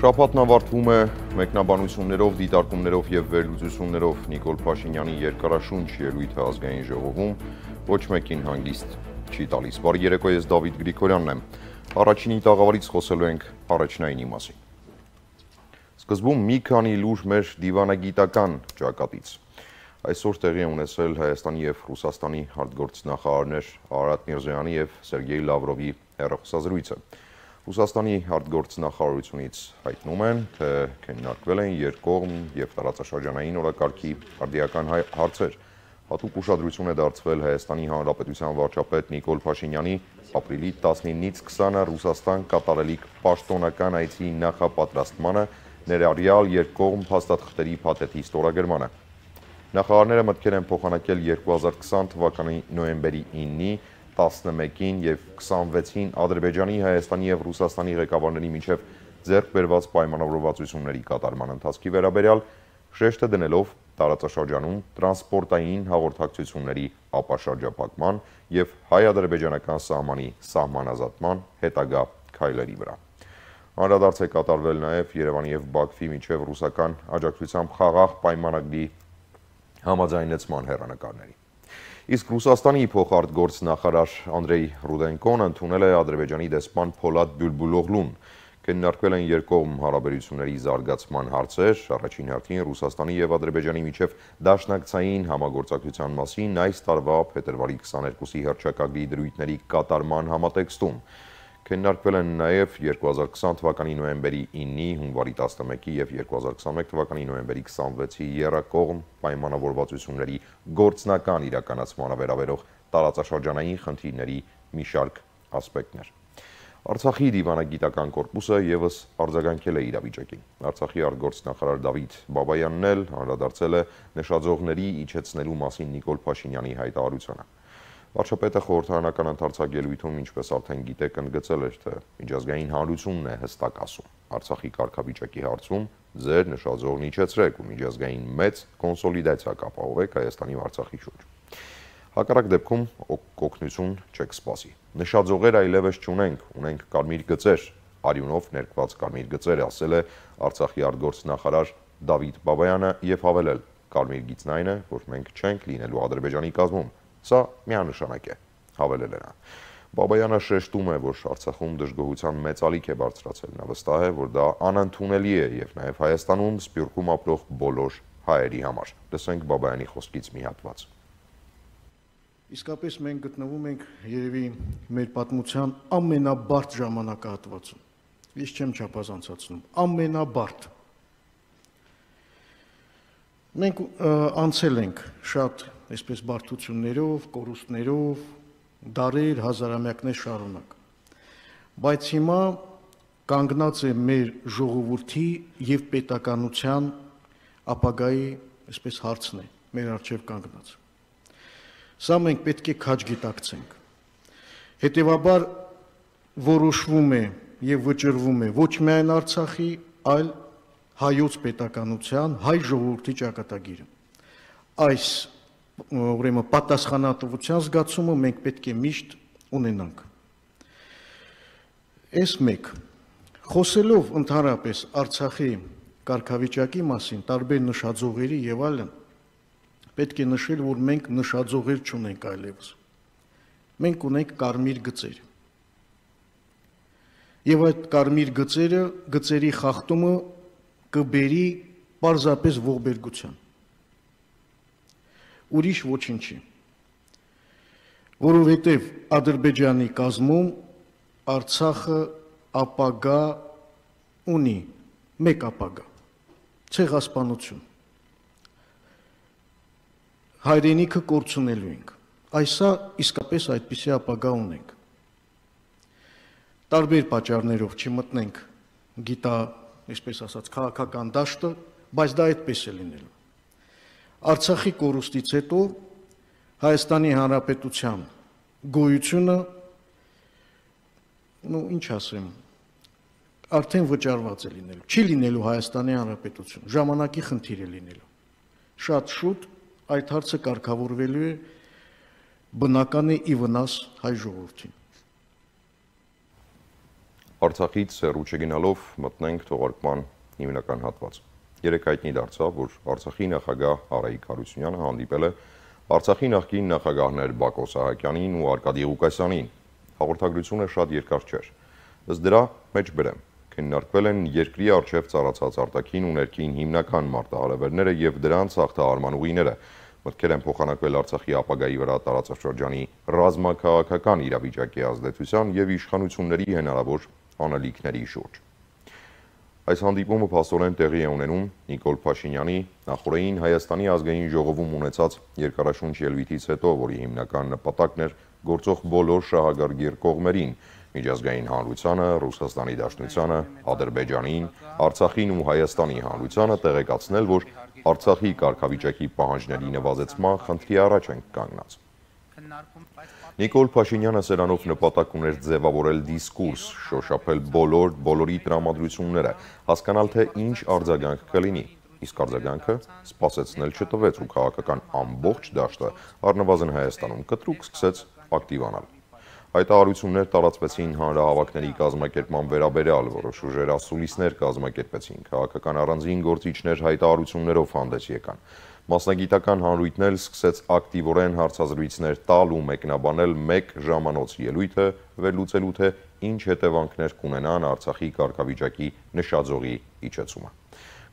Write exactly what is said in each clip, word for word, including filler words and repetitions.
Շաբաթն ավարտվում է մեկնաբանություններով, դիտարկումներով և վերլուծություններով Նիկոլ Փաշինյանի երկարաշունչ ելույթը ազգային ժողովում ոչ մեկին հանգիստ չի տալիս։ Բարի երեկո, ես Դավիթ Գրիգորյանն եմ։ Առաջինի տաղավարից խոսելու ենք առաջնայինի մասին։ Սկզբում մի քանի լուր մեր դիվանագիտական ճակատից։ Այսօր տեղի է ունեցել Հայաստանի և Ռուսաստանի արտգործնախարարներ Արարատ Միրզոյանի և Սերգեյ Լավրովի հեռախոսազրույցը։ Ռուսաստանի արտգործնախարարությունից հայտնում են, թե քննարկվել են երկկողմ և տարածաշրջանային օրակարգի արդիական հարցեր։ Հատուկ ուշադրություն է դարձվել Հայաստանի Հանրապետության վարչապետ Նիկոլ Փաշինյանի ապրիլի տասնինից քսանը Ռուսաստան կատարելիք պաշտոնական այցի նախապատրաստմանը, ներառյալ երկկողմ փաստաթղթերի փաթեթի ստորագրմանը։ Նախարարները մտքեր են փոխանակել երկու հազար քսան թվականի նոյեմբերի իննի, տասնմեկին և քսանվեցին Ադրբեջանի, Հայաստանի և Ռուսաստանի ղեկավարների միջև ձեռք բերված պայմանավորվածությունների կատարման ընթացքի վերաբերյալ, շեշտը դնելով տարածաշրջանում տրանսպորտային հաղորդակցությունների ապաշրջափակման և հայ-ադրբեջանական սահմանի սահմանազատման հետագա քայլերի վրա։ Անդրադարձ է կատարվել նաև Երևանի և Բաքվի միջև ռուսական աջակցությամբ խաղաղ պայմանագրի համաձայնեցման հեռանկարների։ Իսկ Ռուսաստանի փոխարտգործնախարար Անդրեյ Ռուդենկոն ընդունել է Ադրբեջանի դեսպան Փոլադ Բյուլբուլօղլուն։ Քննարկվել են երկկողմ հարաբերությունների զարգացման հարցեր, առաջին հերթին Ռուսաստանի և Ադրբեջանի միջև դաշնակցային համագործակցության մասին այս տարվա փետրվարի քսաներկուսի հռչակագրի դրույթների կատարման համատեքստում։ Քննարկվել են նաև երկու հազար քսան թվականի նոյեմբերի իննի, հունվարի տասնմեկի և երկու հազար քսանմեկ թվականի նոյեմբերի քսանվեցի եռակողմ պայմանավորվածությունների գործնական իրականացմանը վերաբերող տարածաշրջանային խնդիրների մի շարք ասպեկտներ։ Արցախի դիվանագիտական կորպուսը ևս արձագանքել է իրավիճակին։ Արցախի արտգործնախարար Դավիթ Բաբայանն էլ անդրադարձել է նշաձողների իջեցնելու մասին Նիկոլ Փաշինյանի հայտարարությանը։ Վարչապետը խորհրդարանական ընդարձակ ելույթում, ինչպես արդեն գիտեք, ընդգծել էր, թե միջազգային հանրությունն է հստակ ասում։ Արցախի կարգավիճակի հարցում ձեր նշաձողն իջեցրեք ու միջազգային մեծ կոնսոլիդացիա կապահովեք Հայաստանի ու Արցախի շուրջ։ Հակառակ դեպքում օգնություն չեք սպասի։ Նշաձողեր այլևս չունենք, ունենք կարմիր գծեր, արյունով ներկված կարմիր գծեր, ասել է Արցախի արտգործնախարար Դավիթ Բաբայանը և հավելել. կարմիր գիծն այն է, որ մենք չենք լինելու Ադրբեջանի կազմում։ Սա միանշանակ է, հավելել է նա։ Բաբայանը շեշտում է, որ Արցախում դժգոհության մեծ ալիք է բարձրացել։ Նա վստահ է, որ դա անընդունելի է և նաև Հայաստանում, Սփյուռքում ապրող բոլոր հայերի համար։ Լսենք Բաբայանի խոսքից մի հատված։ Իսկապես մենք գտնվում ենք երևի մեր պատմության ամենաբարդ ժամանակահատվածում։ Ես չեմ չափազանցացնում, ամենաբարդ։ Մենք անցել ենք շատ այսպես բարդություններով, կորուստներով, դարեր, հազարամյակներ շարունակ։ Բայց հիմա կանգնած է մեր ժողովրդի և պետականության ապագայի այսպես հարցն է, մեր առջև կանգնած։ Սա մենք պետք է քաջ գիտակցենք։ Հետևաբար որոշվում է և վճռվում է ոչ միայն Արցախի, այլ հայոց պետականության, հայ ժողովրդի ճակատագիրը։ Այս ուրեմն պատասխանատվության զգացումը մենք պետք է միշտ ունենանք։ Այս մեկ, խոսելով ընդհանրապես Արցախի կարգավիճակի մասին, տարբեր նշաձողերի և այլն, պետք է նշել, որ մենք նշաձողեր չունենք այլևս։ Մենք ունենք կարմիր գծեր։ Եվ այդ կարմիր գծերը, գծերի խախտումը կբերի պարզապես ողբերգության։ Ուրիշ ոչինչի։ Որովհետև Ադրբեջանի կազմում Արցախը ապագա ունի, մեկ ապագա, ցեղասպանություն։ Հայրենիքը կորցնելու ենք։ Այսա իսկապես այդպիսի ապագա ունենք։ Տարբեր պատճառներով չմտնենք գիտա, այսպես ասած, քաղաքական դաշտը, բայց դա այդպես է լինելու։ Արցախի կորուստից հետո Հայաստանի Հանրապետության գոյությունը, ну, ինչ ասեմ, արդեն վճարված է լինելու։ Չի լինելու Հայաստանի Հանրապետություն, ժամանակի խնդիր է լինելու։ Շատ շուտ այդ հարցը կարգավորվելու է, բնական է ի վնաս հայ ժողովրդին։ Արցախից հեռու չգնալով մտնենք թողարկման հիմնական հատված։ Երեկ հայտնի դարձավ, որ Արցախի նախագահ Արայիկ Հարությունյանը հանդիպել է Արցախի նախկին նախագահներ Բակո Սահակյանին ու Արկադի Ղուկասյանին։ Հաղորդագրությունը շատ երկար չէր։ Ըստ դրա մեջ բերեմ, քննարկվել են երկրի առջև ծառացած արտաքին ու ներքին հիմնական մարտահրավերները եւ դրանց հաղթահարման ուղիները։ Մտքեր են փոխանակվել Արցախի ապագայի վրա տարածաշրջանի ռազմաքաղաքական իրավիճակի ազդեցության եւ իշխանությունների հնարավոր անելիքների շուրջ։ Այս հանդիպումը փաստորեն տեղի է ունենում Նիկոլ Փաշինյանի նախորդին Հայաստանի ազգային ժողովում ունեցած երկարաշունչ ելույթից հետո, որի հիմնական նպատակն էր գործող բոլոր շահագրգիռ կողմերին՝ միջազգային հանրությանը, Ռուսաստանի Դաշնությանը, Ադրբեջանին, Արցախին ու Հայաստանի հանրությանը տեղեկացնել, որ Արցախի կարգավիճակի պահանջների նվազեցման խնդրի առաջ են կանգնած։ Նիկոլ Փաշինյանը սրանով նպատակ ուներ ձևավորել դիսկուրս, շոշափել բոլոր բոլորի տրամադրությունները, հասկանալ թե ինչ արձագանք կլինի, իսկ արձագանքը սպասեցնել չտվեց ու քաղաքական ամբողջ դաշտը առնվազն Հայաստանում կտրուկ սկսեց ակտիվանալ։ Հայտարարություններ տարածվեցին հանրահավաքների կազմակերպման վերաբերյալ, որոշ ուժեր ասուլիսներ կազմակերպեցին, քաղաքական առանձին գործիչներ հայտարարություններով հանդես եկան։ Մասնագիտական հանրույթն էլ սկսեց ակտիվորեն հարցազրույցներ տալ ու մեկնաբանել մեկ ժամանոց ելույթը, վերլուծելու թե ինչ հետևանքներ կունենան Արցախի կարգավիճակի նշաձողի իջեցումը։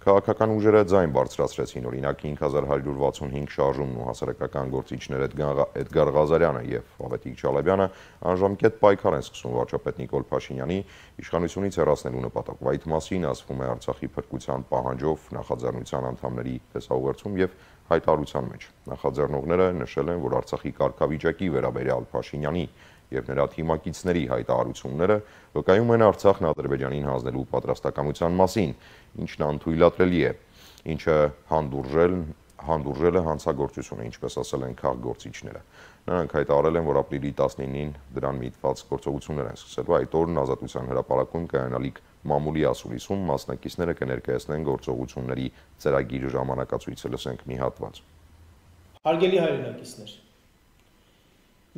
Քաղաքական ուժերը ձայն բարձրացրեցին, օրինակ հինգ հազար հարյուր վաթսունհինգ շարժումն ու հասարակական գործիչներ Էդգար Ղազարյանը եւ Ավետիք Չալաբյանը անժամկետ պայքար են սկսում վարչապետ Նիկոլ Փաշինյանի իշխանությունից հեռացնելու նպատակով։ Այդ մասին ասվում է Արցախի փրկության պահանջով նախաձեռնության անդամների տեսաուղերձում եւ հայտարարության մեջ։ Նախաձեռնողները նշել են, որ Արցախի կարգավիճակի վերաբերյալ Փաշինյանի եւ նրա թիմակիցների հայտարարությունները վկայում են Արցախն Ադրբեջանին հանձնելու պատրաստակամության մասին, ինչն անթույլատրելի է, ինչը հանդուրժել հանդուրժել է հանցագործությունը, ինչպես ասել են քաղաքգործիչները։ Նրանք հայտարարել են, որ ապրիլի տասնինին դրան միտված գործողություններ են սկսելու, այդ օրն Ազատության հրապարակում կայանալիք մամուլի ասուլիսում մասնակիցները կներկայացնեն գործողությունների ծրագիր ժամանակացույցը, լսենք մի հատված։ Հարգելի հայրենակիցներ,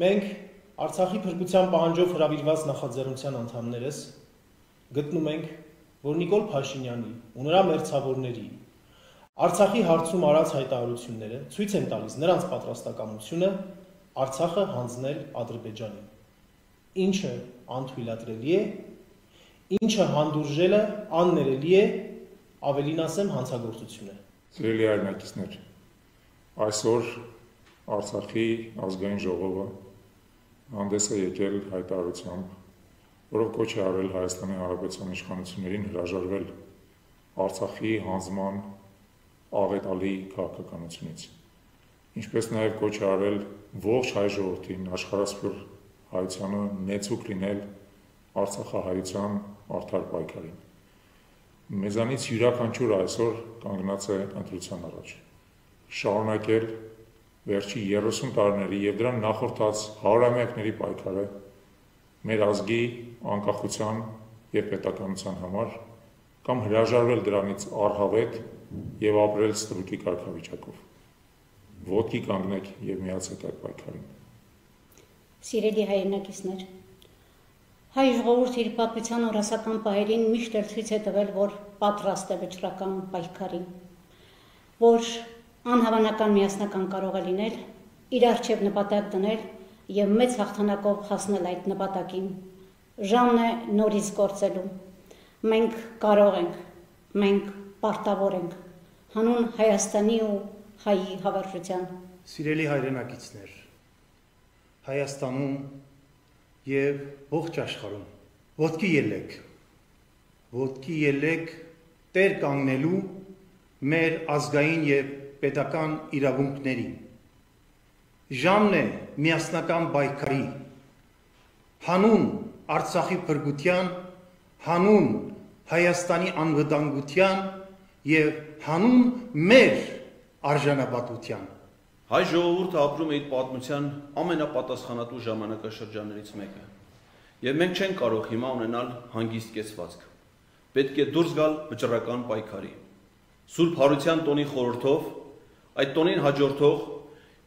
մենք Արցախի փրկության պահանջով հրավիրված նախաձեռնության անդամներս գտնում ենք, որ Նիկոլ Փաշինյանի ու նրա մերձավորների Արցախի հարցում արած հայտարարությունները ցույց են տալիս նրանց պատրաստակամությունը Արցախը հանձնել Ադրբեջանին, ինչը անթույլատրելի է, ինչը հանդուրժելը աններելի է, ավելին ասեմ հանցագործություն է։ Սիրելի հայրենակիցներ, այսօր Արցախի ազգային ժողովը հանդես է եկել հայտարարությամբ, որով կոչ է արել Հայաստանի Հանրապետության իշխանություններին հրաժարվել Արցախի հանձնման աղետալի քաղաքականությունից, ինչպես նաև կոչ է արել ողջ հայ ժողովրդին, աշխարհասփյուռ հայությանը նեցուկ լինել արցախահայության արդար պայքարին։ Մեզանից յուրաքանչյուրը այսօր կանգնած է ընտրության առաջ, շարունակել վերջի երեսուն տարիների եւ դրան նախորդած հարյուրամյակների պայքարը մեր ազգի անկախության եւ պետականության համար կամ հրաժարվել դրանից առհավետ եւ ապրել ստրուկի կարգավիճակով։ Ոտքի կանգնեք եւ միացեք այդ պայքարին։ Սիրելի հայրենակիցներ, հայ ժողովուրդը իր պատմության օրասական պահերին միշտ էլ ցույց է տվել, որ պատրաստ է վճռական պայքարին, որ անհավանական միասնական կարող է լինել, իր առջև նպատակ դնել եւ մեծ հաղթանակով հասնել այդ նպատակին։ Ժամն է նորից գործելու։ Մենք կարող ենք, մենք պարտավոր ենք հանուն Հայաստանի ու հայի հավերժության։ Սիրելի հայրենակիցներ, Հայաստանում եւ ողջ աշխարհում ոտքի ելեք, ոտքի ելեք տեր կանգնելու մեր ազգային եւ պետական իրավունքներին։ Ժամն է միասնական պայքարի, հանուն Արցախի փրկության, հանուն Հայաստանի անվտանգության եւ հանուն մեր արժանապատվության։ Հայ ժողովուրդը ապրում է իր պատմության ամենապատասխանատու ժամանակաշրջաններից մեկը, եւ մենք չենք կարող հիմա ունենալ հանգիստ կեցվածք։ Պետք է դուրս գալ վճռական պայքարի։ Սուրբ Հարության տոնի խորհրդով այդ տոնին հաջորդող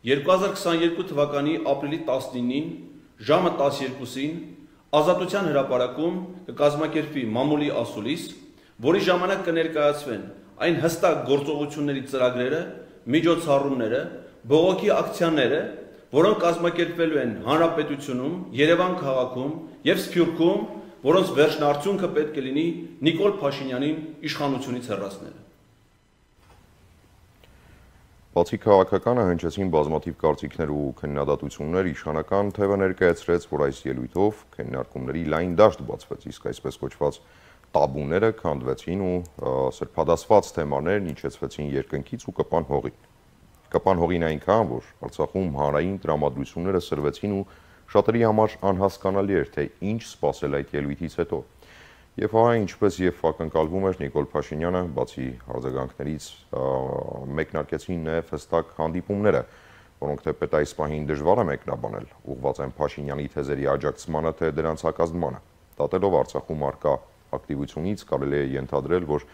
երկու հազար քսաներկու թվականի ապրիլի տասնինին ժամը տասներկուսին Ազատության հրապարակում կկազմակերպվի մամուլի ասուլիս, որի ժամանակ կներկայացվեն այն հստակ գործողությունների ծրագրերը, միջոցառումները, բողոքի ակցիաները, որոնք կազմակերպվելու են Հանրապետությունում, Երևան քաղաքում եւ Սփյուռքում, որոնց վերջնարդյունքը պետք է լինի Նիկոլ Փաշինյանին իշխանությունից հեռացնելը։ Բացի քաղաքականը հնչեցին բազմաթիվ կարծիքներ ու քննադատություններ, իշխանական թևը ներկայացրեց, որ այս ելույթով քննարկումների լայն դաշտ բացվեց, իսկ այսպես կոչված տաբուները քանդվեցին ու սրբադասված թեմաներն իջեցվեցին երկնքից ու կպան հողին։ Կպան հողին այնքան, որ Արցախում հանրային տրամադրությունները սրվեցին ու շատերի համար անհասկանալի էր, թե ինչ սպասել այդ ելույթից հետո։ Եվ հա ինչպես եւ ակնկալվում էր Նիկոլ Փաշինյանը, բացի արձագանքներից մեկնարկեցին նաեւ հստակ հանդիպումները, որոնք թեպետ այս պահին դժվար է մեկնաբանել, ուղղված են Փաշինյանի թեզերի աջակցմանը, թե դրանց հակազդմանը։ Դատելով Արցախում արկա ակտիվությունից կարելի է ենթադրել, որ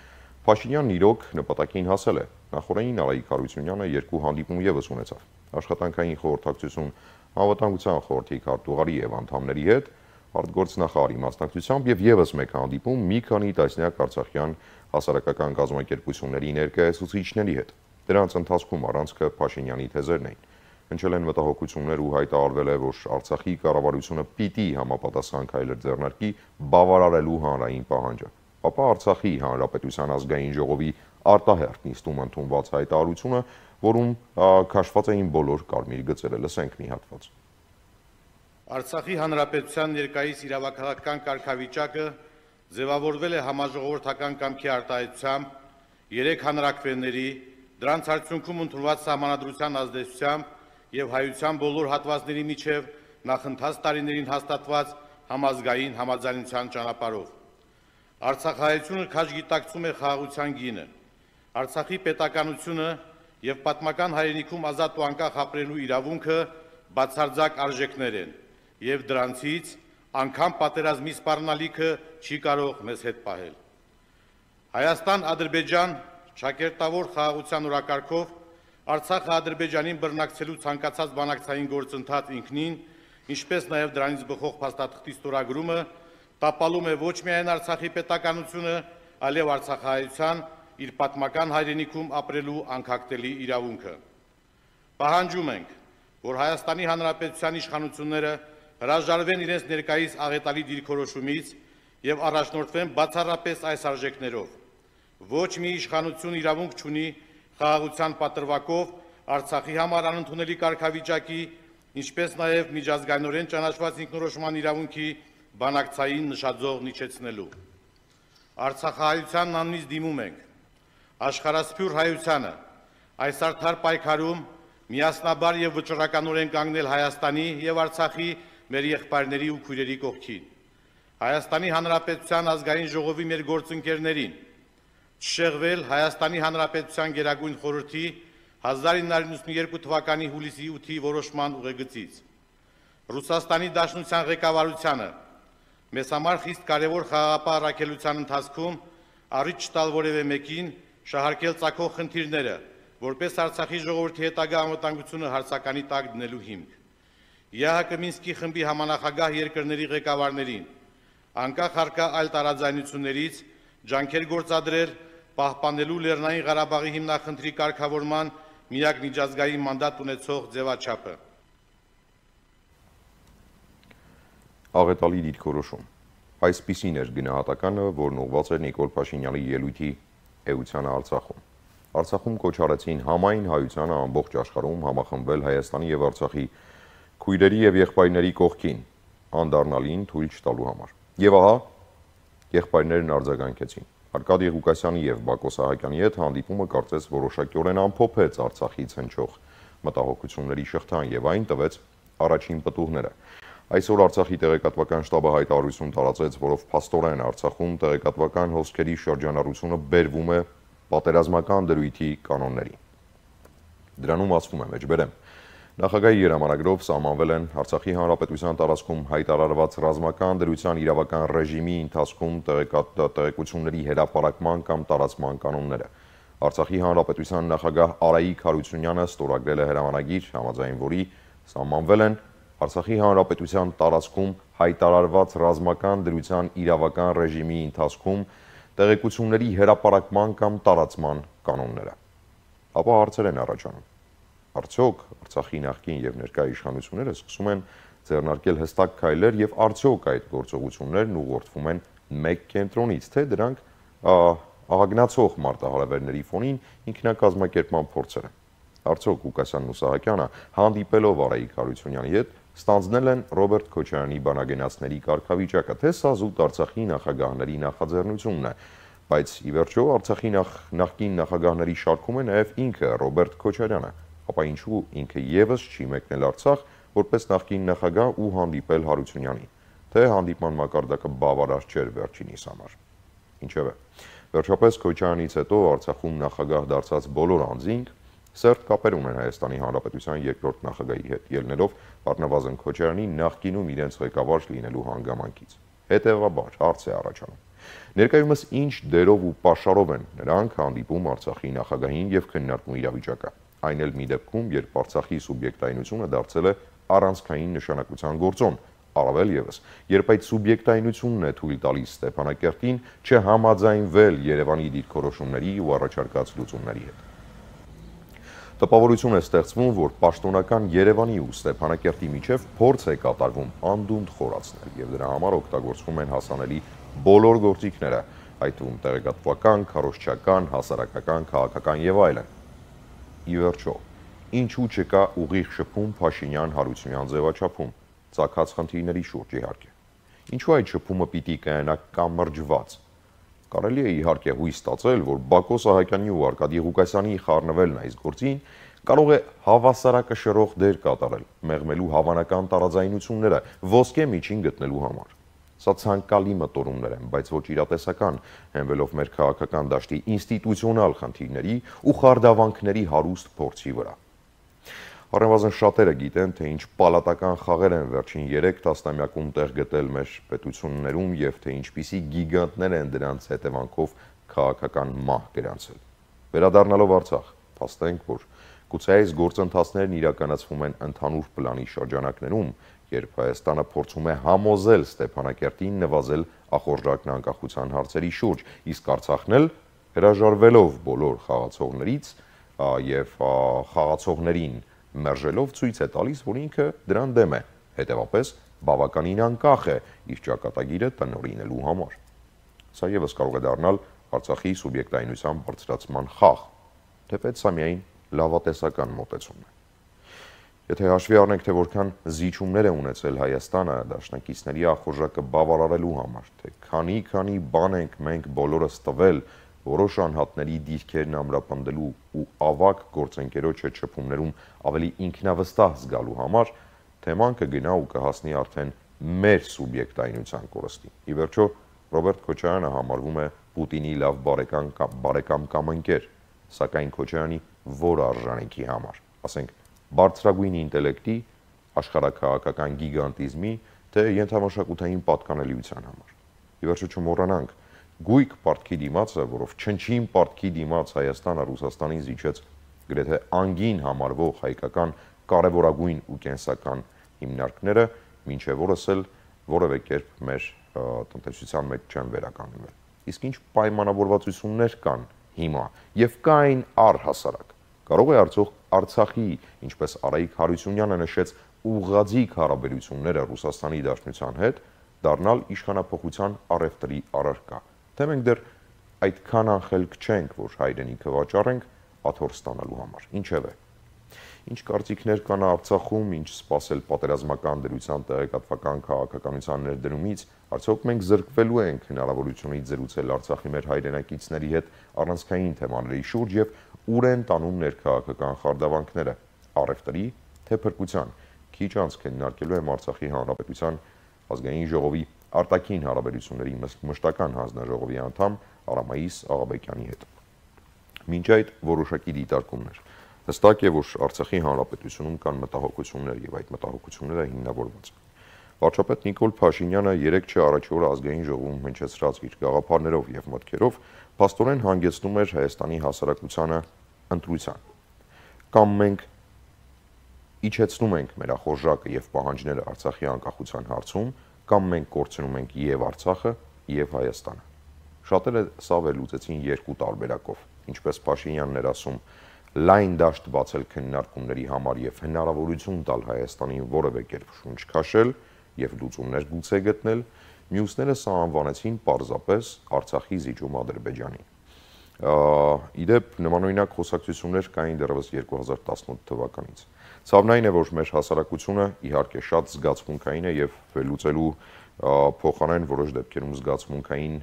Փաշինյանն իրոք նպատակին հասել է։ Նախորդին Արայիկ Հարությունյանը երկու հանդիպում ևս ունեցավ։ Աշխատանքային խորհրդակցություն Անվտանգության խորհրդի քարտուղարի եւ անդամների հետ, արտգործնախարարի մասնակցությամբ եւ ևս մեկ հանդիպում մի քանի տասնյակ արցախյան հասարակական կազմակերպությունների ներկայացուցիչների հետ։ Դրանց ընթացքում առանցքը Փաշինյանի թեզերն էին։ Հնչել են մտահոգություններ ու հայտարարվել է, որ Արցախի կառավարությունը պիտի համապատասխան քայլեր ձեռնարկի բավարարելու հանրային պահանջը։ Ապա Արցախի Հանրապետության ազգային ժողովի արտահերթ նիստում ընդունված հայտարարությունը, որում քաշված էին բոլոր կարմիր գծերը, լսենք մի հատված։ Արցախի Հանրապետության ներկայիս իրավաքաղաքական կարգավիճակը ձևավորվել է համաժողովրդական կամքի արտահայտությամբ երեք հանրաքվեների, դրանց արդյունքում ընդունված սահմանադրության ազդեցությամբ եւ հայության բոլոր հատվածների միջև նախընթաց տարիներին հաստատված համազգային համաձայնության ճանապարհով։ Արցախահայությունը քաջ գիտակցում է խաղաղության գինը։ Արցախի պետականությունը եւ պատմական հայրենիքում ազատ ու անկախ ապրելու իրավունքը բացարձակ արժեքներ են եւ դրանցից անգամ պատերազմի սպառնալիքը չի կարող մեզ հետ պահել։ Հայաստան-Ադրբեջան շակերտավոր խաղաղության օրակարգով Արցախը Ադրբեջանին բռնակցելու ցանկացած բանակցային գործընթաց ինքնին, ինչպես նաեւ դրանից բխող փաստաթղթի ստորագրումը տապալում է ոչ միայն Արցախի պետականությունը, այլև արցախահայության իր պատմական հայրենիքում ապրելու անկախտելի իրավունքը։ Պահանջում ենք, որ Հայաստանի Հանրապետության իշխանությունները հրաժարվեն իրենց ներկայիս աղետալի դիրքորոշումից եւ առաջնորդվեն բացառապես այս արժեքներով։ Ոչ մի իշխանություն իրավունք չունի խաղաղության պատրվակով Արցախի համար անընդունելի կարգավիճակի, ինչպես նաեւ միջազգայինորեն ճանաչված ինքնորոշման իրավունքի բանակցային նշաձող իջեցնելու։ Արցախահայությանն անունից դիմում ենք աշխարհասփյուռ հայությանը այս արդար պայքարում միասնաբար եւ վճռականորեն կանգնել Հայաստանի եւ Արցախի մեր եղբայրների ու քույրերի կողքին։ Հայաստանի Հանրապետության ազգային ժողովի մեր գործընկերներին չշեղվել Հայաստանի Հանրապետության Գերագույն խորհրդի հազար ինը հարյուր նվաթ թվականի հուլիսի ութի որոշման ուղեգծից։ Ռուսաստանի Դաշնության ղեկավարությանը մեզ համար խիստ կարևոր խաղաղապահ առաքելության ընթացքում առիթ չտալ որևէ մեկին շահարկել ծագող խնդիրները, որպես Արցախի ժողովրդի հետագա անվտանգությունը հարցականի տակ դնելու հիմք։ ԵԱՀԿ Մինսկի խմբի համանախագահ երկրների ղեկավարներին անկախ առկա այլ տարաձայնություններից ջանքեր գործադրել պահպանելու Լեռնային Ղարաբաղի հիմնախնդրի կարգավորման միակ միջազգային մանդատ ունեցող ձևաչափը։ Աղետալի դիրքորոշում։ Այսպիսին էր գնահատականը, որն ուղղված էր Նիկոլ Փաշինյանի ելույթի էությանը Արցախում։ Արցախում կոչ արեցին համայն հայությանը ամբողջ աշխարհում համախմբվել Հայաստանի եւ Արցախի քույրերի եւ եղբայրների կողքին, անդառնալին թույլ չտալու համար։ Եվ ահա եղբայրներն արձագանքեցին։ Արկադի Ղուկասյանի եւ Բակո Սահակյանի հետ հանդիպումը կարծես որոշակիորեն ամփոփեց Արցախից հնչող մտահոգությունների շղթան եւ այն տվեց առաջին պտուղները։ Այսօր Արցախի տեղեկատվական շտաբը հայտարարություն տարածեց, որով փաստորեն Արցախում տեղեկատվական հոսքերի շրջանառությունը բերվում է պատերազմական դրույթի կանոններին։ Դրանում ասվում է մեջբերեմ. Նախագահի երամանագրով սահմանվել են Արցախի Հանրապետության տարածքում հայտարարված ռազմական դրության իրավական ռեժիմի ընթացքում տեղեկությունների հրապարակման կամ տարածման կանոնները։ Արցախի Հանրապետության նախագահ Արայիկ Հարությունյանը ստորագրել է հրամանագիր, համաձայն որի սահմանվել են Արցախի հանրապետության տարածքում հայտարարված ռազմական դրության իրավական ռեժիմի ընթացքում տեղեկությունների հրապարակման կամ տարածման կանոնները։ Ապա հարցեր են առաջանում։ Արդյոք Արցախի նախկին եւ ներկա իշխանությունները սկսում են ձեռնարկել հստակ քայլեր եւ արդյոք այդ գործողություններն ուղղորդվում են մեկ կենտրոնից, թե դրանք աղագնացող մարտահրավերների ֆոնին ինքնակազմակերպման փորձեր են։ Արդյոք Ղուկասյանն ու Սահակյանը հանդիպելով Արայիկ Հարությունյանի հետ ստանձնել են Ռոբերտ Քոչարյանի բանագենացների կարգավիճակը, թե սա զուտ Արցախի նախագահների նախաձեռնությունն է, բայց ի վերջո Արցախի նախկին նախագահների շարքում է նաև ինքը Ռոբերտ Քոչարյանը, ապա ինչու ինքը եւս չի մեկնել Արցախ որպես նախկին նախագահ ու հանդիպել Հարությունյանին, թե հանդիպման մակարդակը բավարար չէր վերջինիս համար։ Ինչևէ, վերջապես Քոչարյանից հետո Արցախում նախագահ դարձած բոլոր անձինք սերտ կապեր ունեն Հայաստանի Հանրապետության երկրորդ նախագահի հետ, ելնելով առնվազն Քոչարյանի նախկինում իրենց ղեկավար լինելու հանգամանքից։ Հետևաբար հարց է առաջանում. ներկայումս ինչ դերով ու պաշարով են նրանք հանդիպում Արցախի նախագահին եւ քննարկում իրավիճակը, այն էլ մի դեպքում, երբ Արցախի սուբյեկտայնությունը դարձել է առանցքային նշանակության գործոն, առավել եւս, երբ այդ սուբյեկտայնությունն է թույլ տալիս Ստեփանակերտին չհամաձայնվել Երևանի դիրքորոշումների ու առաջարկած լուծումների հետ։ Տպավորություն է ստեղծվում, որ պաշտոնական Երևանի ու Ստեփանակերտի միջև փորձ է կատարվում անդունդ խորացնել եւ դրա համար օգտագործվում են հասանելի բոլոր գործիքները, այդ թվում տեղեկատվական, քարոզչական, հասարակական, քաղաքական եւ այլն։ Ի վերջո, ինչու չկա ուղիղ շփում Փաշինյան-Հարությունյան ձևաչափում, ցակած խնդիրների շուրջ իհարկե։ Ինչու այդ շփումը պիտի կայանա կամրջված։ Կարելի է իհարկե հույս ստացել, որ Բակո Սահակյանի ու Արկադի Ղուկասյանի խառնվելն այս գործին կարող է հավասարակշռող դեր կատարել, մեղմելու հավանական տարաձայնությունները, ոսկե միջին գտնելու համար։ Սա ցանկալի մտորումներ են, բայց ոչ իրատեսական, հենվելով մեր քաղաքական դաշտի ինստիտուցիոնալ խնդիրների ու խարդավանքների հարուստ փորձի վրա։ Առնվազն շատերը գիտեն, թե ինչ պալատական խաղեր են վերջին երեք տասնամյակում տեղ գտել մեր պետություններում եւ թե ինչպիսի գիգանտներ են դրանց հետևանքով քաղաքական մահ գրանցել։ Վերադառնալով Արցախ, փաստենք, որ գուցե այս գործընթացներն իրականացվում են ընդհանուր պլանի շրջանակներում, երբ Հայաստանը փորձում է համոզել Ստեփանակերտին նվազել ախորժակն անկախության հարցերի շուրջ, իսկ Արցախն էլ հրաժարվելով բոլոր խաղացողներից եւ խաղացողներին մերժելով ցույց է տալիս, որ ինքը դրան դեմ է, հետևապես բավականին անկախ է իր ճակատագիրը տնօրինելու համար։ Սա եւս կարող է դառնալ Արցախի սուբյեկտայնության բարձրացման խաղ, թեպետ սա միայն լավատեսական մոտեցում է։ Եթե հաշվի առնենք, թե որքան զիջումներ է ունեցել Հայաստանը դաշնակիցների ախորժակը բավարարելու համար, թե քանի-քանի բան ենք մենք բոլորս տվել որոշ անհատների դիրքերն ամրապնդելու ու ավակ գործընկերոջը չփումներում ավելի ինքնավստահ զգալու համար, թեման կգնա ու կհասնի արդեն մեր սուբյեկտայնության կորստին։ Ի վերջո, Ռոբերտ Քոչարյանը համարվում է Պուտինի լավ բարեկամ կամ բարեկամ կամ ընկեր, սակայն Քոչարյանի որ արժանինքի համար, ասենք բարձրագույն ինտելեկտի, աշխարհաքաղաքական գիգանտիզմի, թե ենթամշակութային պատկանելիության համար։ Ի վերջո չմոռանանք, գույք պարտքի դիմացը, որով չնչին պարտքի դիմաց Հայաստանը Ռուսաստանին զիջեց գրեթե անգին համարվող հայկական կարևորագույն ու կենսական հիմնարկները, մինչև օրս էլ որևէ կերպ մեր տնտեսության մեջ չեն վերականգնվել։ Իսկ ինչ պայմանավորվածություններ կան հիմա եւ կային առհասարակ։ Կարող է արդյոք Արցախի, ինչպես Արայիկ Հարությունյանը նշեց, ուղղաձիգ հարաբերությունները Ռուսաստանի Դաշնության հետ դառնալ իշխանափոխության առևտրի առարկա։ Թե մենք դեռ այդքան անխելք չենք, որ հայրենիքը վաճառենք աթոռ ստանալու համար։ Ինչևէ, ինչ կարծիքներ կան Արցախում, ինչ սպասել պատերազմական դրության տեղեկատվական քաղաքականության ներդրումից, արդյոք մենք զրկվելու ենք հնարավորությունից զրուցել Արցախի մեր հայրենակիցների հետ առանցքային թեմաների շուրջ եւ ուր են տանում ներքաղաքական խարդավանքները, առևտրի թե փրկության։ Քիչ անց քննարկելու եմ Արցախի Հանրապետության ազգային ժողովի արտաքին հարաբերությունների մշտական հանձնաժողովի անդամ Արամայիս Աղաբեկյանի հետ։ Մինչ այդ որոշակի դիտարկումներ։ Հստակ է, որ Արցախի Հանրապետությունում կան մտահոգություններ եւ այդ մտահոգությունները հիմնավորված են։ Վարչապետ Նիկոլ Փաշինյանը երեք չէ առաջ օրը ազգային ժողովում հնչեցրած իր գաղափարներով եւ մտքերով փաստորեն հանգեցնում էր Հայաստանի հասարակությանը ընտրության։ Կամ մենք իջեցնում ենք մեր ախորժակը եւ պահանջները Արցախի անկախության հարցում, կամ մենք կորցնում ենք եւ Արցախը, եւ Հայաստանը։ Շատերը սա վերլուծեցին երկու տարբերակով, ինչպես Փաշինյանն էր ասում, լայն դաշտ բացել քննարկումների համար եւ հնարավորություն տալ Հայաստանին որևէ կերպ շունչ քաշել եւ լուծումներ գուցե գտնել, մյուսները սա անվանեցին պարզապես Արցախի զիջում Ադրբեջանին։ Իդեպ նմանօրինակ խոսակցություններ կային դեռևս երկու հազար տասնութ թվականից։ Ցավն այն է, որ մեր հասարակությունը իհարկե շատ զգացմունքային է եւ վերլուծելու փոխարեն որոշ դեպքերում զգացմունքային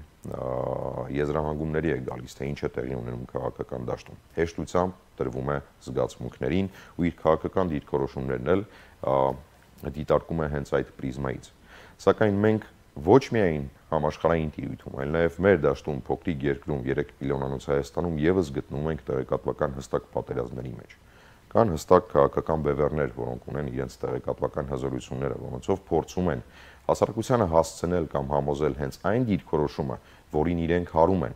եզրահանգումների է գալիս, թե ինչ է տեղի ունենում քաղաքական դաշտում։ Հեշտությամբ տրվում է զգացմունքներին ու իր քաղաքական դիրքորոշումներն էլ դիտարկում է հենց այդ պրիզմայից։ Սակայն մենք ոչ միայն համաշխարհային տիրույթում, այլ նաև մեր դաշտում փոքրիկ երկրում երեք միլիոնանոց Հայաստանում եւս գտնվում ենք տեղեկատվական հստակ պատերազմների մեջ։ Կան հստակ քաղաքական բևեռներ, որոնք ունեն իրենց տեղեկատվական հզորությունները, որոնցով փորձում են հասարակությանը հասցնել կամ համոզել հենց այն դիրքորոշումը, որին իրենք հարում են։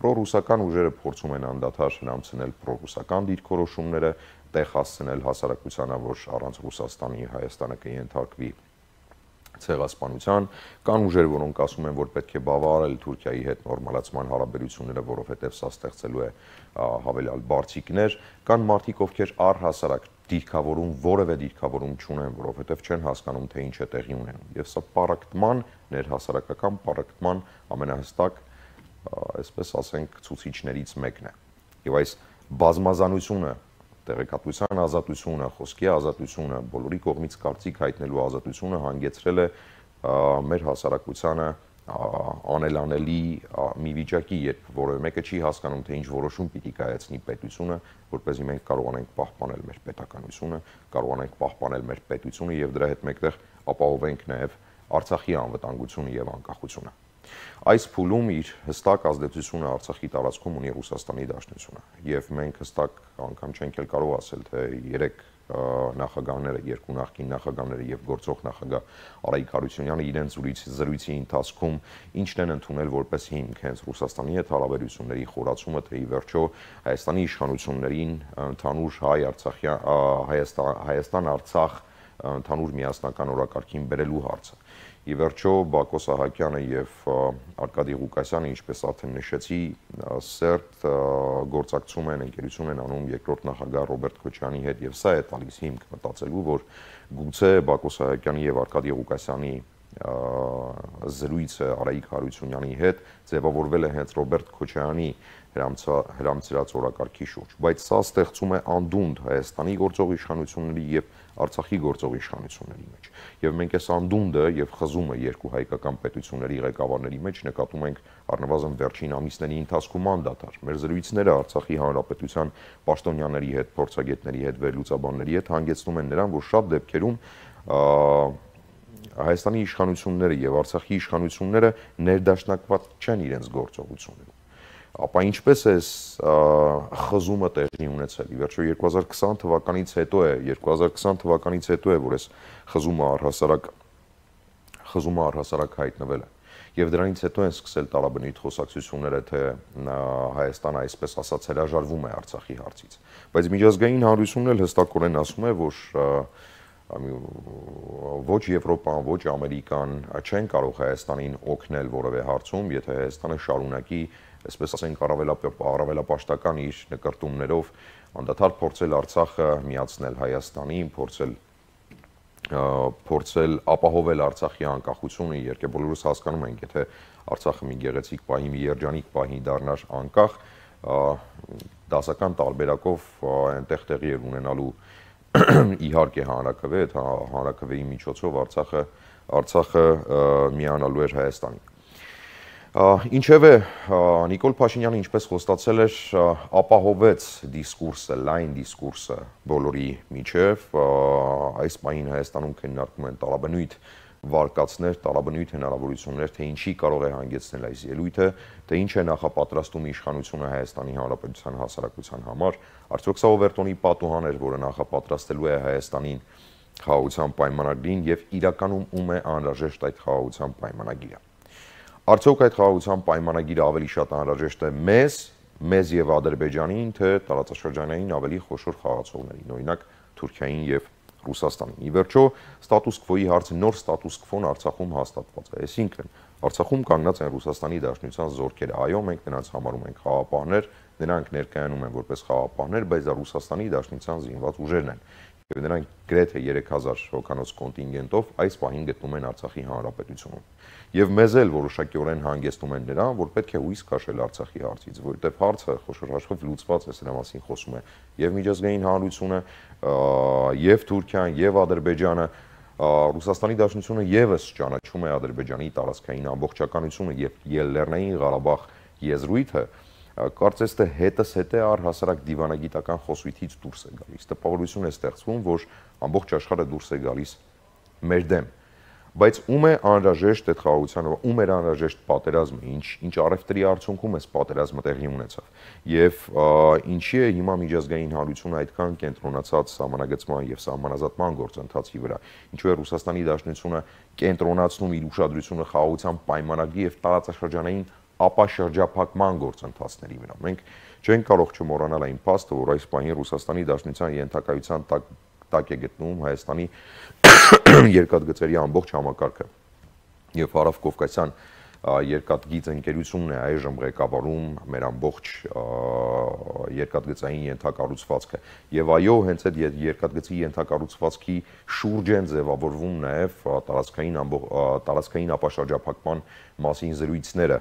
Պրոռուսական ուժերը փորձում են անդադար հրամցնել պրոռուսական դիրքորոշումները, տեղ հասցնել հասարակությանը, որ առանց Ռուսաստանի Հայաստանը կենթարկվի ցեղասպանության, կան ուժեր, որոնք ասում են, որ պետք է բավարարել Թուրքիայի հետ նորմալացման հարաբերությունները, որովհետև սա ստեղծելու է հավելյալ բարձիկներ, կան մարդիկ, ովքեր առհասարակ դիրքավորում, որևէ դիրքավորում չունեն, որովհետև չեն հասկանում, թե ինչ է տեղի ունենում։ Եվ սա պառակտման, ներհասարակական պառակտման ամենահստակ, այսպես ասենք, ցուցիչներից մեկն է։ Եվ այս բազմազանությունը, տեղեկատվության ազատությունը, խոսքի ազատությունը, բոլորի կողմից կարծիք հայտնելու ազատությունը հանգեցրել է մեր հասարակությանը անելանելի մի վիճակի, երբ որևէ մեկը չի հասկանում, թե ինչ որոշում պիտի կայացնի պետությունը, որպեսզի մենք կարողանանք պահպանել մեր պետականությունը, կարողանանք պահպանել մեր պետությունը եւ դրա հետ մեկտեղ ապահովենք նաեւ Արցախի անվտանգությունը եւ անկախությունը։ Այս փուլում իր հստակ ազդեցությունը Արցախի տարածքում ունի Ռուսաստանի Դաշնությունը եւ մենք հստակ անգամ չենք էլ կարող ասել, թե երեք նախագահները, երկու նախկին նախագահները եւ գործող նախագահ Արայիկ Հարությունյանը իրենց զրույցի ընթացքում ինչն են ընդունել որպես հիմք հենց Ռուսաստանի հետ հարաբերությունների խորացումը, թե ի վերջո Հայաստանի իշխանություններին ընդհանուր հայ-արցախյան Հայաստան-Արցախ ընդհանուր միասնական օրակարգին բերելու հարցը։ Ի վերջո Բակո Սահակյանը եւ Արկադի Ղուկասյանը, ինչպես արդեն նշեցի, սերտ գործակցում են, ընկերություն են անում երկրորդ նախագահ Ռոբերտ Քոչարյանի հետ եւ սա է տալիս հիմք մտածելու, որ գուցե Բակո Սահակյանի եւ Արկադի Ղուկասյանի զրույցը Արայիկ Հարությունյանի հետ ձևավորվել է հենց Ռոբերտ Քոչարյանի հրամցրած օրակարգի շուրջ, բայց սա ստեղծում է անդունդ Հայաստանի գործող իշխանությունների եւ Արցախի գործող իշխանությունների մեջ։ Եվ մենք այս անդունդը եւ խզումը երկու հայկական պետությունների ղեկավարների մեջ նկատում ենք առնվազն վերջին ամիսների ընթացքում անդադար։ Մեր զրույցները Արցախի հանրապետության պաշտոնյաների հետ, փորձագետների հետ, վերլուծաբանների հետ հանգեցնում են նրան, որ շատ դեպքերում Հայաստանի իշխանությունները եւ Արցախի իշխանությունները ներդաշնակված չեն իրենց գործողություններում։ Ապա ինչպես է խզումը տեղի ունեցել։ Ի վերջո երկու հազար քսան թվականից հետո է, երկու հազար քսան թվականից հետո է, որ այս խզումը առհասարակ խզումը առհասարակ հայտնվել է։ Եվ դրանից հետո են սկսել տարաբնույթ խոսակցությունները, թե Հայաստանը այսպես ասած հրաժարվում է Արցախի հարցից։ Բայց միջազգային հանրությունն էլ հստակորեն ասում է, որ ոչ Եվրոպան, ոչ Ամերիկան չեն կարող Հայաստանին օգնել որևէ հարցում, եթե Հայաստանը շարունակի, այսպես ասենք, առավելապաշտական իր նկրտումներով անդադար փորձել Արցախը միացնել Հայաստանին, փորձել փորձել ապահովել Արցախի անկախությունը, իհարկե բոլորս հասկանում ենք, եթե Արցախը մի գեղեցիկ պահի, մի երջանիկ պահի դառնար անկախ, դասական տարբերակով այնտեղ տեղի էր ունենալու իհարկե հանրաքվե, այդ հանրաքվեի միջոցով Արցախը Արցախը միանալու էր Հայաստանին։ Ինչևէ, Նիկոլ Փաշինյանը, ինչպես խոստացել էր, ապահովեց դիսկուրսը, լայն դիսկուրսը բոլորի միջև, այս պահին Հայաստանում քննարկում են տարաբնույթ վարկածներ, տարաբնույթ հնարավորություններ, թե ինչի կարող է հանգեցնել այս ելույթը, թե ինչ է նախապատրաստում իշխանությունը Հայաստանի Հանրապետության հասարակության համար, արդյոք սա Օվերտոնի պատուհան էր, որը նախապատրաստելու է Հայաստանին խաղաղության պայմանագրին եւ իրականում ում է անհրաժեշտ այդ խաղաղության պայմանագիրը։ Արդյոք այդ խաղաղության պայմանագիրը ավելի շատ անհրաժեշտ է մեզ, մեզ եւ Ադրբեջանին, թե տարածաշրջանային ավելի խոշոր խաղացողներին, օրինակ Թուրքիային եւ Ռուսաստանին։ Ի վերջո, ստատուս քվոյի հարցը նոր ստատուս քվոն Արցախում հաստատված է, այսինքն Արցախում կանգնած են Ռուսաստանի Դաշնության զորքերը, այո, մենք նրանց համարում ենք խաղապահներ, նրանք ներկայանում են որպես խաղապահներ, բայց դա Ռուսաստանի Դաշնության զինված ուժերն են։ Եվ նրանք գրեթե երեք հազար հոգանոց կոնտինգենտով այս պահին գտնում են Արցախի Հանրապետությունում։ Եվ մեզ էլ որոշակիորեն հանգեցնում են նրան, որ պետք է հույս քաշել Արցախի հարցից, որովհետև հարցը խոշորաշխով լուծված է, սրա մասին խոսում է եւ միջազգային հանրությունը, եւ Թուրքիան, եւ Ադրբեջանը, Ռուսաստանի Դաշնությունը եւս ճանաչում է Ադրբեջանի տարածքային ամբողջականությունը եւ Լեռնային Ղարաբաղ եզրույթը, կարծես թե հետս հետ է առհասարակ դիվանագիտական խոսույթից դուրս է գալիս։ Տպավորություն է ստեղծվում, որ ամբողջ աշխարհը դուրս է գալիս մեր դեմ։ Բայց ում է անհրաժեշտ այդ խաղաղությանը, ում էր անհրաժեշտ պատերազմը, ինչ ինչ առևտրի արդյունքում էս պատերազմը տեղի ունեցավ։ Եվ ինչի է հիմա միջազգային հանրությունը այդքան կենտրոնացած սահմանագծման եւ սահմանազատման գործընթացի վրա, ինչու է Ռուսաստանի Դաշնությունը կենտրոնացնում իր ուշադրությունը խաղաղության պայմանագրի եւ տարածաշրջանային ապաշրջափակման գործընթացների վրա։ Մենք չենք կարող չմոռանալ այն փաստը, որ այս պահին Ռուսաստանի Դաշնության ենթակայության տակ տակ է գտնվում Հայաստանի երկաթգծերի ամբողջ համակարգը եւ Հարավկովկասյան երկաթգիծ ընկերությունն է այժմ ղեկավարում մեր ամբողջ երկաթգծային ենթակառուցվածքը եւ այո հենց այդ երկաթգծի ենթակառուցվածքի շուրջ են ձևավորվում նաեւ տարածքային տարածքային ապաշրջափակման մասին զրույցները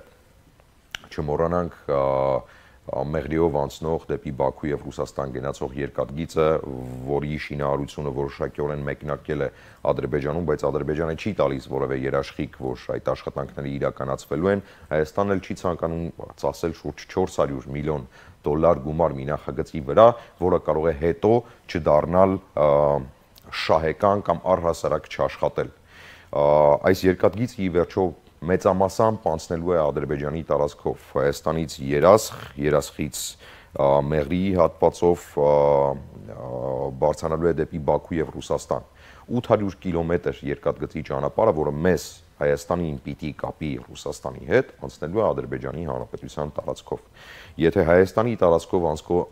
չմոռանանք Մեղրիով անցնող դեպի Բաքու եւ Ռուսաստան գնացող երկաթգիծը, որի շինարարությունը որոշակիորեն մեկնարկել է Ադրբեջանում, բայց Ադրբեջանը չի տալիս որևէ երաշխիք, որ այդ աշխատանքները իրականացվելու են, Հայաստանն էլ չի ցանկանում ծախսել շուրջ չորս հարյուր միլիոն դոլար գումար մի նախագծի վրա, որը կարող է հետո չդառնալ շահեկան կամ առհասարակ չաշխատել։ Այս երկաթգիծը ի վերջո մեծամասամբ անցնելու է Ադրբեջանի տարածքով, Հայաստանից Երասխ, Երասխից Մեղրիի հատվածով բարձրանալու է դեպի Բաքու եւ Ռուսաստան։ ութ հարյուր կիլոմետր երկաթգծի ճանապարհը, որը մեզ Հայաստանին պիտի կապի Ռուսաստանի հետ, անցնելու է Ադրբեջանի Հանրապետության տարածքով։ Եթե Հայաստանի տարածքով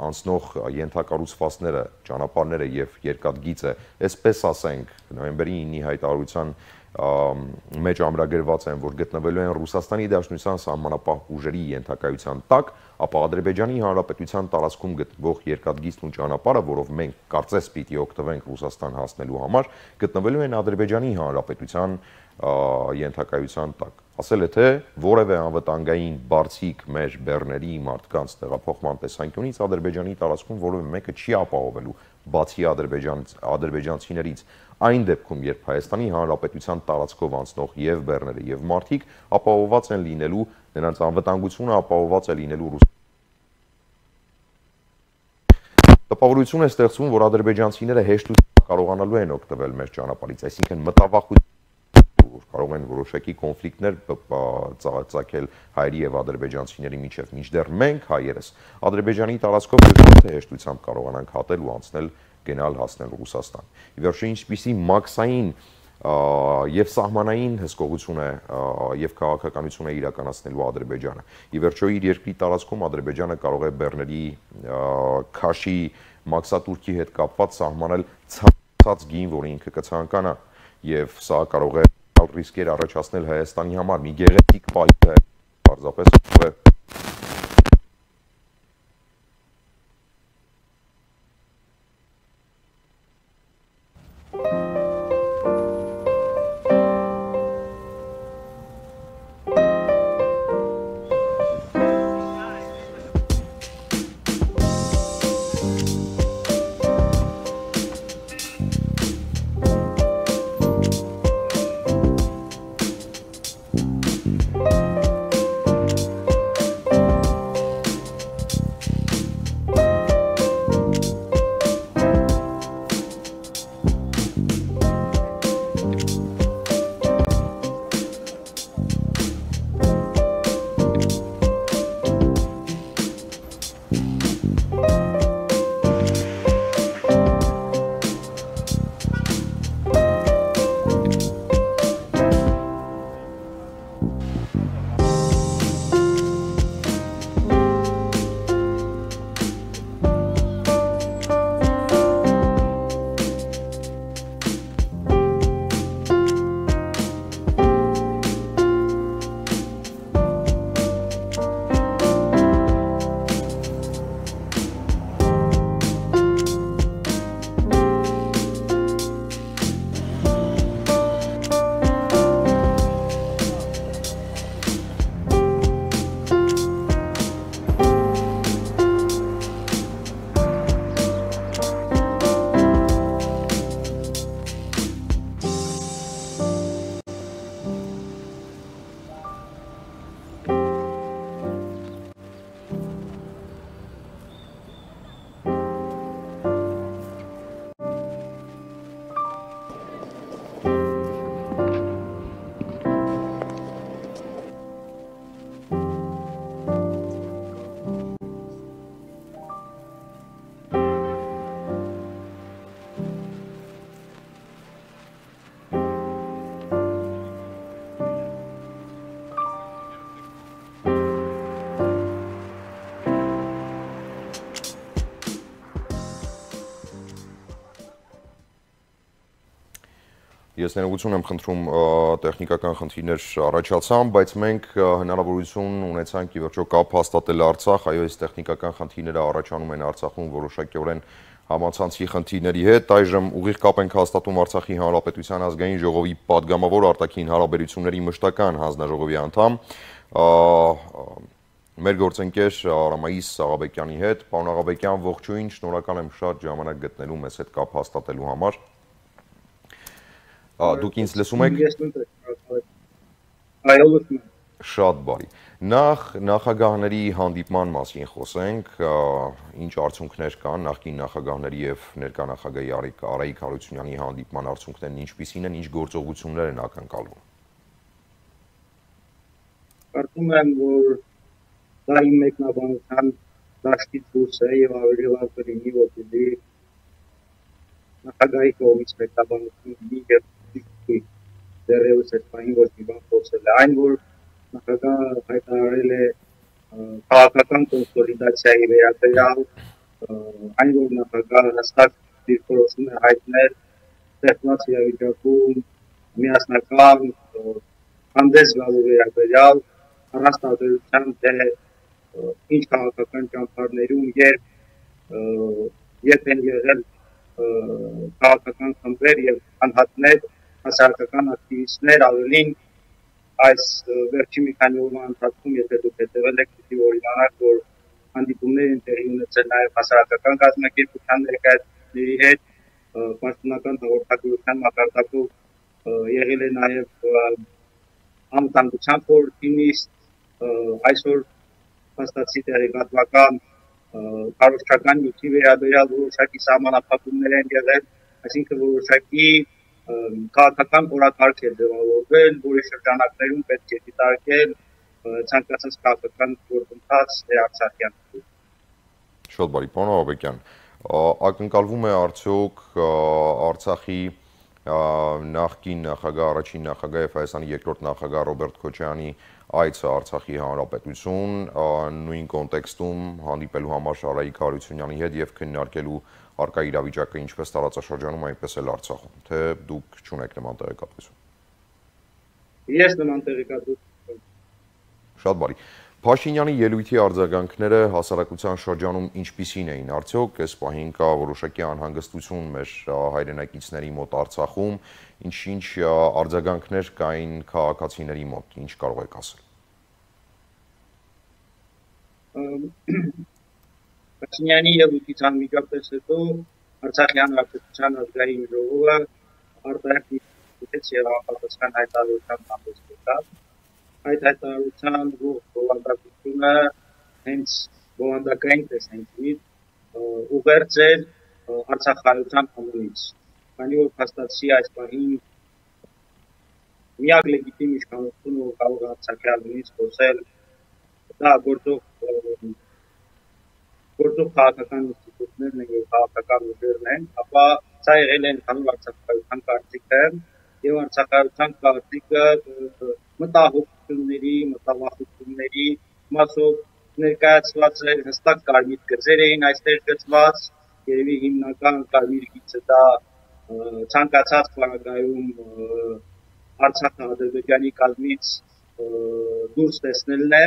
անցնող ենթակառուցվածքները, ճանապարհները եւ երկաթգիծը, այսպես ասենք, նոյեմբերի ինի հայտարարության մեջ ամրագրված են, որ գտնվելու են Ռուսաստանի Դաշնության սահմանապահ ուժերի ենթակայության տակ, ապա Ադրբեջանի Հանրապետության տարածքում գտնվող երկաթգիծն ու ճանապարհը, որով մենք կարծես պիտի օգտվենք Ռուսաստան հասնելու համար, գտնվելու են Ադրբեջանի Հանրապետության ենթակայության տակ։ Ասել է թե որևէ անվտանգային բարձիկ մեր բեռների մարդկանց տեղափոխման տեսանկյունից Ադրբեջանի տարածքում որևէ մեկը չի ապահովելու բացի ադրբեջանցիներից, այն դեպքում, երբ Հայաստանի Հանրապետության տարածքով անցնող եւ բեռները եւ մարդիկ ապահովված են լինելու, նրանց անվտանգությունը ապահովված է լինելու ռուս։ Տպավորություն է ստեղծվում, որ ադրբեջանցիները հեշտությամբ կարողանալու են օգտվել մեր ճանապարհից, այսինքն մտավախություն կարող են որոշակի կոնֆլիկտներ ծագել հայերի եւ ադրբեջանցիների միջև, մինչդեռ մենք հայերս Ադրբեջանի տարածքով ոչ հեշտությամբ կարողանանք հատել ու անցնել գնալ հասնել Ռուսաստան։ Ի վերջո ինչպիսի մաքսային եւ սահմանային հսկողություն է եւ քաղաքականություն է իրականացնելու Ադրբեջանը։ Ի վերջո իր երկրի տարածքում Ադրբեջանը կարող է բեռների քաշի մաքսատուրքի հետ կապված սահմանել ցած գին, որը ինքը կցանկանա, եւ սա կարող է ռիսկեր առաջացնել Հայաստանի համար։ Մի գեղեցիկ պայք է պարզապես Ես ներողություն եմ խնդրում, տեխնիկական խնդիրներ առաջացան, բայց մենք հնարավորություն ունեցանք ի վերջո կապ հաստատել Արցախ, այո, այս տեխնիկական խնդիրները առաջանում են Արցախում որոշակիորեն համացանցի խնդիրների հետ։ Այժմ ուղիղ կապ ենք հաստատում Արցախի Հանրապետության ազգային ժողովի պատգամավոր արտաքին հարաբերությունների մշտական հանձնաժողովի անդամ մեր գործընկեր Արամայիս Աղաբեկյանի հետ։ Պարոն Աղաբեկյան, ողջույն, շնորհակալ եմ շատ ժամանակ գտնելու մեզ հետ կապ հաստատելու համար։ Դուք ինձ լսում եք։ Այո, լսում եմ։ Շատ բարի։ Նախ նախագահների հանդիպման մասին խոսենք, ինչ արդյունքներ կան նախկին նախագահների եւ ներկա նախագահի Արայիկ Հարությունյանի հանդիպման արդյունքներն ինչպիսին են, ինչ գործողություններ են ակնկալվում։ Կարծում եմ, որ դա իմ մեկնաբանության դաշտից դուրս է եւ ավելի լավ կլինի, որպեսզի նախագահի կողմից մեկնաբանություն լինի եւ դեռևս այս բանի ոչ մի բան խոսել է, այն որ նախագահը հայտարարել է քաղաքական կոնսոլիդացիայի վերաբերյալ, այն որ նախագահը հստակ դիրքորոշում է հայտնել ստեղծված իրավիճակում միասնական հանդես գալու վերաբերյալ, առանց տարբերության թե ինչ քաղաքական ճամփարներում երբ են եղել քաղաքական խմբեր եւ անհատներ, հասարակական ակտիվիստներ, ավելին այս վերջի մի քանի օրվա ընթացքում, եթե դուք հետևել եք, պիտի օրինանաք, որ հանդիպումներ են տեղի ունեցել նաև հասարակական կազմակերպության ներկայացուցիչների հետ, պաշտոնական հաղորդագրության մակարդակով եղել է նաև անվտանգության խորհրդի նիստ, այսօր փաստացի տեղեկատվական քարոզչական նյութի վերաբերյալ որոշակի սահմանափակումներ են եղել, այսինքն որոշակի քաղաքական օրակարգ է ձևավորվել, որի շրջանակներում պետք է դիտարկել ցանկացած քաղաքական գործընթաց Արցախյան։ Շատ բարի, պարոն Աղաբեկյան, ակնկալվում է արդյոք Արցախի նախկին նախագահ, առաջին նախագահ եւ Հայաստանի երկրորդ նախագահ Ռոբերտ Քոչարյանի այցը Արցախի Հանրապետություն, նույն կոնտեքստում հանդիպելու համար Արայիկ Հարությունյանի հետ եւ քննարկելու արկա իրավիճակը ինչպես տարածաշրջանում, այնպես էլ Արցախում, թե դուք չունեք նման տեղեկատվություն։ Ես նման տեղեկատվություն չունեմ։ Շատ բարի։ Փաշինյանի ելույթի արձագանքները հասարակության շրջանում ինչպիսին էին, արդյոք այս պահին կա որոշակի անհանգստություն մեր հայրենակիցների մոտ Արցախում, ինչ-ինչ արձագանքներ կային քաղաքացիների մոտ, ինչ կարող եք ասել։ Փաշինյանի ելույթից անմիջապես հետո Արցախի Հանրապետության ազգային ժողովը արտահայտեց եւ անպատասխան հայտարարության հանդես եկավ։ Այդ հայտարարության բովանդակությունը հենց բովանդակային տեսանկյունից ուղերձ էր արցախայության անունից, քանի որ փաստացի այս պահին միակ լեգիտիմ իշխանությունը, որ կարող է Արցախի անունից խոսել, դա գործող գործող քաղաքական ինստիտուտներն են եւ քաղաքական ուժերն են, ապա սա եղել է ընդհանուր արցախայության կարծիքը եւ արցախայության կարծիքը մտահոգությունների, մտավախությունների մասով ներկայացված էր, հստակ կարմիր գծեր էին այստեղ գծված, երևի հիմնական կարմիր գիծը դա ցանկացած պարագայում Արցախը Ադրբեջանի կազմից դուրս տեսնելն է,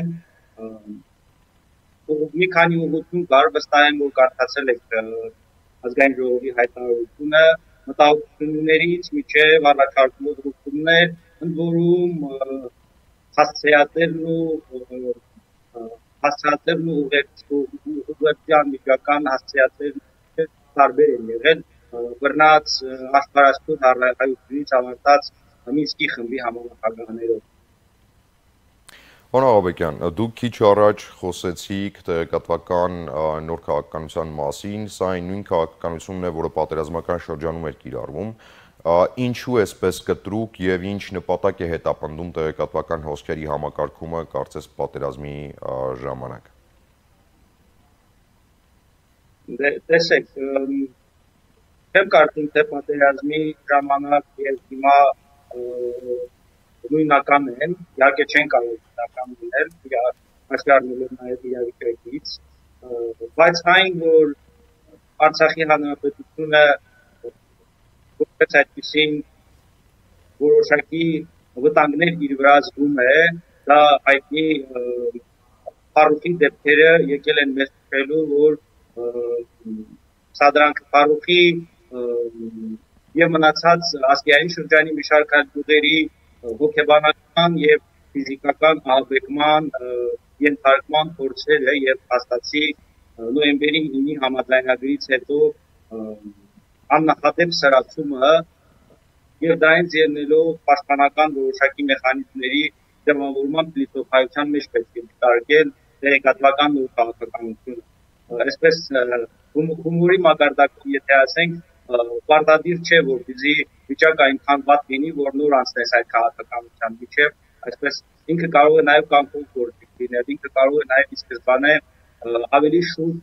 մի քանի ուղղություն կար, վստահ եմ, որ կարդացել եք ազգային ժողովի հայտարարությունը, մտահոգություններից մինչև առաջարկվող ուղղություններ, ընդ որում հասցեատերն ու հասցեատերն ու ուղղության միջական հասցեատերն տարբեր են եղել, բռնած աշխարհասփյուռ հայությունից ավարտած Մինսկի խմբի համանախագահներով։ Պարոն Աղաբեկյան, դուք քիչ առաջ խոսեցիք տեղեկատվական նոր քաղաքականության մասին, սա այն նույն քաղաքականությունն է, որը պատերազմական շրջանում էր կիրառվում, ինչու էսպես կտրուկ եւ ինչ նպատակ է հետապնդում տեղեկատվական հոսքերի համակարգումը, կարծես պատերազմի ժամանակ։ Տեսեք, չեմ կարծում, թե պատերազմի ժամանակ եւ հիմա նույնական են, իհարկե չեն կարող նույնական լինել, աշխարհում նաև իրավիճակից, բայց այն, որ Արցախի Հանրապետությունը որպես այդպիսին որոշակի վտանգներ իր վրա զգում է, դա հայտնի Ֆարուխի դեպքերը եկել են մեզ քելու, որ սադրանք Ֆարուխի եւ մնացած ազգային շրջանի մի շարք գյուղերի հոգեբանական եւ ֆիզիկական ահաբեկման ենթարկման փորձերը եւ հաստացի նոյեմբերի ինի համաձայնագրից հետո աննախադեպ սրացումը եւ դրանից ելնելով պաշտպանական որոշակի մեխանիզմների դրամավորման փիլիսոփայության մեջ պետք է դիտարկել տեղեկատվական ու քաղաքականությունը։ Այսպես հումորի մակարդակում եթե ասենք պարտադիր չէ որպեսզի վիճակը այնքան վատ լինի, որ նոր անցնես այդ քաղաքականության միջև, այսպես ինքը կարող է նաեւ կամքով գործի լինել, ինքը կարող է նաեւ ի սկզբանե ավելի շուտ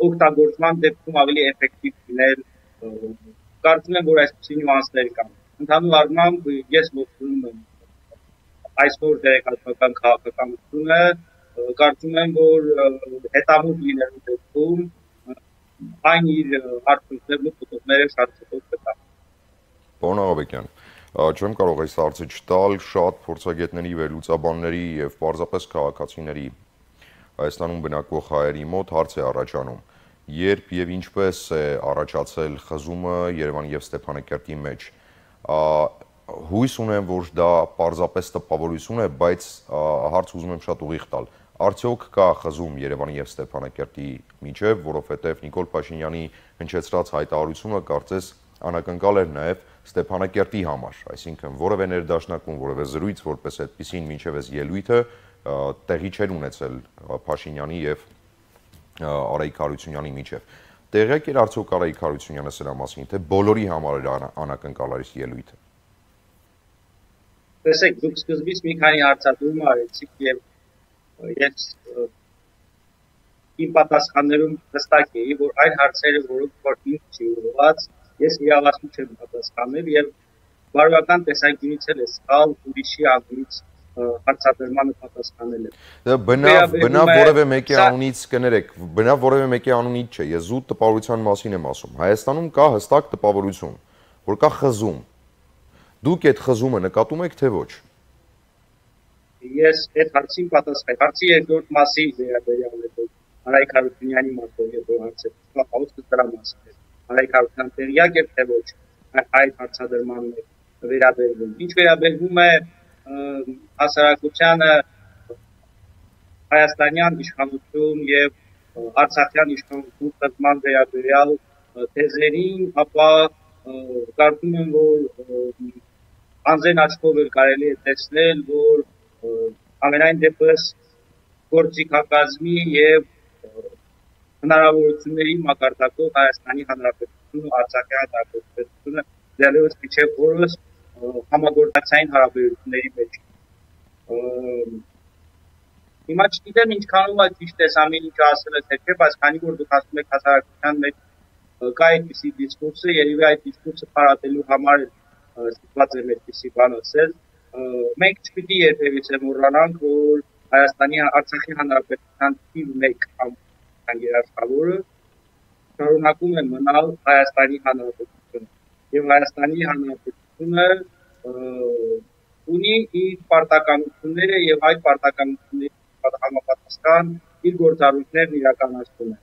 օգտագործման դեպքում ավելի էֆեկտիվ լինել, կարծում եմ, որ այսպիսի նյուանսներ կան։ Ընդհանուր առմամբ ես ողջունում եմ այսօր տեղեկատվական քաղաքականությունը, կարծում եմ, որ հետամուտ լինելու դեպքում այն իր արդյունքներն ու փոփոխները շատ շուտ կտա։ Պարոն Աղաբեկյան, չեմ կարող այս հարցը չտալ, շատ փորձագետների, վերլուծաբանների եւ պարզապես քաղաքացիների Հայաստանում բնակվող հայերի մոտ հարց է առաջանում. երբ եւ ինչպես է առաջացել խզումը Երևանի եւ Ստեփանակերտի մեջ։ Հույս ունեմ, որ դա պարզապես տպավորություն է, բայց հարց ուզում եմ շատ ուղիղ տալ։ Արդյոք կա խզում Երևանի եւ Ստեփանակերտի միջև, որովհետեւ Նիկոլ Փաշինյանի հնչեցրած հայտարարությունը կարծես անակնկալ էր նաեւ Ստեփանակերտի համար, այսինքն որևէ ներդաշնակում, որևէ զրույց, որպես այդպեսին մինչև այս ելույթը տեղի չէր ունեցել Փաշինյանի եւ Արայիկ Հարությունյանի միջև։ Տեղյակ էր արդյոք Արայիկ Հարությունյանը սրա մասին, թե բոլորի համար էր անակնկալ այս ելույթը։ Տեսեք, դուք սկզբից մի քանի հարցադրում արեցիք եւ ես իմ պատասխաններում հստակ էի, որ այն հարցերը, որոնք որ ինձ չի ուղղված, ես իրավասու չեմ պատասխանել եւ բարոյական տեսանկյունից էլ է սխալ ուրիշի անգլից հարցադրմանը պատասխանել է։ Բնավ բնավ որևէ մեկի անունից կներեք, բնավ որևէ մեկի անունից չէ, ես զուտ տպավորության մասին եմ ասում։ Հայաստանում կա հստակ տպավորություն, որ կա խզում։ Դուք այդ խզումը նկատում եք թե ոչ։ Ես այդ հարցին պատասխան, հարցի երկրորդ մասի վերաբերյալ է Արայիկ Հարությունյանի մասով երկրորդ հարցը, հաղորդը դրա մասին է։ Արայիկ Հարությունյան տեղյակ է թե ոչ այդ հարցադրման վերաբերվում։ Ինչ վերաբերվում է հասարակությանը հայաստանյան իշխանություն եւ արցախյան իշխանություն խզման վերաբերյալ թեզերին, ապա կարծում եմ, որ անձեն աչքով էլ կարելի է տեսնել, որ ամենայն դեպս գործիքակազմի եւ հնարավորությունների մակարդակով Հայաստանի Հանրապետությունը ու Արցախի Հանրապետությունը դեռևս միջև օրս համագործակցային հարաբերությունների մեջ։ Հիմա չգիտեմ ինչքանով է ճիշտ է ամեն ինչ ասել է թե չէ, բայց քանի որ դուք ասում եք հասարակության մեջ կա այդպիսի դիսկուրսը, երևի այդ դիսկուրսը փարատելու համար ստիպված եմ այդպիսի բան ասել։ Մենք չպիտի երբևիցե մոռանանք, որ Հայաստանի Արցախի Հանրապետության թիվ մեկ երաշխավորը շարունակում է մնալ Հայաստանի Հանրապետությունը։ Եվ Հայաստանի Հանրապետությունը ունի իր պարտականությունները եւ այդ պարտականությունների համապատասխան իր գործառույթներն իրականացնում է։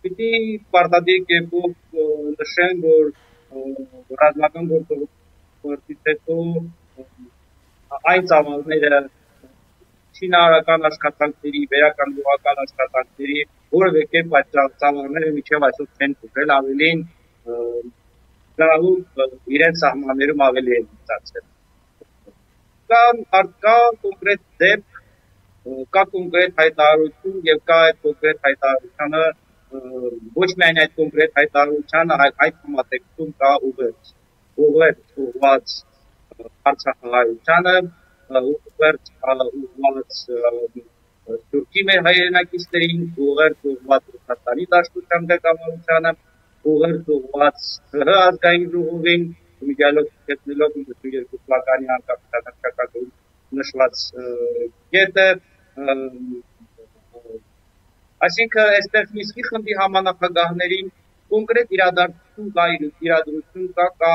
Պիտի պարտադիր կերպով նշեմ, որ ռազմական գործողությունից հետո այն ծավալները շինարարական աշխատանքների, վերականգնողական աշխատանքների որևէ կերպ այդ ծավալները մինչև այսօր չեն փոխել, ավելին դրանով իրենց սահմաններում ավելի են մտածել։ Կա կա կոնկրետ դեպք, կա կոնկրետ հայտարարություն եւ կա այդ կոնկրետ հայտարարությունը ոչ միայն այդ կոնկրետ հայտարարությանը, այլ այդ համատեքստում կա ուղերձ, ուղերձ ուղղված Արցախահայությանը, ուղերձ ուղղված Թուրքի մեր հայրենակիցներին, ուղերձ ուղղված Ռուսաստանի Դաշնության ղեկավարությանը, ուղերձ ուղղված ՀՀ ազգային ժողովին, միջալոց գտնելով ութսունյոթ թվականի անկախության նշված կետը, այսինքն այստեղ Միսկի խմբի համանախագահներին կոնկրետ իրադարձություն կա, իրադրություն կա, կա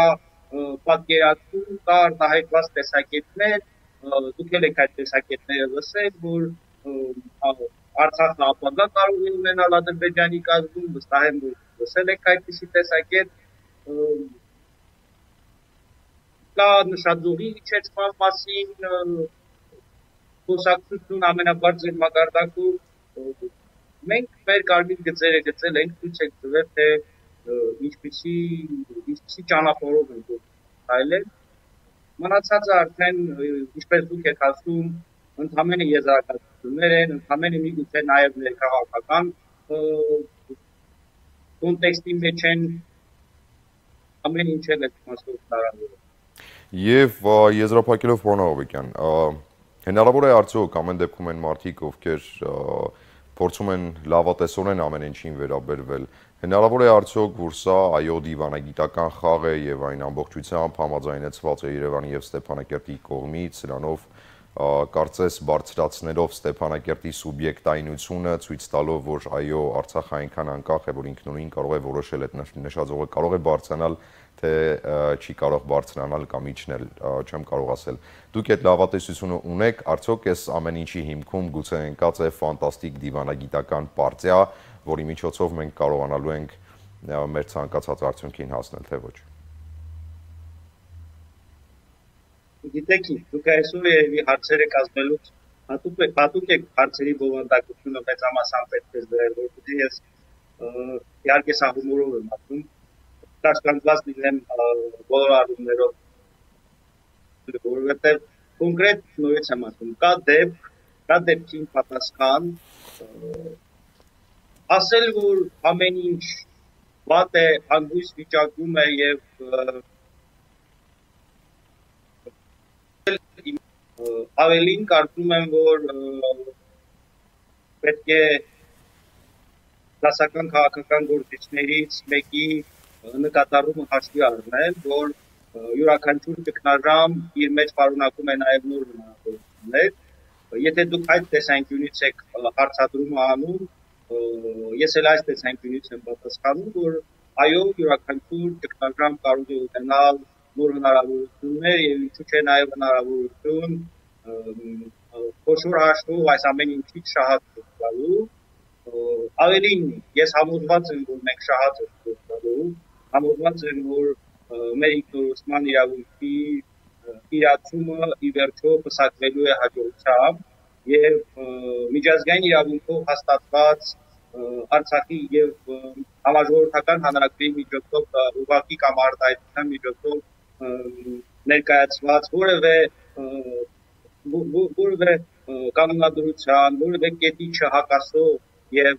պատկերացում, կա արտահայտված տեսակետներ, դուք էլ եք այդ տեսակետները լսել, որ Արցախը ապագա կարող է ունենալ Ադրբեջանի կազմում, վստահ եմ, որ լսել եք այդպիսի տեսակետ, կա նշաձողի իջեցման մասին խոսակցություն ամենաբարձր մակարդակում, մենք մեր կարմիր գծերը գծել ենք, ցույց ենք տվել, թե ինչպիսի ինչպիսի ճանապարհով ենք այլել, մնացածը արդեն ինչպես դուք եք ասում, ընդհանրապես եզրակացություններ են, ընդհանրապես միգուցե նաև ներքաղաքական կոնտեքստի մեջ են, ամեն ինչ էլ այդ մասով հնարավոր է։ Եվ եզրափակելով պարոն Աղաբեկյան, հնարավոր է արդյոք ամեն դեպքում են մարդիկ, ովքեր փորձում են լավատեսորեն ամեն ինչին վերաբերվել, հնարավոր է արդյոք, որ սա այո դիվանագիտական խաղ է եւ այն ամբողջությամբ համաձայնեցված է Երևանի եւ Ստեփանակերտի կողմից, սրանով կարծես բարձրացնելով Ստեփանակերտի սուբյեկտայնությունը, ցույց տալով, որ այո Արցախը այնքան անկախ է, որ ինքնուրույն կարող է որոշել այդ նշաձողը կարող է բարձրանալ, թե չի կարող բարձրանալ կամ իջնել, չեմ կարող ասել։ Դուք այդ լավատեսությունը ունեք, արդյոք այս ամեն ինչի հիմքում գուցե ընկած է ֆանտաստիկ դիվանագիտական պարտիա, որի միջոցով մենք կարողանալու ենք մեր ցանկացած արդյունքին հասնել, թե ոչ։ Գիտեք, դուք այսօր երևի հարցերը կազմելուց հատուկ եք, հատուկ եք հարցերի բովանդակությունը մեծամասամբ պետք է դրել, որովհետև ես իհարկե սա հումորով եմ ասում, կաշկանդված լինեմ բոլոր առումներով, որովհետև կոնկրետ նորից եմ ասում, կա դեպք, կա դեպքին պատասխան, ասել, որ ամեն ինչ վատ է, հանգույց վիճակում է եւ ավելին կարծում եմ, որ պետք է դասական քաղաքական գործիչներից մեկի նկատառումը հաշվի առնել, որ յուրաքանչյուր ճգնաժամ իր մեջ պարունակում է նաև նոր հնարավորություններ։ Եթե դուք այդ տեսանկյունից եք հարցադրումը անում, ես էլ այս տեսանկյունից եմ պատասխանում, որ այո, յուրաքանչյուր ճգնաժամ կարող է ունենալ նոր հնարավորություններ եւ ինչու՞ չէ նաև հնարավորություն խոշոր հաշվով այս ամեն ինչից շահած ստանալու։ Ավելին, ես համոզված եմ, որ մենք շահած ենք ստանալու, համոզված եմ, որ մեր ինքնորոշման իրավունքի իրացումը ի վերջո պսակվելու է հաջողությամբ եւ միջազգային իրավունքով հաստատված Արցախի եւ համաժողովրդական հանրակրի միջոցով ուղղակի կամ արտահայտության միջոցով ներկայացված որևէ որևէ կանոնադրության, որևէ կետի չհակասող եւ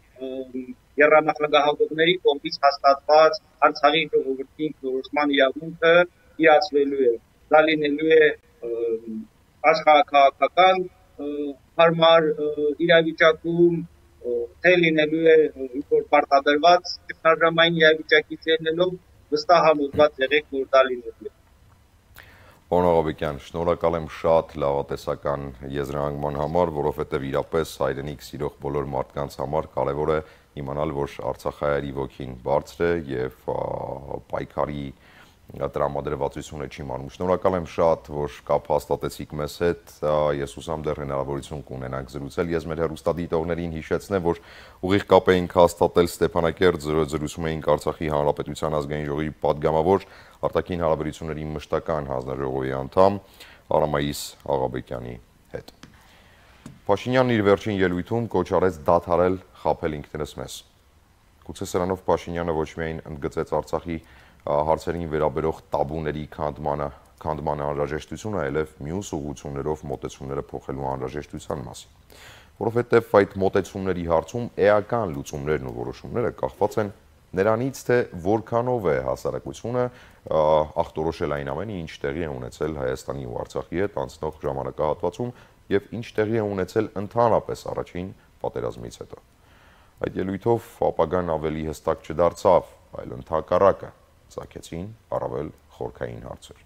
եռանախագահողների կողմից հաստատված Արցախի ժողովրդի ինքնորոշման իրավունքը իրացվելու է։ Դա լինելու է աշխարհաքաղաքական հարմար իրավիճակում, թե լինելու է ինչ-որ պարտադրված ճգնաժամային իրավիճակից ելնելով, վստահ համոզված եղեք, որ դա լինելու է։ Պարոն Աղաբեկյան, շնորհակալ եմ շատ լավատեսական եզրահանգման համար, որովհետև իրապես հայրենիք սիրող բոլոր մարդկանց համար կարևոր է իմանալ, որ արցախահայերի ոգին բարձր է եւ պայքարի տրամադրվածությունը չի մանում։ Շնորհակալ եմ շատ, որ կապ հաստատեցիք մեզ հետ, ես հուսամ դեռ հնարավորություն կունենանք զրուցել։ Ես մեր հեռուստադիտողներին հիշեցնեմ, որ ուղիղ կապ էինք հաստատել Ստեփանակերտ, զրուցում էինք Արցախի Հանրապետության ազգային ժողովի պատգամավոր, արտաքին հարաբերությունների մշտական հանձնաժողովի անդամ Արամայիս Աղաբեկյանի հետ։ Փաշինյանն իր վերջին ելույթում կոչ արեց դադարել խաբել ինքներս մեզ։ Գուցե սրանով Փաշինյանը ոչ միայն ընդգծեց Արցախի հարցերին վերաբերող տաբուների քանդմանը, քանդման անհրաժեշտությունը, այլև մյուս ուղղություններով մոտեցումները փոխելու անհրաժեշտության մասին։ Որովհետև այդ մոտեցումների հարցում էական լուծումներն ու որոշումները կախված են նրանից, թե որքանով է հասարակությունը ախտորոշել այն ամենը, ինչ տեղի է ունեցել Հայաստանի ու Արցախի հետ անցնող ժամանակահատվածում եւ ինչ տեղի է ունեցել ընդհանրապես առաջին պատերազմից հետո։ Այդ ելույթով ապագան ավելի հստակ չդարձավ, այլ ընդհակառակը ծագեցին առավել խորքային հարցեր։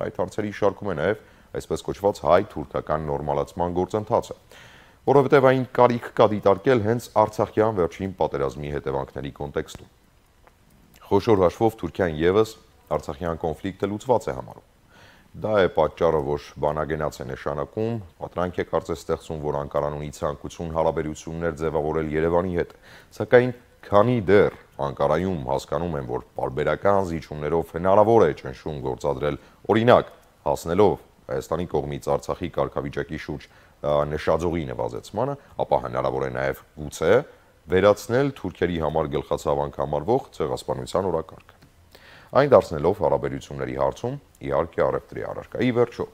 Այդ հարցերի շարքում է նաև այսպես կոչված հայ-թուրքական նորմալացման գործընթացը, որովհետև այն կարիք կա դիտարկել հենց Արցախյան վերջին պատերազմի հետևանքների կոնտեքստում։ Խոշոր հաշվով Թուրքիան եւս Արցախյան կոնֆլիկտը լուծված է համարում։ Դա է պատճառը, որ բանագենաց է նշանակում, պատրանք է կարծես ստեղծում, որ Անկարան ունի ցանկություն հարաբերություններ ձևավորել Երևանի հետ, սակայն քանի դեռ Անկարայում հասկանում են, որ պարբերական զիջումներով հնարավոր է ճնշում գործադրել, օրինակ, հասնելով Հայաստանի կողմից Արցախի կարգավիճակի շուրջ նշաձողի նվազեցմանը, ապա հնարավոր է նաև գուցե վերացնել թուրքերի համար գլխացավանք համարվող ցեղասպանության օրակարգը։ Այն դարձնելով հարաբերությունների հարցում իհարկե առևտրի առարկա։ Ի վերջո,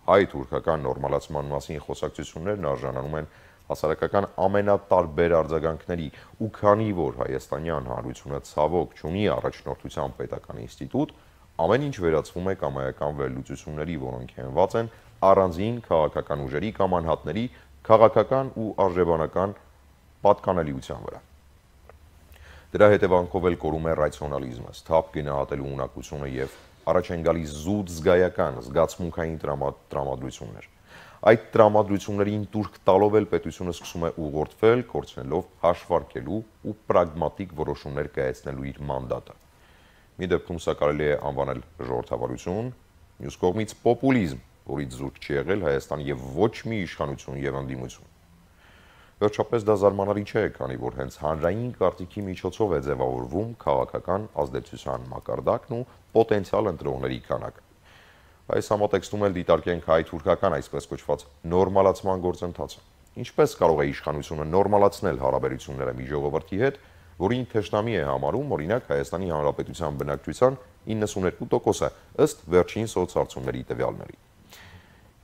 հայ-թուրքական նորմալացման մասին խոսակցություններն արժանանում են հասարակական ամենատարբեր արձագանքների, ու քանի որ Հայաստանյան Հանրությունը ցավոք չունի առաջնորդության պետական ինստիտուտ, ամեն ինչ վերածվում է կամայական վերլուծությունների, որոնք հենված են առանձին քաղաքական ուժերի կամ անհատների քաղաքական ու արժեբանական պատկանելիության վրա։ Դրա հետևանքով էլ կորում է ռացիոնալիզմը, սթափ գնահատելու ունակությունը եւ առաջ են գալիս զուտ զգայական, զգացմունքային տրամադրություններ։ Այդ տրամադրություններին տուրք տալով էլ պետությունը սկսում է ուղղորդվել, կորցնելով հաշվարկելու ու պրագմատիկ որոշումներ կայացնելու իր մանդատը։ Մի դեպքում սա կարելի է անվանել ժողովրդավարություն, մյուս կողմից պոպուլիզմ, որից զուրկ չի եղել Հայաստանի եւ ոչ մի իշխանություն եւ ընդդիմություն։ Վերջապես դա զարմանալի չէ, քանի որ հենց հանրային կարծիքի միջոցով է ձևավորվում քաղաքական ազդեցության մակարդակն ու պոտենցիալ ընտրողների քանակը։ Այս համատեքստում էլ դիտարկենք հայ-թուրքական այսպես կոչված նորմալացման գործընթացը։ Ինչպես կարող է իշխանությունը նորմալացնել հարաբերությունները մի ժողովրդի հետ, որին թշնամի է համարում, օրինակ, Հայաստանի Հանրապետության բնակչության իննսունհինգ տոկոսը ըստ վերջին սոցհարցումների տվյալների։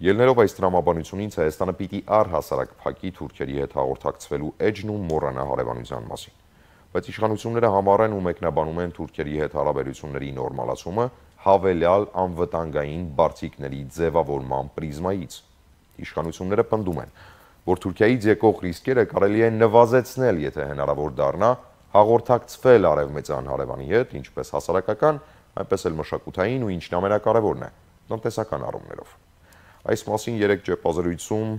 Ելներով այս տրամաբանությունից Հայաստանը պիտի առհասարակ փակի թուրքերի հետ հաղորդակցվելու էջն ու մոռանա հարևանության մասին։ Բայց իշխանությունները համառեն ու մեկնաբանում են թուրքերի հետ հարաբերությունների նորմալացումը հավելյալ անվտանգային բարձիկների ձևավորման պրիզմայից։ Իշխանությունները պնդում են, որ Թուրքիայից եկող ռիսկերը կարելի է նվազեցնել, եթե հնարավոր դառնա հաղորդակցվել արևմտյան հարևանի հետ, ինչպես հասարակական, այնպես էլ մշակութային ու ինչն ամենակարևորն է, տնտեսական առումներով։ Այս մասին երեք ճեպազրույցում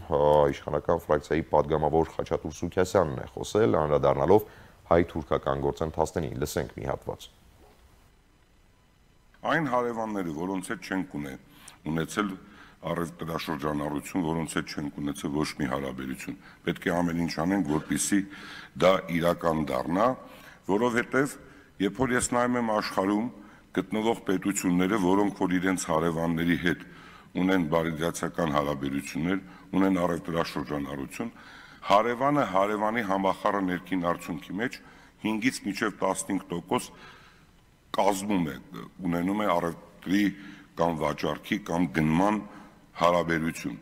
իշխանական ֆրակցիայի падգամավոր Խաչատուր Սուքիասյանն է խոսել, անդրադառնալով հայ-թուրքական գործընթացներին։ Լսենք մի հատված։ Այն հարևանները, որոնց հետ չենք ունեցել առևտրաշրջանառություն, որոնց հետ չենք ունեցել ոչ մի հարաբերություն, պետք է ամեն ինչ անենք, որպեսզի դա իրական դառնա, որովհետև երբ որ ես նայում եմ աշխարհում գտնվող պետությունները, որոնք որ իրենց հարևանների հետ ունեն բարիդրացիական հարաբերություններ, ունեն առևտրաշրջանառություն, հարևանը հարևանի համախառն ներքին արդյունքի մեջ հինգից մինչև տասնհինգ տոկոս կազմում է, ունենում է առևտրի կամ վաճառքի կամ գնման հարաբերություն։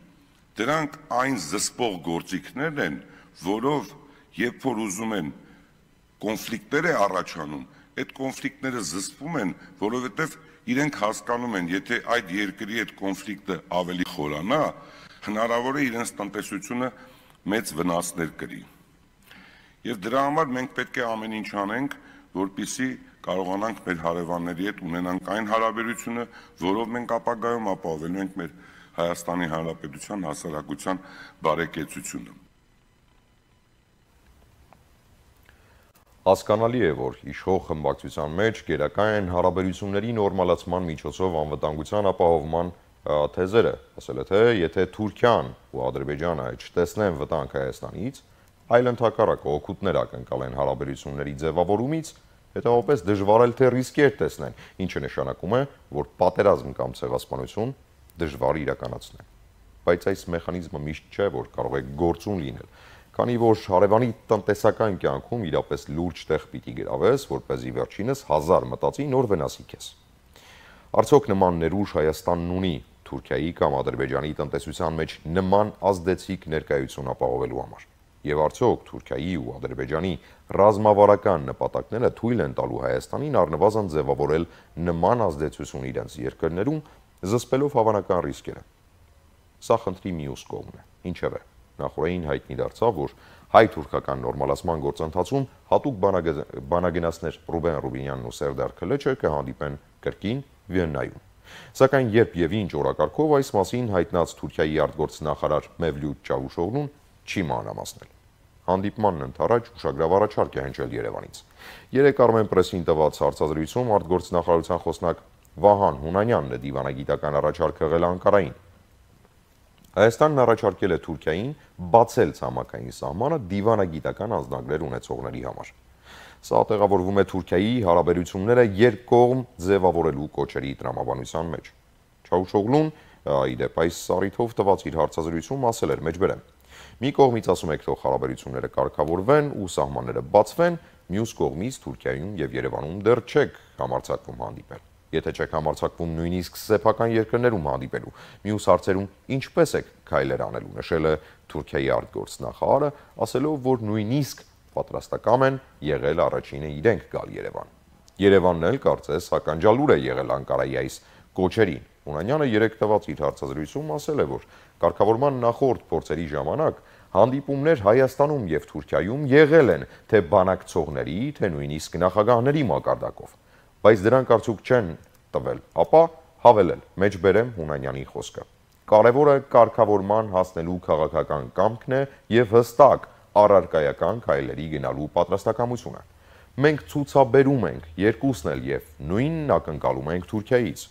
Դրանք այն զսպող գործիքներն են, որով երբ որ ուզում են կոնֆլիկտներ է առաջանում, այդ կոնֆլիկտները զսպում են, որովհետև իրենք հասկանում են, եթե այդ երկրի այդ կոնֆլիկտը ավելի խորանա, հնարավոր է իրենց տնտեսությունը մեծ վնասներ կրի։ Եվ դրա համար մենք պետք է ամեն ինչ անենք, որպեսզի կարողանանք մեր հարևանների հետ ունենանք այն հարաբերությունը, որով մենք ապագայում ապահովելու ենք մեր Հայաստանի Հանրապետության հասարակության բարեկեցությունը։ Հասկանալի է, որ իշխող խմբակցության մեջ գերակա են հարաբերությունների նորմալացման միջոցով անվտանգության ապահովման թեզերը, ասել է թե եթե Թուրքիան ու Ադրբեջանը չտեսնեն վտանգ Հայաստանից, այլ ընդհակառակը օգուտներ ակնկալեն հարաբերությունների ձևավորումից, հետևաբար դժվար է թե ռիսկեր տեսնեն, ինչը նշանակում է, որ պատերազմ կամ ցեղասպանություն դժվար իրականացնել։ Բայց այս մեխանիզմը միշտ չէ, որ կարող է գործուն լինել, քանի որ հարևանի տնտեսական կյանքում իրապես լուրջ տեղ պիտի գրավես, որպեսզի վերջինս հազար մտածի նոր վնասի քեզ։ Արդյոք նման ներուժ Հայաստանն ունի Թուրքիայի կամ Ադրբեջանի տնտեսության մեջ նման ազդեցիկ ներկայություն ապահովելու համար։ Եվ արդյոք Թուրքիայի ու Ադրբեջանի ռազմավարական նպատակները թույլ են տալու Հայաստանին առնվազն ձևավորել նման ազդեցություն իրենց երկրներում, զսպելով հավանական ռիսկերը։ Սա խնդրի մյուս կողմն է։ Ինչևէ, նախորդին հայտնի դարձավ, որ հայ-թուրքական նորմալացման գործընթացում հատուկ բանագենացներ Ռուբեն Ռուբինյանն ու Սերդար Քլեչը կհանդիպեն կրկին Վիեննայում։ Սակայն երբ եւ ինչ օրակարգով այս մասին հայտնած Թուրքիայի արտգործնախարար Մևլութ Չավուշօղլուն չի մանրամասնել։ Հանդիպմանն ընդառաջ ուշագրավ առաջարկ է հնչել Երևանից։ Երեք Armen Press-ին տված հարցազրույցում արտգործնախարարության խոսնակ Վահան Հունանյանն է դիվանագիտական առաջարկ եղել Անկարային։ Հայաստանն առաջարկել է Թուրքիային բացել ցամաքային սահմանը դիվանագիտական անձնագրեր ունեցողների համար։ Սա տեղավորվում է Թուրքիայի հարաբերությունները երկկողմ ձևավորելու կոչերի տրամաբանության մեջ։ Չաուշօղլուն իդեպ այս առիթով տված իր հարցազրույցում ասել էր մեջբերեմ. մի կողմից ասում եք թող հարաբերությունները կարգավորվեն ու սահմանները բացվեն, մյուս կողմից Թուրքիայում եւ Երևանում դեռ չեք համարձակվում հանդիպել։ Եթե չեք համարձակվում նույնիսկ սեփական երկրներում հանդիպելու, մյուս հարցերում ինչպես եք քայլեր անելու, նշել է Թուրքիայի արտգործնախարարը, ասելով, որ նույնիսկ պատրաստական են եղել առաջինը իրենք գալ Երևան։ Երևանն էլ կարծես հականջալուր է եղել Անկարայի այս կոչերին։ Հունանյանը երեկ տված իր հարցազրույցում ասել է, որ կարգավորման նախորդ փորձերի ժամանակ հանդիպումներ Հայաստանում եւ Թուրքիայում եղել են թե բանակցողների, թե նույնիսկ նախագահների մակարդակով, բայց դրանք արդյոք չեն տվել, ապա հավելել մեջբերեմ Հունանյանի խոսքը։ Կարևորը կարգավորման հասնելու քաղաքական կամքն է եւ հստակ առարկայական քայլերի գնալու պատրաստակամությունը։ Մենք ցուցաբերում ենք երկուսն էլ եւ նույնն ակնկալում ենք Թուրքիայից։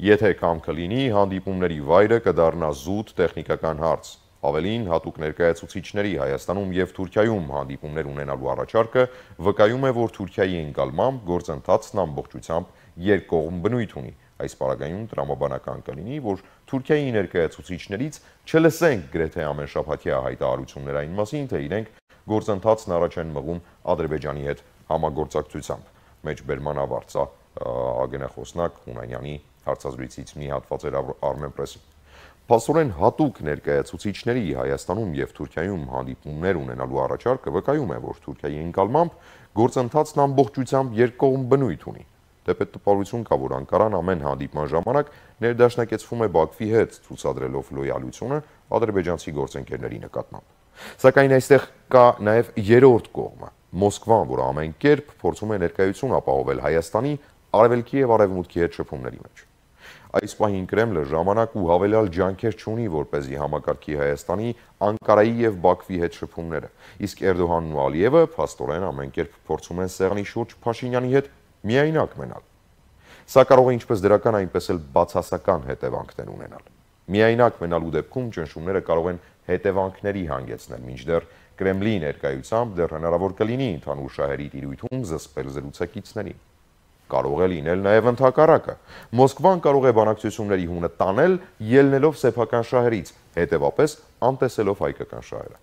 Եթե կամքը լինի, հանդիպումների վայրը կդառնա զուտ տեխնիկական հարց։ Ավելին, հատուկ ներկայացուցիչների Հայաստանում եւ Թուրքիայում հանդիպումներ ունենալու առաջարկը վկայում է, որ Թուրքիայի ընկալմամբ գործընթացն ամբողջությամբ երկկողմ բնույթ ունի։ Այս պարագայում տրամաբանական կլինի, որ Թուրքիայի ներկայացուցիչներից չլսենք գրեթե ամենշաբաթյա հայտարարություններ այն մասին, թե իրենք գործընթացն առաջ են մղում Ադրբեջանի հետ համագործակցությամբ։ Մեջբերման ավարտա ագենախոսնակ Հունանյանի հարցազրույցից մի հատված էր Armenpress-ը։ Փաստորեն հատուկ ներկայացուցիչների Հայաստանում եւ Թուրքիայում հանդիպումներ ունենալու առաջարկը վկայում է, որ Թուրքիայի ընկալմամբ գործընթացն ամբողջությամբ երկկողմ բնույթ ունի։ Դեպետ տպավորություն կա, որ Անկարան ամեն հանդիպման ժամանակ ներդաշնակեցվում է Բաքվի հետ, ցուցադրելով լոյալությունը ադրբեջանցի գործընկերների նկատմամբ։ Սակայն այստեղ կա նաեւ երրորդ կողմը՝ Մոսկվան, որը ամեն կերպ փորձում է ներկայություն ապահովել Հայաստանի արևելքի եւ արևմուտքի հետ շփումների մեջ։ Այս պահին Կրեմլը ժամանակ ու հավելյալ ջանքեր չունի, որպեսզի համակարգի Հայաստանի, Անկարայի եւ Բաքվի հետ շփումները, իսկ Էրդողանն ու Ալիևը փաստորեն ամեն կերպ փորձում են սեղանի շուրջ Փաշինյանի հետ միայնակ մնալ։ Սա կարող է ինչպես դրական, այնպես էլ բացասական հետևանքներ ունենալ։ Միայնակ մնալու դեպքում ճնշումները կարող են հետևանքների հանգեցնել, մինչդեռ Կրեմլի ներկայությամբ դեռ հնարավոր կլինի ընդհանուր շահերի տիրույթում զսպել զրուցակիցներին։ Կարող է լինել նաև ընդհակառակը։ Մոսկվան կարող է բանակցությունների հունը տանել, ելնելով սեփական շահերից, հետևապես անտեսելով հայկական շահերը։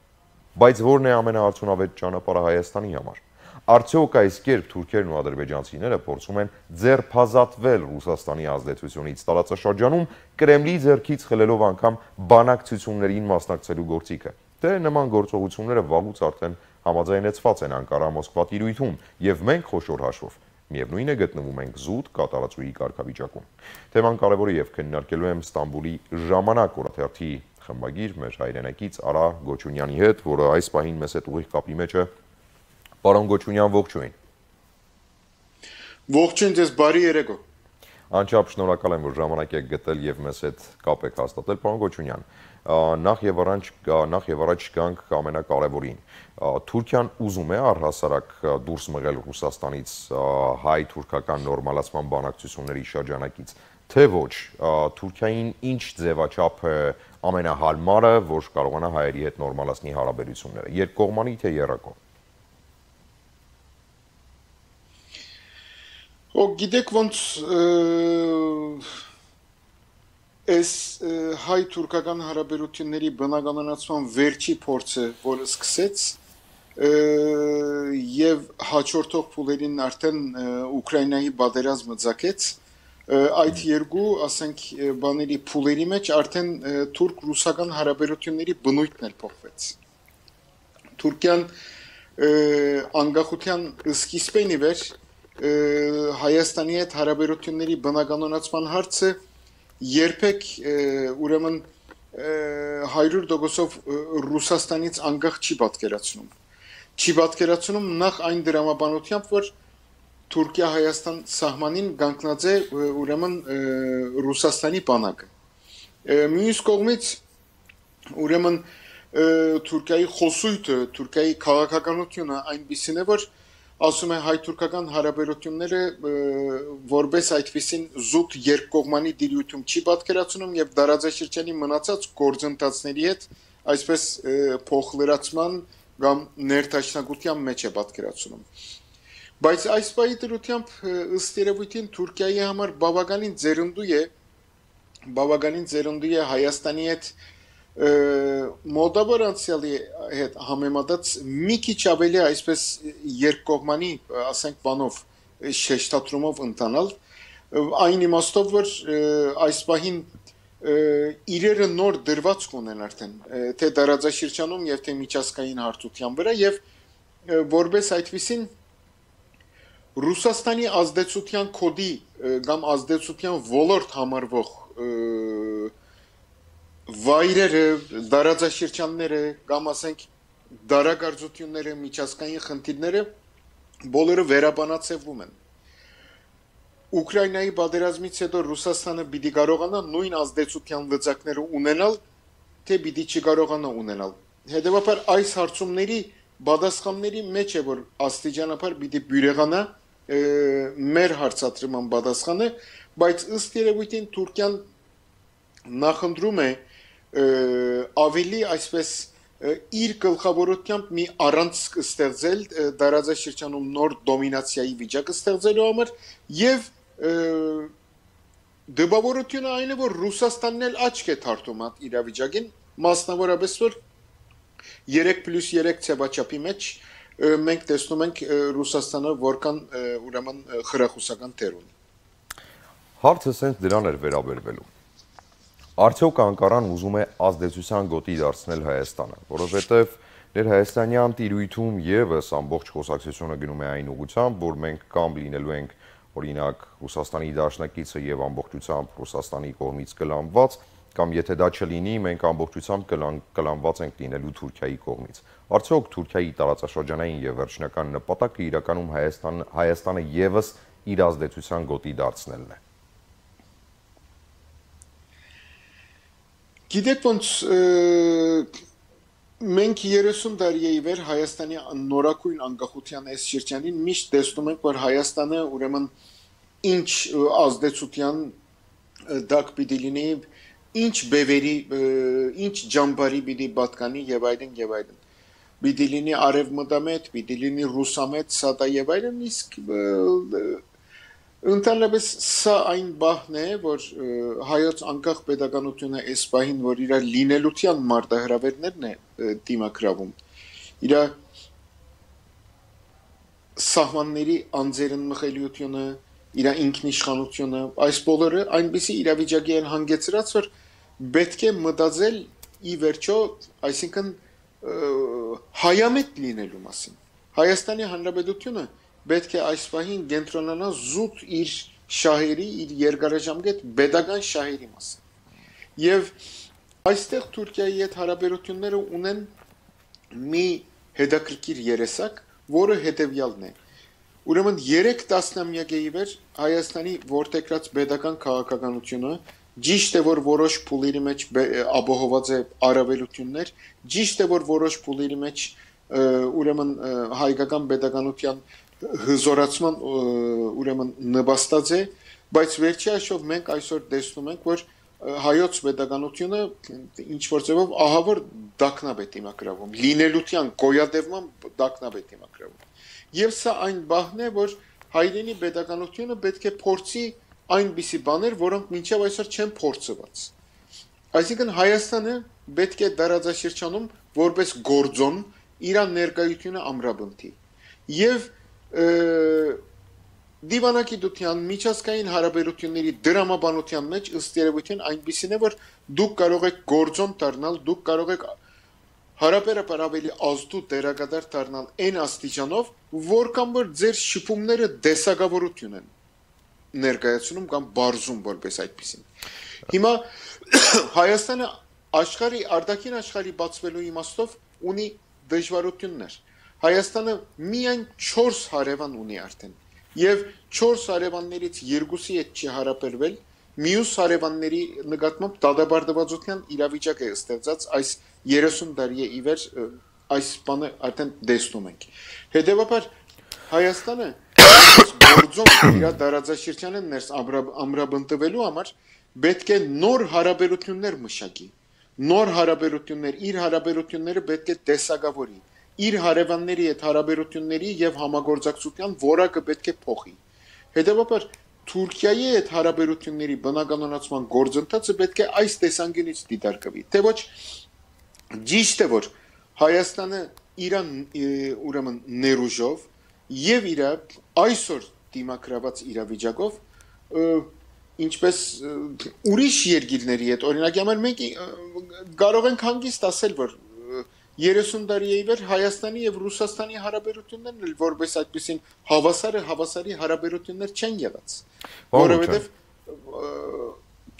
Բայց ո՞րն է ամենաարդյունավետ ճանապարհը Հայաստանի համար։ Արդյոք այս կերպ թուրքերն ու ադրբեջանցիները փորձում են ձերբազատվել Ռուսաստանի ազդեցությունից տարածաշրջանում, Կրեմլի ձեռքից խլելով անգամ բանակցություններին մասնակցելու գործիքը, թե նման գործողությունները վաղուց արդեն համաձայնեցված են Անկարա-Մոսկվա տիրույթում, եւ մենք խոշոր հաշվով միևնույն է գտնվում ենք զուտ կատարածուի կարգավիճակում։ Թեման կարևոր է եւ քննարկելու եմ Ստամբուլի ժամանակ օրաթերթի խմբագիր մեր հայրենակից Արա Գոչունյանի հետ, որը այս պահին մեզ հետ ուղիղ կապի մեջ է։ Պարոն Գոչունյան, ողջույն։ Ողջույն ձեզ, բարի երեկո։ Անչափ շնորհակալ եմ, որ ժամանակ եք գտել եւ մեզ հետ կապ եք հաստատել, պարոն Գոչունյան։ Նախ եւ առաջ նախ եւ առաջ գանք ամենակարևորին։ Թուրքիան ուզում է առհասարակ դուրս մղել Ռուսաստանից հայ-թուրքական նորմալացման բանակցությունների շրջանակից, թե ոչ, Թուրքիային ինչ ձևաչափ է ամենահարմարը, որ կարողանա հայերի հետ նորմալացնի հարաբերությունները, երկկողմանի թե եռակողմ։ Օ գիտեք ոնց Այս հայ-թուրքական հարաբերությունների բնականոնացման վերջի փորձը, որը սկսեց եւ հաջորդող փուլերին արդեն Ուկրաինայի պատերազմը ցակեց, այդ երկու, ասենք, բաների փուլերի մեջ արդեն թուրք-ռուսական հարաբերությունների բնույթն էլ փոխվեց։ Թուրքիան անկախության սկիզբին ի վեր Հայաստանի հետ հարաբերությունների բնականոնացման հարցը երբեք ուրեմն հարյուր տոկոսով Ռուսաստանից անկախ չի պատկերացնում։ Չի պատկերացնում նախ այն դրամաբանությամբ, որ Թուրքիա-Հայաստան սահմանին կանգնած է ուրեմն Ռուսաստանի բանակը։ Մյուս կողմից ուրեմն Թուրքիայի խոսույթը, Թուրքիայի քաղաքականությունը այնպիսին է, որ ասում է հայ-թուրքական հարաբերությունները որպես այդպիսին զուտ երկկողմանի դիրույթում չի պատկերացնում եւ դարաձաշրջանի մնացած գործընթացների հետ այսպես փոխլրացման կամ ներդաշնակության մեջ է պատկերացնում։ Բայց այս պահի դրությամբ ըստ երևույթին Թուրքիայի համար բավականին ձերնդու է բավականին ձերնդու է Հայաստանի հետ մոտավոր անցյալի հետ համեմատած մի քիչ ավելի այսպես երկկողմանի, ասենք բանով շեշտադրումով ընթանալ, այն իմաստով որ այս պահին իրերը նոր դրված կունեն արդեն թե դարաձաշրջանում եւ թե միջազգային հարթության վրա եւ որպես այդպիսին Ռուսաստանի ազդեցության կոդի կամ ազդեցության ոլորտ համարվող վայրերը, դարաձաշրջանները կամ ասենք դարակարծությունները, միջազգային խնդիրները բոլորը վերաբանացվում են։ Ուկրաինայի պատերազմից հետո Ռուսաստանը պիտի կարողանա նույն ազդեցության լծակները ունենալ, թե պիտի չկարողանա ունենալ։ Հետևաբար այս հարցումների պատասխանների մեջ է որ աստիճանաբար պիտի բյուրեղանա մեր հարցադրման պատասխանը, բայց ըստ երևույթին Թուրքիան նախընտրում է ավելի այսպես իր գլխավորությամբ մի առանցք ստեղծել դարաձաշրջանում նոր դոմինացիայի վիճակ ստեղծելու համար եւ դեպավորությունը այն է որ Ռուսաստանն էլ աչք է թարթում այդ իրավիճակին մասնավորապես որ երեք պլյուս երեք ցավաչափի մեջ մենք տեսնում ենք Ռուսաստանը որքան ուրեմն խրախուսական դեր ունի։ Հարցը սենց դրան էր վերաբերվելու։ Արդյոք Անկարան ուզում է ազդեցության գոտի դարձնել Հայաստանը, որովհետև ներհայաստանյան տիրույթում եւս ամբողջ խոսակցությունը գնում է այն ուղղությամբ, որ մենք կամ լինելու ենք օրինակ Ռուսաստանի դաշնակիցը եւ ամբողջությամբ Ռուսաստանի կողմից կլանված, կամ եթե դա չլինի, մենք ամբողջությամբ կլանված ենք լինելու Թուրքիայի կողմից։ Արդյոք Թուրքիայի տարածաշրջանային եւ վերջնական նպատակը իրականում Հայաստան Հայաստանը եւս իր ազդեցության գոտի դարձնելն է։ Գիտեք ոնց մենք երեսուն տարի է ի վեր Հայաստանի նորակույն անկախության այս շրջանին միշտ տեսնում ենք որ Հայաստանը ուրեմն ինչ ազդեցության դակ պիտի լինի, ինչ բևերի, ինչ ջամբարի պիտի պատկանի եւ այլն եւ այլն։ Պիտի լինի արևմտամետ, պիտի լինի ռուսամետ, սատա եւ այլն, իսկ ընդհանրապես սա այն բահն է, որ հայոց անկախ պետականությունը այս պահին, որ իր լինելության մարտահրավերներն է դիմակրավում, իր սահմանների անձերն մխելիությունը, իր ինքնիշխանությունը, այս բոլորը այնպիսի իրավիճակի են հանգեցրած, որ պետք է մտածել ի վերջո, այսինքն հայամետ լինելու մասին։ Հայաստանի Հանրապետությունը պետք է այս պահին կենտրոնանա զուտ իր շահերի, իր երկարաժամկետ պետական շահերի մասին։ Եվ այստեղ Թուրքիայի հետ հարաբերությունները ունեն մի հետաքրքիր երեսակ, որը հետևյալն է։ Ուրեմն երեք տասնամյակ է ի վեր Հայաստանի որդեգրած պետական քաղաքականությունը ճիշտ է որ որոշ փուլերի մեջ ապահոված է առավելություններ, ճիշտ է որ որոշ փուլերի մեջ ուրեմն հայկական պետականության հզորացման ուրեմն նպաստած է, բայց վերջի հաշվով մենք այսօր տեսնում ենք որ հայոց պետականությունը ինչ որ ձևով ահավոր դակնապ է դիմակրավում, լինելության գոյատևման դակնապ է դիմակրավում։ Եվ սա այն բահն է, որ հայրենի պետականությունը պետք է փորձի այնպիսի բաներ, որոնք մինչև այսօր չեն փորձված։ Այսինքն Հայաստանը պետք է դարաձաշրջանում որպես գործոն իր ներկայությունը ամրապնդի։ Եվ դիվանագիտության միջազգային հարաբերությունների դրամաբանության մեջ ըստ երևույթին այնպիսին է, որ դուք կարող եք գործոն դառնալ, դուք կարող եք հարաբերաբար ավելի ազդու դերակատար դառնալ այն աստիճանով, որքան որ ձեր շփումները դեսակավորություն են ներկայացնում կամ բարձում որպես այդպեսին։ Հիմա Հայաստանը աշխարհի արտաքին աշխարհի բացվելու իմաստով ունի դժվարություններ։ Հայաստանը միայն չորս հարևան ունի արդեն, եւ չորս հարևաններից երկուսի հետ չի հարաբերվել, մյուս հարևանների նկատմամբ դատաբարտվածության իրավիճակ է ստեղծած այս երեսուն տարի է ի վեր այս բանը արդեն տեսնում ենք։ Հետևաբար Հայաստանը գործում իր դարաձաշրջանը ներս ամրապնդվելու համար պետք է նոր հարաբերություններ մշակի, նոր հարաբերություններ, իր հարաբերությունները պետք է տեսակավորի, իր հարևանների հետ հարաբերությունների եւ համագործակցության որակը պետք է փոխի։ Հետևաբար Թուրքիայի հետ հարաբերությունների բնականոնացման գործընթացը պետք է այս տեսանկյունից դիտարկվի, թե ոչ ճիշտ է որ Հայաստանը Իրան ուրեմն ներուժով եւ իր այսօր դիմակրաված իրավիճակով ինչպես ուրիշ երկիրների հետ օրինակ համար մենք կարող ենք հանգիստ ասել որ երեսուն տարի է իվեր Հայաստանի եւ Ռուսաստանի հարաբերություններն էլ որպես այդպեսին հավասարը հավասարի հարաբերություններ չեն եղած որովհետեւ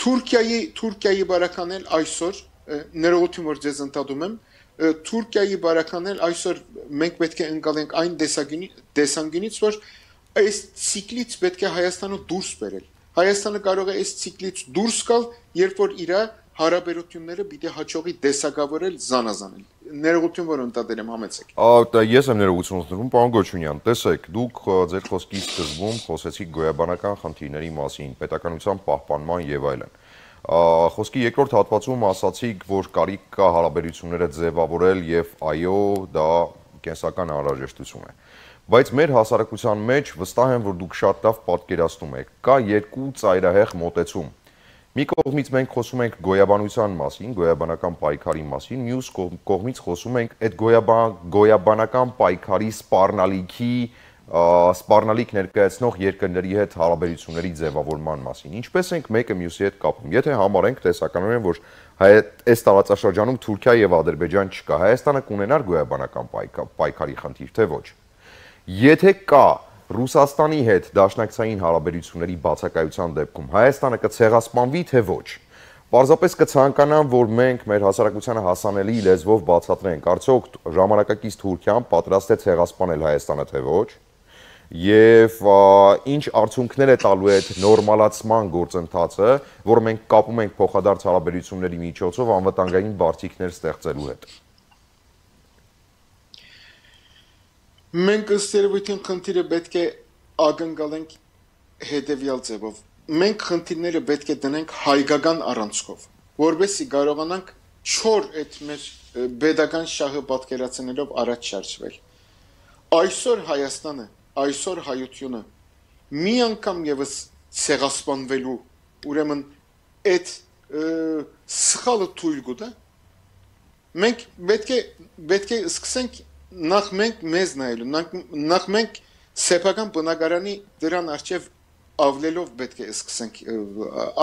Թուրքիայի Թուրքիայի բարականել այսօր ներողություն որ ձեզ ընդդադում եմ Թուրքիայի բարականել այսօր մենք պետք է ընկալենք այն տեսանկյունից որ այս ցիկլից պետք է Հայաստանը դուրս բերել Հայաստանը կարող է այս ցիկլից դուրս գալ երբ որ իր հարաբերությունները պիտի հաջողի տեսակավորել զանազանել ներողություն որ ընդդեմ համեցեք Ա ես եմ ներողություն ուզում պարոն Գոչունյան տեսեք դուք ձեր խոսքի սկզբում խոսեցիք գոյաբանական խնդիրների մասին պետականության պահպանման եւ այլն խոսքի երկրորդ հատվածում ասացիք որ կարիք կա հարաբերությունները ձևավորել եւ այո դա կենսական անհրաժեշտություն է բայց մեր հասարակության մեջ վստահ եմ որ դուք շատ լավ պատկերացնում եք կա երկու ծայրահեղ մոտեցում Մի կողմից մենք խոսում ենք գոյաբանության մասին, գոյաբանական պայքարի մասին, մյուս կողմից խոսում ենք այդ գոյաբանական պայքարի սպառնալիքի, սպառնալիք ներկայացնող երկրների հետ հարաբերությունների ձևավորման մասին։ Ինչպես ենք մեկը մյուսի հետ կապում։ Եթե համարենք տեսականորեն, որ այս տարածաշրջանում Թուրքիա եւ Ադրբեջան չկա, Հայաստանը կունենար գոյաբանական պայքարի խնդիր, թե ոչ։ Եթե կա Ռուսաստանի հետ դաշնակցային հարաբերությունների բացակայության դեպքում Հայաստանը կցեղասպանվի թե ոչ։ Պարզապես կցանկանամ, որ մենք մեր հասարակությանը հասանելի լեզվով բացատրենք, արդյոք ժամանակակից Թուրքիան պատրաստ է ցեղասպանել Հայաստանը թե ոչ։ Եվ ինչ արդյունքներ է տալու այդ նորմալացման գործընթացը, որ մենք կապում ենք փոխադարձ հարաբերությունների միջոցով անվտանգային բարդություններ ստեղծելու հետ։ Մենք ըստ երևույթին խնդիրը պետք է ակնկալենք հետևյալ ձևով։ Մենք խնդիրները պետք է դնենք հայկական առանցքով, որովհետեւ կարողանանք չոր այդ մեր pedagogan շահը պատկերացնելով առաջ շարժվել։ Այսօր Հայաստանը, այսօր հայությունը մի անգամ եւս ցեղասպանվելու, ուրեմն այդ սխալը թույլ կտա։ Մենք պետք է պետք է սկսենք Նախ մենք մեզ նայելու, նախ մենք սեփական բնակարանի դրան արչև ավլելով պետք է սկսենք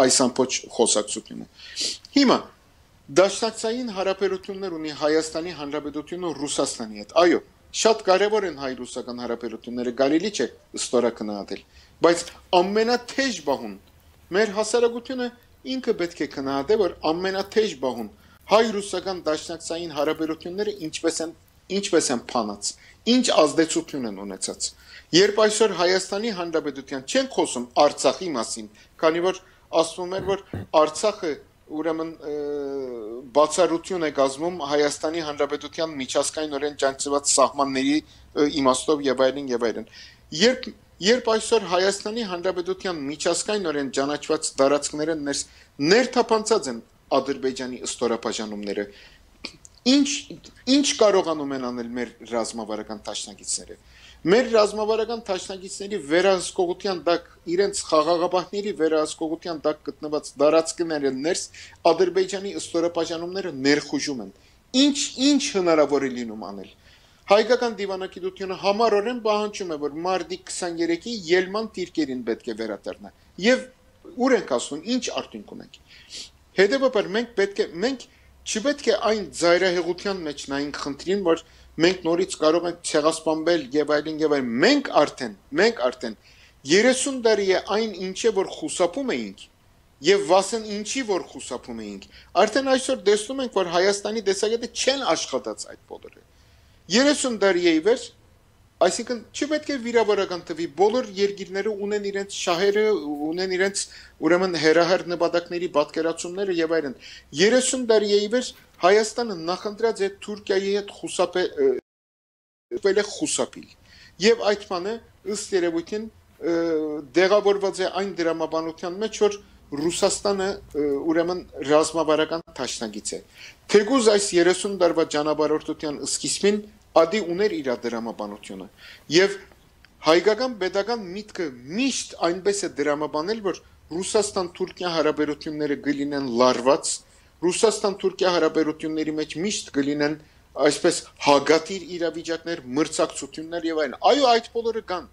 այս ամբողջ խոսակցությունը։ Հիմա դաշնակցային հարաբերություններ ունի Հայաստանի Հանրապետությունը Ռուսաստանի հետ։ Այո, շատ կարևոր են հայ-ռուսական հարաբերությունները, կարելի չէ ստորակնահատել, բայց ամենաթեժ բահուն մեր հասարակությունը ինքը պետք է քննադատի, որ ամենաթեժ բահուն հայ-ռուսական դաշնակցային հարաբերությունները ինչպես են Ինչպես են փանած, ինչ ազդեցություն են ունեցած։ Երբ այսօր Հայաստանի Հանրապետության չեն խոսում Արցախի մասին, քանի որ ասվում էր, որ Արցախը ուրեմն բացառություն է կազմում Հայաստանի Հանրապետության միջազգայինորեն ճանաչված սահմանների իմաստով եւ այլն եւ այլն։ Երբ երբ այսօր Հայաստանի Հանրապետության միջազգայինորեն ճանաչված տարածքները ներթափանցած են Ադրբեջանի ստորաբաժանումները, Ինչ ինչ կարողանում են անել մեր ռազմավարական տաշնակիցները։ Մեր ռազմավարական տաշնակիցների վերահսկողության տակ իրենց խաղաղապահների վերահսկողության տակ գտնված տարածքները ներս Ադրբեջանի ստորաբաժանումները ներխուժում են։ Ինչ ինչ հնարավոր է լինում անել։ Հայկական դիվանագիտությունը համառորեն պահանջում է, որ մարտի քսաներեքի ելման դիրքերին պետք է վերադառնա։ Եվ ուր ենք ասում, ինչ արդյունք ունենք։ Հետևաբար մենք պետք է մենք Չպետք է այն զայրահեղության մեջ նայենք խնդրին, որ մենք նորից կարող ենք ցեղասպանվել եւ այլն եւ այլն։ Մենք արդեն, մենք արդեն երեսուն տարի է այն ինչը որ խուսափում էինք եւ վասն ինչի որ խուսափում էինք։ Արդեն այսօր տեսնում ենք, որ Հայաստանի տեսակետը չեն աշխատած այդ բոլորը։ երեսուն տարի է իվեր, այսինքն չպետք է վիրավորական տվի, բոլոր երկիրները ունեն իրենց շահերը, ունեն իրենց ուրեմն հերահար նպատակների պատկերացումները եւ այլն։ երեսուն տարի է իվեր Հայաստանը նախընտրած է Թուրքիայի հետ խուսափել է խուսափիլ։ եւ այդ բանը ըստ երևույթին դեղավորված է այն դրամաբանության մեջ, որ Ռուսաստանը ուրեմն ռազմավարական դաշնակից է։ Թեկուզ այս երեսուն տարվա ճանապարհորդության սկիզբին ադի ուներ իր դրամաբանությունը եւ հայկական pedagogan միտքը միշտ այնպես է դրամաբանել, որ Ռուսաստան-Թուրքիա հարաբերությունները գլինեն լարված, Ռուսաստան-Թուրքիա հարաբերությունների մեջ միշտ գլինեն այսպես հագատիր իրավիճակներ, մրցակցություններ եւ այլն։ Այո, այդ բոլորը կան,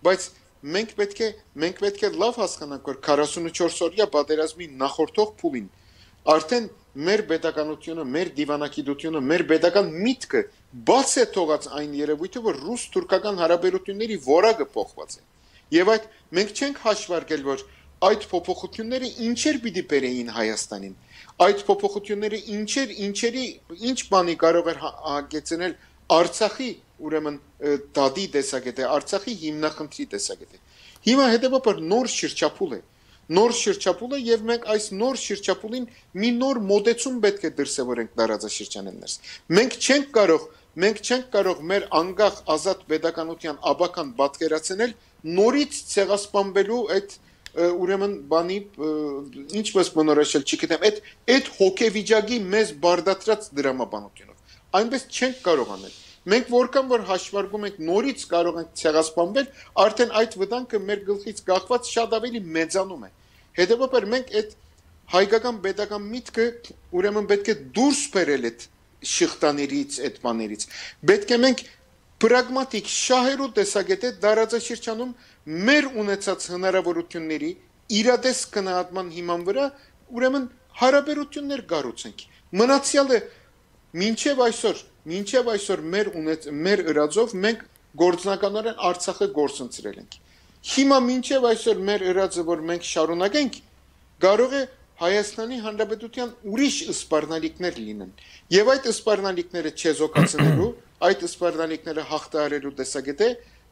բայց մենք պետք է մենք պետք է լավ հասկանանք, որ քառասունուչորս օրյա պատերազմի նախորդող փուլին արդեն մեր pedagoganությունը, մեր դիվանագիտությունը, մեր pedagogan միտքը բաց է թողած այն երևույթը, որ ռուս-թուրքական հարաբերությունների որակը փոխված է։ Եվ այդ մենք չենք հաշվարկել, որ այդ փոփոխությունները ինչեր պիտի բերեին Հայաստանին։ Այդ փոփոխությունները ինչեր ինչերի ինչ բանի կարող էր հագեցնել Արցախի ուրեմն դադի տեսակետը, Արցախի հիմնախնդրի տեսակետը։ Հիմա հետևաբար նոր շրջափուլ է։ Նոր շրջափուլ է եւ մենք այս նոր շրջափուլին մի նոր մոտեցում պետք է դրսևորենք տարածաշրջանին ներս։ Մենք չենք կարող, մենք չենք կարող մեր անկախ ազատ pedagoganության աբական պատկերացնել նորից ցեղասպանվելու այդ ուրեմն բանի ինչպես բնորոշել, չգիտեմ, այդ այդ հոգեվիճակի մեզ բարդացրած դրամաբանությունով։ Այնպես չենք կարող անել։ Մենք որքան որ հաշվարկում ենք նորից կարող ենք ցեղասպանվել, արդեն այդ վտանգը մեր գլխից կախված շատ ավելի մեծանում է։ Հետևաբար մենք այդ հայկական pedagogan միտքը ուրեմն պետք է դուրս բերել այդ շղթաներից, այդ բաներից։ Պետք է մենք պրագմատիկ շահերու տեսակետը դարաձաշրջանում մեր ունեցած հնարավորությունների իրադես գնահատման հիման վրա ուրեմն հարաբերություններ կառուցենք։ Մնացյալը մինչև այսօր, մինչև այսօր մեր ունեց մեր ըրածով մենք գործնականորեն Արցախը գործընծրել ենք։ Հիմա մինչև այսօր մեր ըրածը, որ մենք շարունակենք, կարող է Հայաստանի Հանրապետության ուրիշ սպառնալիքներ լինեն։ Եվ այդ սպառնալիքները չեզոքացնելու, այդ սպառնալիքները հաղթահարելու տեսակետը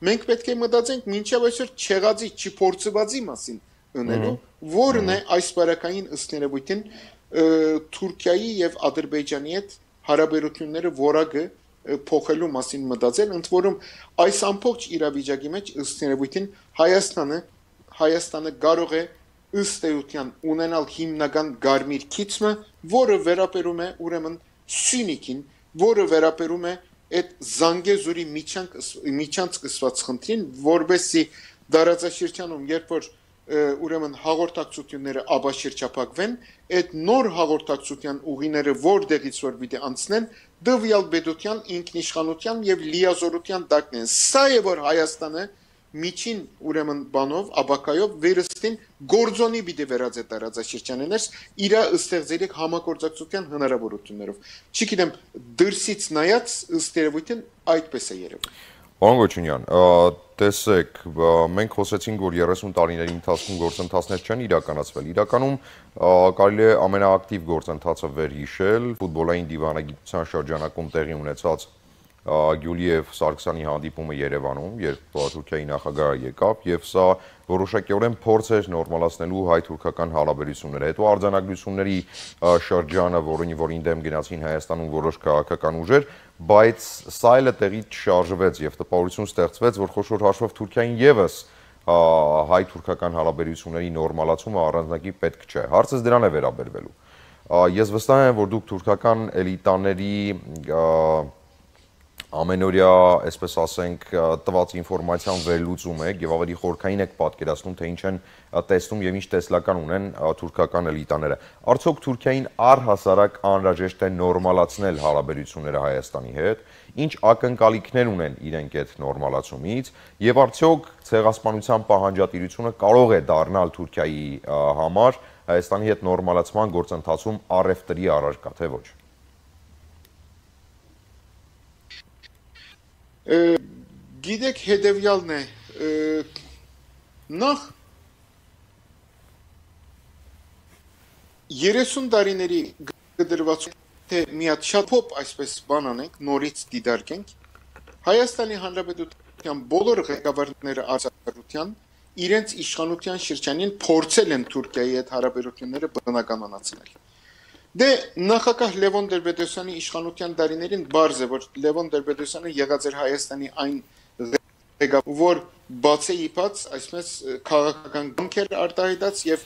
մենք պետք է մտածենք մինչև այսօր չեղածի, չփորձվածի մասին ունելու, որն է այս բարակային ըստ երևույթին Թուրքիայի եւ Ադրբեջանի հետ հարաբերությունները որակը փոխելու մասին մտածել, ընդ որում այս ամբողջ իրավիճակի մեջ ըստ երևույթին Հայաստանը Հայաստանը կարող է ըստ էության ունենալ հիմնական գարմիր քիծը, որը վերապերում է ուրեմն Սյունիքին, որը վերապերում է այդ Զանգեզուրի միջանք միջանց սկսված խնդրին, որբեսի դարաձաշրջանում, երբ որ ուրեմն հաղորդակցությունները աբաշրջափակվեն, այդ նոր հաղորդակցության ուղիները որտեղից որ պիտի անցնեն, դվյալ պետության ինքնիշխանության եւ լիազորության տակն են։ Սա է որ Հայաստանը միջին ուրեմն բանով, աբակայով վերստին գործոնի պիտի վերածե տարածաշրջաններս իր ստեղծելիք համագործակցության հնարավորություններով։ Չգիտեմ, դրսից նայած ըստ երևույթին այդպես է երևում։ Պարոն Գոչունյան, տեսեք, մենք խոսեցինք, որ երեսուն տարիների ընթացքում գործընթացներ չեն իրականացվել։ Իրականում կարելի է ամենաակտիվ գործընթացը վերհիշել ֆուտբոլային դիվանագիտության շրջանակում տեղի ունեցած Գյուլիև Սարգսյանի հանդիպումը Երևանում, երբ Թուրքիայի նախագահը եկավ, եւ սա որոշակիորեն փորձ էր նորմալացնելու հայ-թուրքական հարաբերությունները։ Հետո արձանագրությունների շրջանը, որին դեմ գնացին Հայաստանում որոշ քաղաքական ուժեր, բայց սա էլ տեղի չշարժվեց եւ տպավորություն ստեղծվեց, որ խոշոր հաշվով Թուրքիային եւս հայ-թուրքական հարաբերությունների նորմալացումը առանձնակի պետք չէ։ Հարցս դրան է վերաբերվելու։ Ես վստահ եմ, որ դուք թուրքական էլիտաների ամենօրյա, այսպես ասենք, տված ինֆորմացիան վերլուծում եք եւ ավելի խորքային եք պատկերացնում, թե ինչ են տեսնում եւ ինչ տեսլական ունեն թուրքական էլիտաները։ Արդյոք Թուրքիային առհասարակ անհրաժեշտ է նորմալացնել հարաբերությունները Հայաստանի հետ, ինչ ակնկալիքներ ունեն իրենք այդ նորմալացումից եւ արդյոք ցեղասպանության պահանջատիրությունը կարող է դառնալ Թուրքիայի համար Հայաստանի հետ նորմալացման գործընթացում առևտրի առարկա, թե ոչ։ Գիտեք հետևյալն է, նախ երեսուն տարիների գդրված թե միատ շատ փոփ այսպես բան անենք, նորից դիտարկենք, Հայաստանի Հանրապետության բոլոր ղեկավարները ազատության իրենց իշխանության շրջանին փորձել են Թուրքիայի հետ հարաբերությունները բնականանացնել։ Դե նախագահ Լևոն Տեր-Պետրոսյանի իշխանության տարիներին բարձ է, որ Լևոն Տեր-Պետրոսյանը եղած էր Հայաստանի այն եկավ, որ բացի իբաց, այսպես քաղաքական գնքեր արտահայտած եւ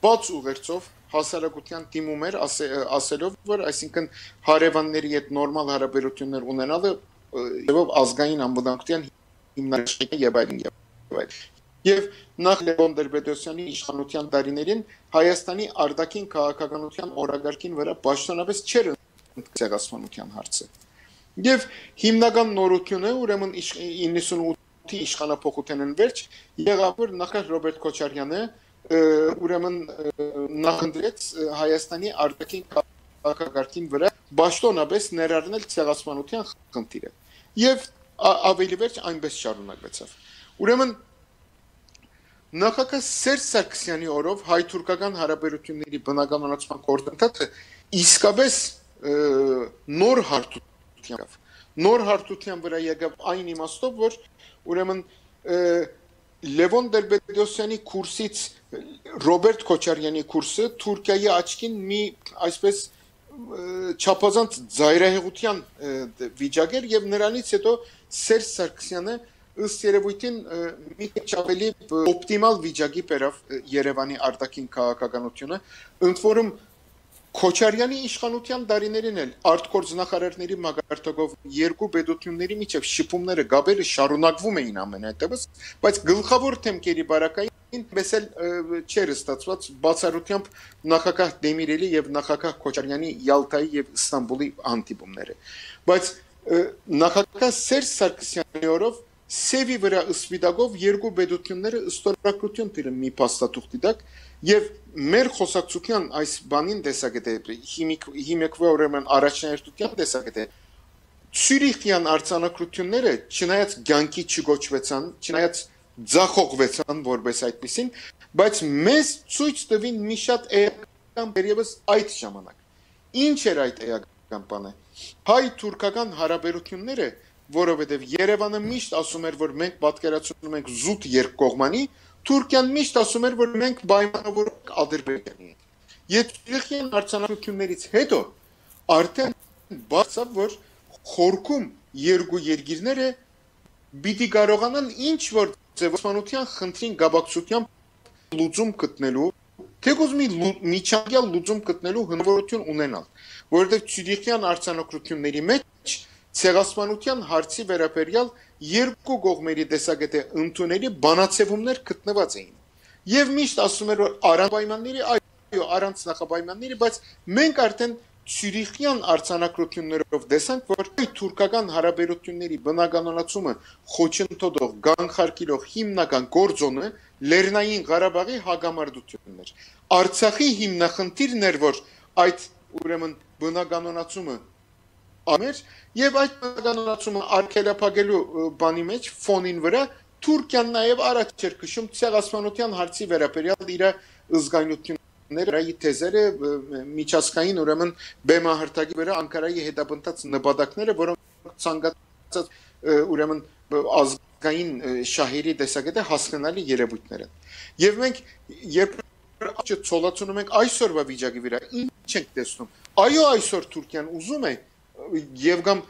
բաց ուղերձով հասարակության դիմում էր ասելով, որ այսինքն հարևանների հետ նորմալ հարաբերություններ ունենալը եւ ազգային անվտանգության հիմնարկն եւ այլն եւ այլն։ Եվ նախ Լևոն Տեր-Պետրոսյանի իշխանության տարիներին Հայաստանի արտաքին քաղաքականության օրագարկին վրա պաշտոնապես չէր ցեղասպանության հարցը։ Եվ հիմնական նորությունը ուրեմն իննսունութի իշխանապողութենն վերջ եղավ, որ նախ Ռոբերտ Քոչարյանը ուրեմն նախընտրեց Հայաստանի արտաքին քաղաքակարգին վրա պաշտոնապես ներառնել ցեղասպանության խնդիրը։ Եվ ավելի վերջ այնպես շարունակվեցավ։ Ուրեմն նախագահ Սերժ Սարգսյանի օրով հայ-թուրքական հարաբերությունների բնականոնացման գործընթացը իսկապես նոր հարթության եկավ։ Նոր հարթության վրա եկավ այն իմաստով, որ ուրեմն Լևոն Տեր-Պետրոսյանի կուրսից Ռոբերտ Քոչարյանի կուրսը Թուրքիայի աչքին մի այսպես չափազանց զայրահեղության վիճակ էր եւ նրանից հետո Սերժ Սարգսյանը ըստ երևույթին մի քիչ ավելի օպտիմալ վիճակի բերավ Երևանի արտաքին քաղաքականությունը, ընդ որում Քոչարյանի իշխանության տարիներին էլ արտգործնախարարների մակարդակով երկու պետությունների միջև շփումները գաբերը շարունակվում էին ամենայնտեղս, բայց գլխավոր թեմքերի բարակային բեսել չէր ստացված բացառությամբ նախագահ Դեմիրելի եւ նախագահ Քոչարյանի Յալտայի եւ Ստամբուլի հանդիպումները։ Բայց նախագահ Սերժ Սարգսյանի օրով Սևի վրա ըսպիտակով երկու պետությունները ստորագրություն տիրը մի փաստաթուղթի տակ եւ մեր խոսակցության այս բանին տեսակետ է հիմիկվա ուրեմն առաջնահերթության տեսակետ է Ցյուրիխյան արձանագրությունները չնայած ցանկի չգոչվեցան, չնայած ձախողվեցան որպես այդպեսին, բայց մեզ ցույց տվին մի շատ էական դերևս այդ ժամանակ։ Ինչ էր այդ էական բանը։ Հայ-թուրքական հարաբերությունները, որովհետև Երևանը միշտ ասում էր, որ մենք պատկերացնում ենք զուտ երկկողմանի, Թուրքիան միշտ ասում էր, որ մենք պայմանավորենք Ադրբեջանի հետ։ Եվ Ցյուրիխյան արձանագրություններից հետո արդեն բացավ, որ խորքում երկու երկիրները պիտի կարողանան ինչ որ ձևավորության խնդրին գաբակցությամբ լուծում գտնելու, թեկուզ մի միջանկյալ լուծում գտնելու հնարավորություն ունենալ, որովհետև Ցյուրիխյան արձանագրությունների մեջ ցեղասպանության հարցի վերաբերյալ երկու կողմերի տեսակետը ընդունելի բանացևումներ գտնված էին։ Եվ միշտ ասում էր, որ առանց պայմանների, այո, առանց նախապայմանների, բայց մենք արդեն Ցյուրիխյան արձանագրություններով տեսանք, որ թուրքական հարաբերությունների բնականոնացումը խոչընդոտող, գանխարկելով հիմնական գործոնը Լեռնային Ղարաբաղի հակամարտությունն էր։ Արցախի հիմնախնդիրն էր, որ այդ ուրեմն բնականոնացումը ամեր եւ այդ բնականոնացումը արգելափակելու բանի մեջ ֆոնին վրա Թուրքիան նաեւ առաջ էր քշում ցեղասպանության հարցի վերաբերյալ իր զգայունությունները, իր թեզերը միջազգային ուրեմն բեմահարտակի վրա Անկարայի հետապնդած նպատակները, որոնք ցանկացած ուրեմն ազգային շահերի տեսակետը հասկանալի երևույթներ են։ Եվ մենք երբ չցոլացնում ենք այսօրվա վիճակի վրա, ինչ ենք տեսնում։ Այո, այսօր Թուրքիան ուզում է եւ կամ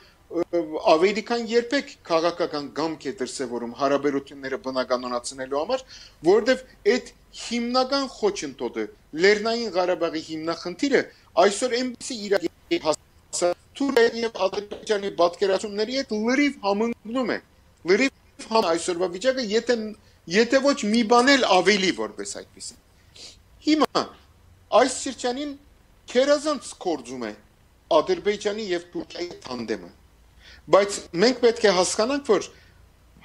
ավելի քան երբեք քաղաքական գամք է դրսևորում հարաբերությունները բնականոնացնելու համար, որովհետեւ այդ հիմնական խոչընդոտը Լեռնային Ղարաբաղի հիմնախնդիրը այսօր այնպեսի իրավիճակի հասավ Թուրքիայի եւ Ադրբեջանի պատկերացումների հետ լրիվ համընկնում է։ Լրիվ համ այսօրվա վիճակը եթե եթե ոչ մի բան էլ ավելի որպես այդպեսին։ Հիմա այս շրջանին քերազանց կորձում է Ադրբեջանի եւ Թուրքիայի տանդեմը։ Բայց մենք պետք է հասկանանք, որ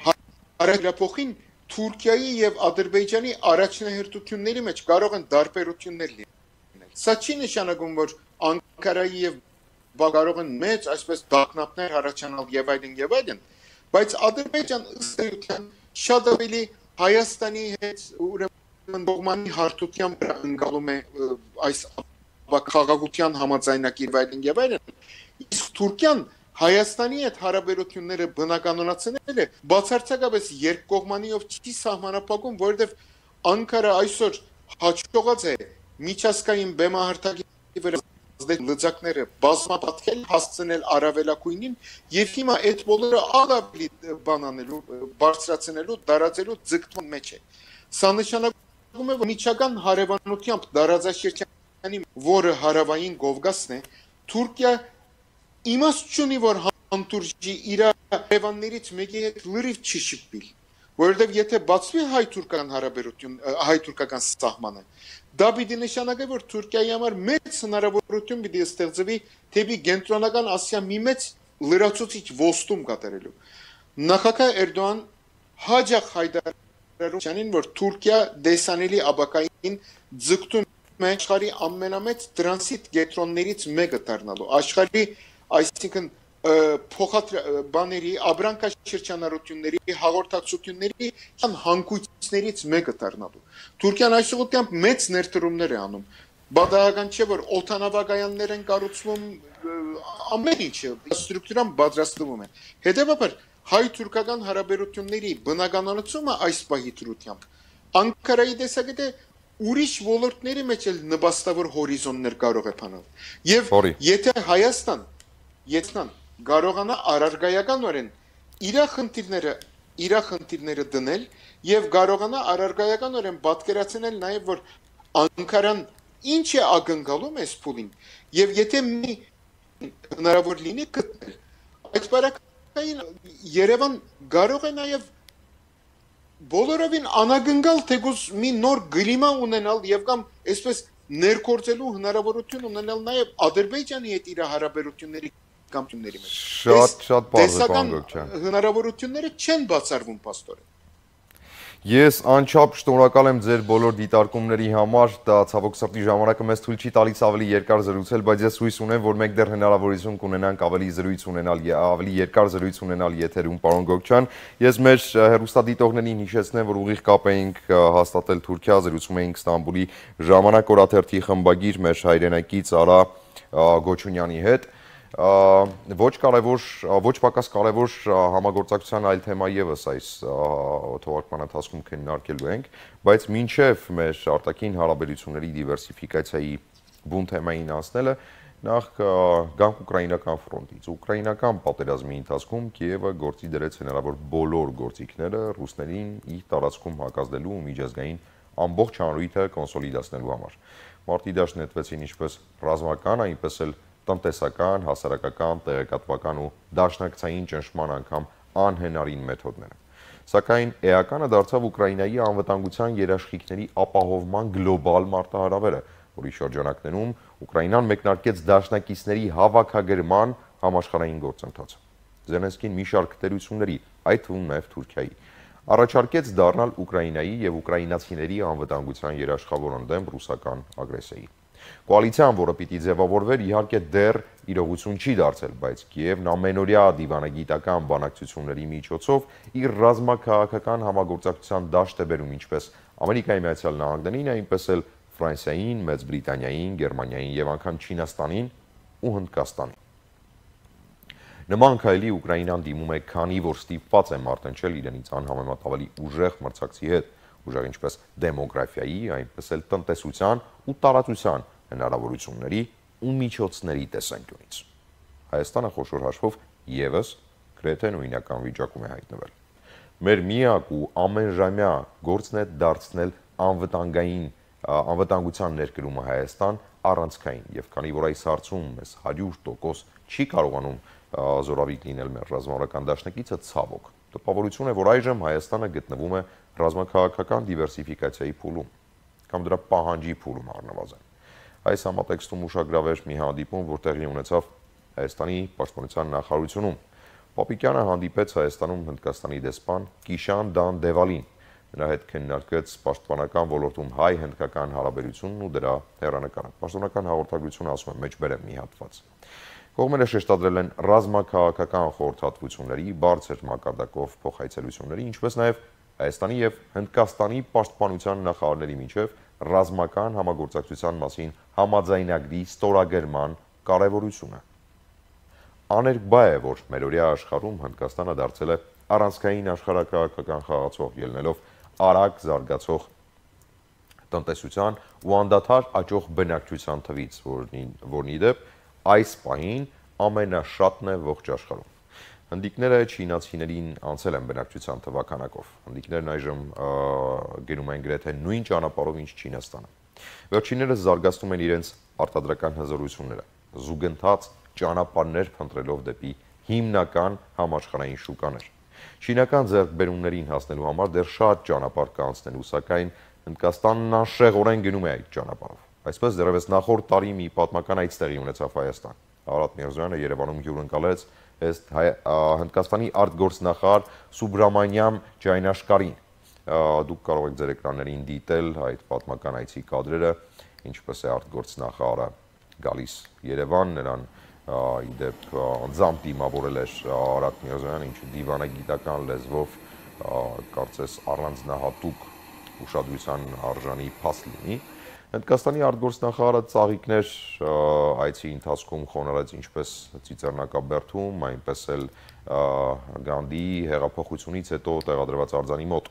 հարաբերապոխին Թուրքիայի եւ Ադրբեջանի առաջնահերթությունների մեջ կարող են տարբերություններ լինել։ Սա չի նշանակում, որ Անկարայի եւ կարող են մեծ այսպես դակնապներ առաջանալ եւ այլն եւ այլն, բայց Ադրբեջան ըստ էության շատ ավելի Հայաստանի հետ ուրեմն դողմանի հարթությամբ ընկալում է այս քաղաքության համաձայնագիր այլն եւ այլն։ Իսկ Թուրքիան Հայաստանի հետ հարաբերությունները բնականոնացնել է բացարձակապես երկկողմանիով չի սահմանափակում, որովհետեւ Անկարա այսօր հաջողած է միջազգային բեմահարտակի վրա ազդեցիկ լծակները բազմապատկել հասցնել առավելակույնին եւ հիմա այդ բոլորը ավելի բան անելու բարձրացնելու դարաձելու ձգտման մեջ է սա նշանակում է որ միջական հարևանությամբ դարաձաշրջանի որը հարավային Կովկասն է Թուրքիա իմաստ չունի որ հանդուրժի իր հարևաններից մեկի հետ լրիվ չի շփվել որովհետև եթե բացվի հայ-թուրքական հարաբերություն հայ-թուրքական սահմանը դա պիտի նշանակի որ Թուրքիայի համար մեծ հնարավորություն պիտի ստեղծվի թեպի կենտրոնական Ասիա մի մեծ լրացուցիչ ոստում կատարելու նախագահ Էրդողան հաջող հայտարարությունին որ Թուրքիա դեսանելի աբակային ձգտում է աշխարհի ամենամեծ տրանսիտ կենտրոններից մեկը դառնալու աշխարհի այսինքն փոխադր բաների աբրանքաշրջանառությունների հաղորդակցությունների հանգույցներից մեկը դառնալու Թուրքիան այսօրությամբ մեծ ներդրումներ է անում բադայական չէ որ օթանավակայաններ են կառուցվում ամեն ինչը ստրուկտուրան պատրաստվում է հետևաբար հայ-թուրքական հարաբերությունների բնականացումը այս պահի դրությամբ Անկարայի տեսակետը ուրիշ ոլորտների մեջ էլ նպաստավոր հորիզոններ կարող է բանալ եւ եթե Հայաստան Եթնան կարողանա առարգայականորեն իր խնդիրները իր խնդիրները դնել եւ կարողանա առարգայականորեն պատկերացնել նաեւ որ Անկարան ինչ է ակնկալում այս փուլին եւ եթե մի հնարավոր լինի գտնել այդ բարակային Երևան կարող է նաեւ բոլորովին անագնկալ թեկուզ մի նոր գլիմա ունենալ եւ կամ այսպես ներկործելու հնարավորություն ունենալ նաեւ Ադրբեջանի հետ իր հարաբերությունների կամությունների մեջ։ Շատ շատ բարձր բան Գոկչյան։ Հնարավորությունները չեն բացառվում պաստորեն։ Ես անչափ շնորհակալ եմ ձեր բոլոր դիտարկումների համար, դա ցավոք սրտի ժամանակը մեզ թույլ չի տալիս ավելի երկար զրուցել, բայց ես հույս ունեմ, որ մենք դեռ հնարավորություն կունենանք ավելի զրույց ունենալ, ավելի երկար զրույց ունենալ եթերում, պարոն Գոկչյան։ Ես մեր հեռուստադիտողներին հիշեցնեմ, որ ուղիղ կապ էինք հաստատել Թուրքիա, զրուցում էինք Ստամբուլի Ժամանակ օրաթերթի խմբագիր մեր հայրենակից Արա Գոչունյանի հետ։ Ոչ կարևոր, ոչ պակաս կարևոր համագործակցության այլ թեմա ևս այս թողարկման ընթացքում քննարկելու ենք, բայց մինչև մեր արտաքին հարաբերությունների դիվերսիֆիկացիայի բուն թեմային անցնելը, նախ գանք ուկրաինական ֆրոնտից։ Ուկրաինական պատերազմի ընթացքում Կիևը գործի դրեց հնարավոր բոլոր գործիքները ռուսներին իր տարածքում հակազդելու ու միջազգային ամբողջ հանրույթը կոնսոլիդացնելու համար։ Մարտի դաշտ նետվեցին ինչպես ռազմական, այնպես էլ տնտեսական, հասարակական, տեղեկատվական ու դաշնակցային ճնշման անգամ անհնարին մեթոդները։ Սակայն էականը դարձավ Ուկրաինայի անվտանգության երաշխիքների ապահովման գլոբալ մարտահրավերը, որի շրջանակներում Ուկրաինան մեկնարկեց դաշնակիցների հավաքագրման համաշխարհային գործընթաց։ Զելենսկին մի շարք դերությունների, այդ թվում նաև Թուրքիայի, առաջարկեց դառնալ Ուկրաինայի եւ ուկրաինացիների անվտանգության երաշխավոր ընդդեմ ռուսական ագրեսիայի։ Կոալիցիան, որը պիտի ձևավորվեր, իհարկե դեռ իրողություն չի դարձել, բայց Կիևն ամենօրյա դիվանագիտական բանակցությունների միջոցով իր ռազմաքաղաքական համագործակցության դաշտ է բերում ինչպես Ամերիկայի Միացյալ Նահանգներին, այնպես էլ Ֆրանսիային, Մեծ Բրիտանիային, Գերմանիային եւ անգամ Չինաստանին ու Հնդկաստանին։ Նման քայլի Ուկրաինան դիմում է, քանի որ ստիպված է մարտնչել իրենից անհամեմատ ավելի ուժեղ մրցակցի հետ, ուժեղ ինչպես դեմոգրաֆիայի, այնպես էլ տնտեսության ու տարածության հնարավորությունների ու միջոցների տեսանկյունից։ Հայաստանը խոշոր հաշվով ևս գրեթե նույնական վիճակում է հայտնվել։ Մեր միակ ու ամենժամյա գործն է դարձնել անվտանգային անվտանգության ներկրումը Հայաստան առանցքային, եւ քանի որ այս հարցում մեզ հարյուր տոկոս չի կարողանում զորավիք լինել մեր ռազմավարական դաշնակիցը, ցավոք, տպավորություն է, որ այժմ Հայաստանը գտնվում է ռազմաքաղաքական դիվերսիֆիկացիայի փուլում կամ դրա պահանջի փուլում առնվազն։ Այս համատեքստում ուշագրավ մի հանդիպում, որ տեղի ունեցավ Հայաստանի պաշտպանության նախարարությունում։ Պապիկյանը հանդիպեց Հայաստանում Հնդկաստանի դեսպան Կիշան Դան Դևալին։ Նրա հետ քննարկեց պաշտպանական ոլորտում հայ-հնդկական հարաբերությունն ու դրա հեռանկարը։ Պաշտոնական հաղորդագրությունը ասում է մեջբերեմ մի հատված։ Կողմերը շեշտադրել են ռազմաքաղաքական խորհրդատվությունների բարձր մակարդակով փոխայցելությունների, ինչպես նաև Հայաստանի եւ Հնդկաստանի պաշտպանության նախարարների միջև ռազմական համագործակցության մասին համաձայնագրի ստորագրման կարևորությունը։ Աներկբա է, որ մերօրյա աշխարհում Հնդկաստանը դարձել է առանցքային աշխարհակաղակական խաղացող, ելնելով արագ զարգացող տնտեսության ու անդադար աճող բնակչության թվից, որն ի դեպ այս պահին ամենաշատն է ողջ աշխարհում։ Հնդիկները չինացիներին անցել են բնակչության թվականակով։ Հնդիկներն այժմ գնում են գրեթե նույն ճանապարհով, ինչ Չինաստանը։ Վերջիններս զարգացնում են իրենց արտադրական հզորությունները, զուգընթաց ճանապարհներ փնտրելով դեպի հիմնական համաշխարհային շուկաներ։ Չինական ձեռքբերումներին հասնելու համար դեռ շատ ճանապարհ կա անցնելու, սակայն Հնդկաստանն անշեղորեն գնում է այդ ճանապարհով։ Այսպես դեռևս նախորդ տարի մի պատմական այց տեղի ունեցավ Հայաստան։ Արարատ Միրզոյանը Երևանում հյուրընկալեց Հնդկաստանի արտգործնախարար Սուբրամանյամ Ջայնաշկարին։ Դուք կարող եք ձեր էկրաններին դիտել այդ պատմական այցի կադրերը, ինչպես է արտգործնախարարը գալիս Երևան, նրան ի դեպ անձամբ դիմավորել էր Արարատ Միրզոյանը, ինչը դիվանագիտական լեզվով կարծես առանձնահատուկ ուշադրության արժանի փաստ լինի։ Հնդկաստանի արտգործնախարարը ծաղիկներ այցի ընթացքում խոնարհեց ինչպես Ծիծեռնակաբերդում, այնպես էլ Գանդիի հեղափոխությունից հետո տեղադրված արձանի մոտ։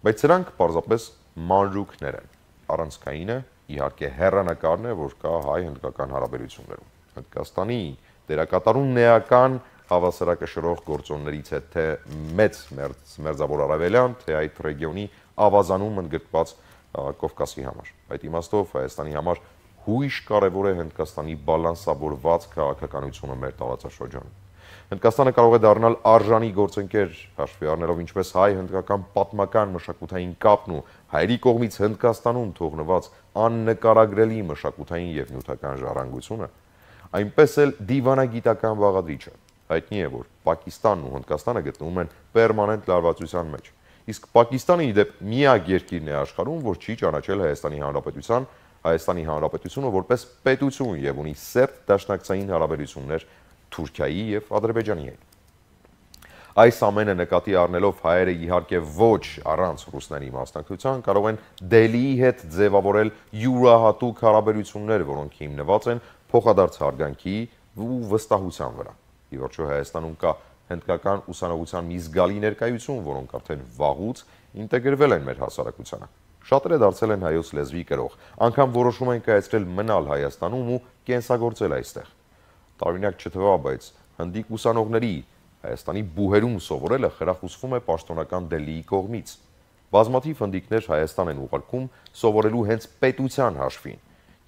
Բայց սրանք պարզապես մանրուքներ են։ Առանցքայինը իհարկե հեռանկարն է, որ կա հայ-հնդկական հարաբերություններում։ Հնդկաստանի դերակատարումն էական հավասարակշռող գործոններից է թե մեծ մերձավոր արևելյան, թե այդ ռեգիոնի ավազանում ընդգրկված Կովկասի համար։ Այդ իմաստով Հայաստանի համար հույժ կարևոր է Հնդկաստանի բալանսավորված քաղաքականությունը մեր տարածաշրջանում։ Հնդկաստանը կարող է դառնալ արժանի գործընկեր, հաշվի առնելով ինչպես հայ-հնդկական պատմական մշակութային կապն ու հայերի կողմից Հնդկաստանում թողնված աննկարագրելի մշակութային եւ նյութական ժառանգությունը, այնպես էլ դիվանագիտական բաղադրիչը։ Հայտնի է, որ Պակիստանն ու Հնդկաստանը գտնվում են պերմանենտ լարվածության մեջ։ Իսկ Պակիստանը ի դեպ միակ երկիրն է աշխարհում, որ չի ճանաչել Հայաստանի Հանրապետության, Հայաստանի Հանրապետությունը որպես պետություն եւ ունի սերտ դաշնակցային հարաբերություններ Թուրքիայի եւ Ադրբեջանի հետ։ Այս ամենը նկատի առնելով հայերը իհարկե ոչ առանց ռուսների մասնակցության կարող են Դելիի հետ ձևավորել յուրահատուկ հարաբերություններ, որոնք հիմնված են փոխադարձ հարգանքի ու վստահության վրա։ Ի վերջո Հայաստանում կա հնդկական ուսանողության մի զգալի ներկայություն, որոնք արդեն վաղուց ինտեգրվել են մեր հասարակությանը։ Շատերը դարձել են հայոց լեզվի կրող, անգամ որոշում են կայացրել մնալ Հայաստանում ու կենսագործել այստեղ։ Տարօրինակ չթվա, բայց հնդիկ ուսանողների Հայաստանի բուհերում սովորելը խրախուսվում է պաշտոնական Դելիի կողմից։ Բազմաթիվ հնդիկներ Հայաստան են ուղարկում սովորելու հենց պետության հաշվին։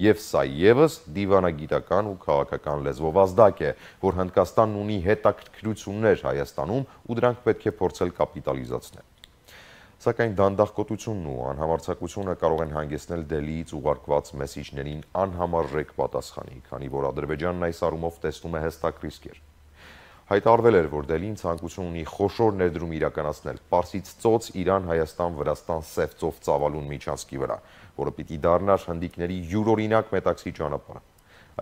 Եվ սա ևս դիվանագիտական ու քաղաքական լեզվով ազդակ է, որ Հնդկաստանն ունի հետաքրքրություններ Հայաստանում ու դրանք պետք է փորձել կապիտալիզացնել։ Սակայն դանդաղկոտությունն ու անհամարձակությունը կարող են հանգեցնել Դելիից ուղարկված մեսիջներին անհամարժեք պատասխանի, քանի որ Ադրբեջանն այս առումով տեսնում է հստակ ռիսկեր։ Հայտարարվել էր, որ Դելին ցանկություն ունի խոշոր ներդրում իրականացնել Պարսից ծոց Իրան-Հայաստան-Վրաստան սև ծավալուն միջանցքի վրա, որը պիտի դառնար հնդիկների յուրօրինակ մետաքսի ճանապարհը։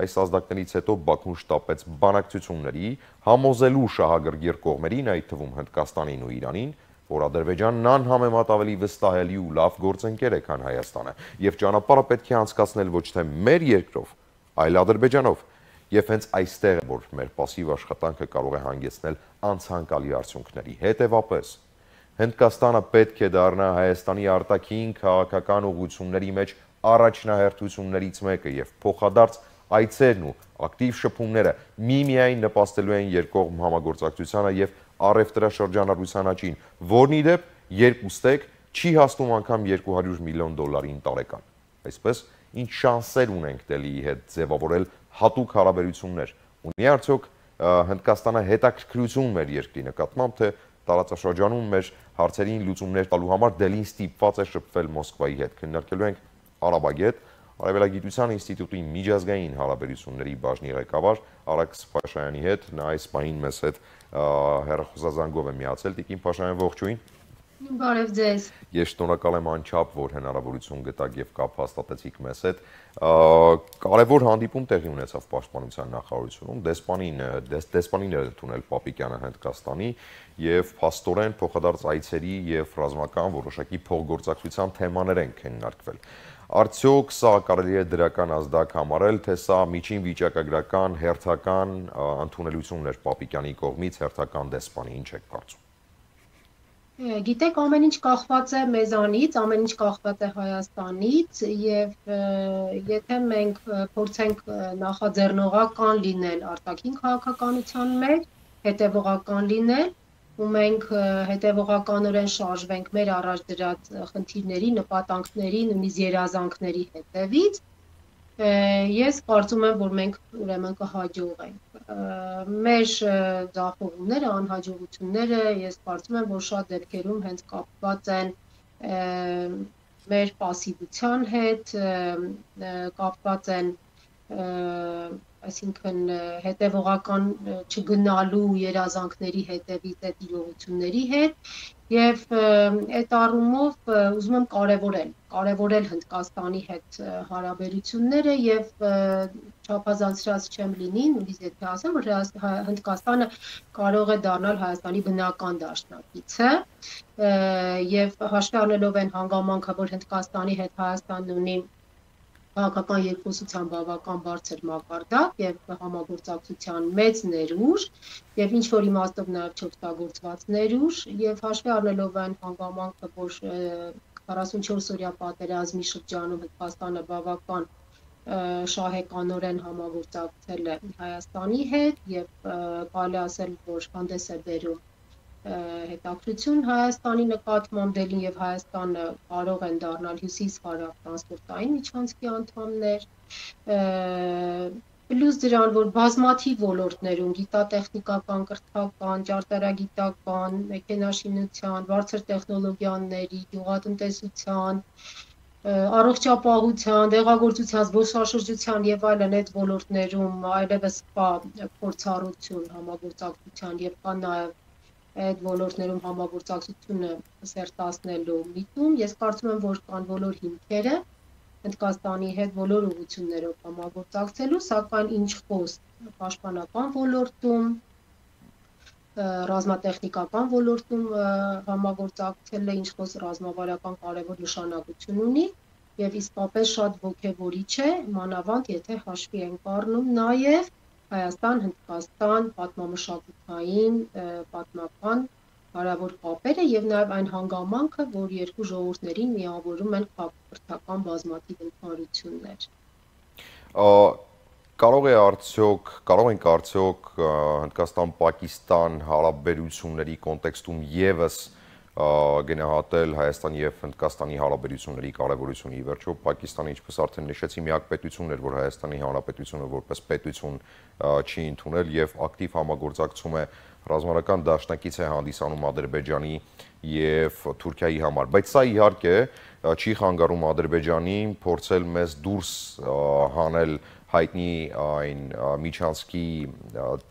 Այս ազդակներից հետո Բաքուն շտապեց բանակցությունների, համոզելու շահագրգիռ կողմերին, այդ թվում Հնդկաստանին ու Իրանին, որ Ադրբեջանն անհամեմատ ավելի վստահելի ու լավ գործընկեր է, քան Հայաստանը, եւ ճանապարհը պետք է անցկացնել ոչ թե մեր երկրով, այլ Ադրբեջանով։ Եվ հենց այստեղ է, որ մեր пассив աշխատանքը կարող է հանգեցնել անցանկալի արդյունքների։ Հետևապես, Հնդկաստանը պետք է դառնա Հայաստանի արտաքին քաղաքական ուղղությունների մեջ առաջնահերթություններից մեկը եւ փոխադարձ այցերն ու ակտիվ շփումները միմիայն նպաստելու են երկկողմ համագործակցությանը եւ առևտրաշրջանառության աճին, որն ի դեպ երկուստեք չի հասնում անգամ երկու հարյուր միլիոն դոլարին տարեկան։ Այսպես, ինչ շանսեր ունենք Դելիի հետ ձևավորել հատուկ հարաբերություններ։ Ունի արդյոք Հնդկաստանը հետաքրքրություն մեր երկրի նկատմամբ, թե տարածաշրջանում մեր հարցերին լուծումներ տալու համար Դելին ստիպված է շփվել Մոսկվայի հետ։ Քննարկելու ենք Արաբագետ, Արևելագիտության ինստիտուտի միջազգային հարաբերությունների բաժնի ղեկավար Արաքս Փաշայանի հետ, նա այս պահին մեզ հետ հեռախոսազանգով է միացել։ Տիկին Փաշայան, ողջույն։ Բարև ձեզ։ Ես շնորհակալ եմ անչափ, որ հնարավորություն գտաք եւ կապ հաստատեցիք մեզ հետ։ Կարևոր հանդիպում տեղի ունեցավ Պաշտպանության նախարարությունում, դեսպանին դեսպանին էր ընդունել Պապիկյանը Հնդկաստանի եւ փաստորեն փոխադարձ այցերի եւ ռազմական որոշակի փոխգործակցության թեմաներ են քննարկվել։ Արդյոք սա կարելի է դրական ազդակ համարել, թե սա միջին վիճակագրական հերթական ընդունելությունն էր Պապիկյանի կողմից հերթական դեսպանի, ինչ եք կարծում։ Գիտեք, ամեն ինչ կախված է մեզանից, ամեն ինչ կախված է Հայաստանից եւ եթե մենք փորձենք նախաձեռնողական լինել արտաքին քաղաքականության մեջ, հետևողական լինել, ու մենք հետևողականորեն շարժվենք մեր առաջ դրած խնդիրների, նպատակների, նույնիսկ երազանքների հետևից, ես կարծում եմ, որ մենք ուրեմն կհաջողենք։ Մեր ձախողումները, անհաջողությունները, ես կարծում եմ, որ շատ դեպքերում հենց կապված են մեր պասիվության հետ, կապված են, այսինքն հետևողական չգնալու երազանքների հետևից այդ իրողությունների հետ եւ այդ առումով ուզում եմ կարեւորել, կարեւորել Հնդկաստանի հետ հարաբերությունները եւ չափազանցրած չեմ լինի, նույնիսկ եթե ասեմ, որ Հնդկաստանը կարող է դառնալ Հայաստանի բնական դաշնակիցը եւ հաշվի առնելով այն հանգամանքը, որ Հնդկաստանի հետ Հայաստանն ունի քաղաքական երկխոսության բավական բարձր մակարդակ եւ համագործակցության մեծ ներուժ եւ ինչ որ իմաստով նաեւ չօգտագործված ներուժ եւ հաշվի առնելով այն հանգամանքը, որ քառասունչորս օրյա պատերազմի շրջանում Հնդկաստանը բավական շահեկանորեն համագործակցել է Հայաստանի հետ եւ կարելի ասել, որ հանդես է բերում հետաքրություն Հայաստանի նկատմամբ դելին եւ Հայաստանը կարող են դառնալ հյուսիս-հարավ տրանսպորտային միջանցքի անդամներ, պլյուս դրան, որ բազմաթիվ ոլորտներում գիտատեխնիկական, կրթական, ճարտարագիտական, մեքենաշինության, բարձր տեխնոլոգիաների, գյուղատնտեսության, առողջապահության, դեղագործության, զբոսաշրջության եւ այլն այդ ոլորտներում այլևս կա փորձառություն համագործակցության եւ կա նաեւ այդ ոլորտներում համագործակցությունը սերտացնելու միտում, ես կարծում եմ, որ կան բոլոր հիմքերը Հնդկաստանի հետ բոլոր ուղղություններով համագործակցելու, սակայն ինչ խոս պաշտպանական ոլորտում, ռազմատեխնիկական ոլորտում համագործակցելը, ինչ խոս ռազմավարական կարևոր նշանակություն ունի եւ իսկապես շատ ոգևորիչ է, մանավանդ եթե հաշվի ենք առնում նաեւ Հայաստան-Հնդկաստան պատմամշակութային, պատմական հարավոր կապերը եւ նաեւ այն հանգամանքը, որ երկու ժողովուրդներին միավորում են քաղաքական բազմաթիվ ընդհանրություններ։ Կարող է արդյոք, կարող ենք արդյոք Հնդկաստան-Պակիստան հարաբերությունների կոնտեքստում եւս գնահատել Հայաստանի եւ Հնդկաստանի հարաբերությունների կարևորությունը։ Ի վերջո Պակիստանը, ինչպես արդեն նշեցի, միակ պետությունն էր, որ Հայաստանի Հանրապետությունը որպես պետություն չի ընդունել եւ ակտիվ համագործակցում է ռազմական դաշնակից է հանդիսանում Ադրբեջանի եւ Թուրքիայի համար։ Բայց սա իհարկե չի խանգարում Ադրբեջանին փորձել մեզ դուրս հանել հայտնի այն միջանցքի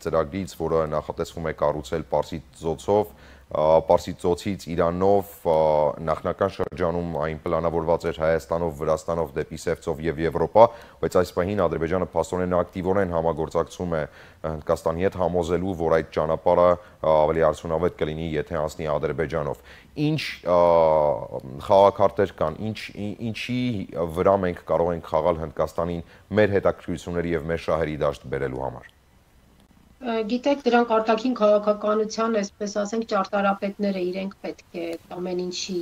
ծրագրից, որը նախատեսվում է կառուցել Պարսից ծոցով, Պարսից ծոցից Իրանով, նախնական շրջանում այն պլանավորված էր Հայաստանով, Վրաստանով դեպի Սև ծով եւ Եվրոպա, բայց այս պահին Ադրբեջանը փաստորեն ակտիվորեն համագործակցում է Հնդկաստանի հետ, համոզելու, որ այդ ճանապարհը ավելի արդյունավետ կլինի, եթե անցնի Ադրբեջանով։ Ինչ խաղակարտեր կան, ինչ ինչի վրա մենք կարող ենք խաղալ Հնդկաստանին մեր հետաքրքրությունների եւ մեր շահերի դաշտ բերելու համար։ Գիտեք, դրանք արտաքին քաղաքականության, այսպես ասենք, ճարտարապետները իրենք պետք է ամեն ինչի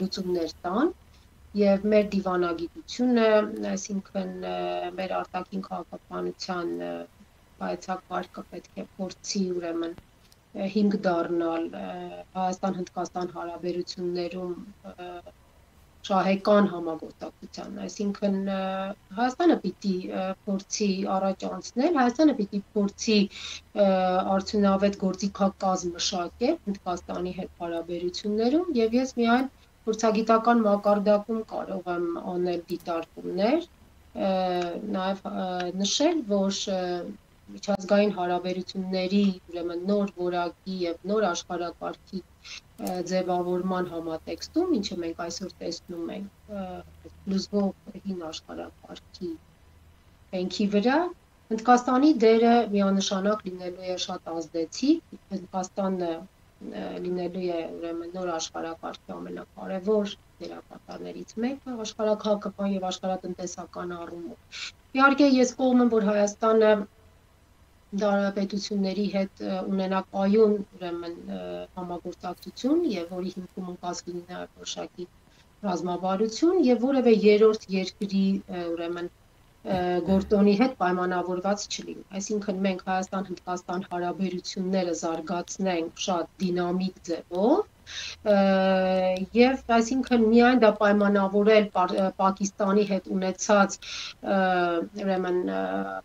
լուծումներ տան եւ մեր դիվանագիտությունը, այսինքն մեր արտաքին քաղաքականության հայեցակարգը պետք է փորձի ուրեմն հիմք դառնալ Հայաստան-Հնդկաստան հարաբերություններում շահեկան համագործակցության, այսինքն Հայաստանը պիտի փորձի առաջ անցնել, Հայաստանը պիտի փորձի արդյունավետ գործիքակազմ մշակել Հնդկաստանի հետ հարաբերություններում եւ ես միայն փորձագիտական մակարդակում կարող եմ անել դիտարկումներ, նաեւ նշել, որ միջազգային հարաբերությունների ուրեմն նոր որակի եւ նոր աշխարհակարգի ձևավորման համատեքստում, ինչը մենք այսօր տեսնում ենք լուծվող հին աշխարհակարգի հենքի վրա, Հնդկաստանի դերը միանշանակ լինելու է շատ ազդեցիկ, Հնդկաստանը լինելու է ուրեմն նոր աշխարհակարգի ամենակարևոր դերակատարներից մեկը աշխարհաքաղաքական եւ աշխարհատնտեսական առումով։ Իհարկե ես կողմ եմ, որ Հայաստանը դարապետությունների հետ ունենա կայուն ուրեմն համագործակցություն եւ որի հիմքում ընկած լինի նաեւ որոշակի ռազմավարություն եւ որևէ երրորդ երկրի ուրեմն գործոնի հետ պայմանավորված չլինի։ Այսինքն մենք Հայաստան-Հնդկաստան հարաբերությունները զարգացնենք շատ դինամիկ ձևով եւ այսինքն միայն դա պայմանավորել Պակիստանի հետ ունեցած ուրեմն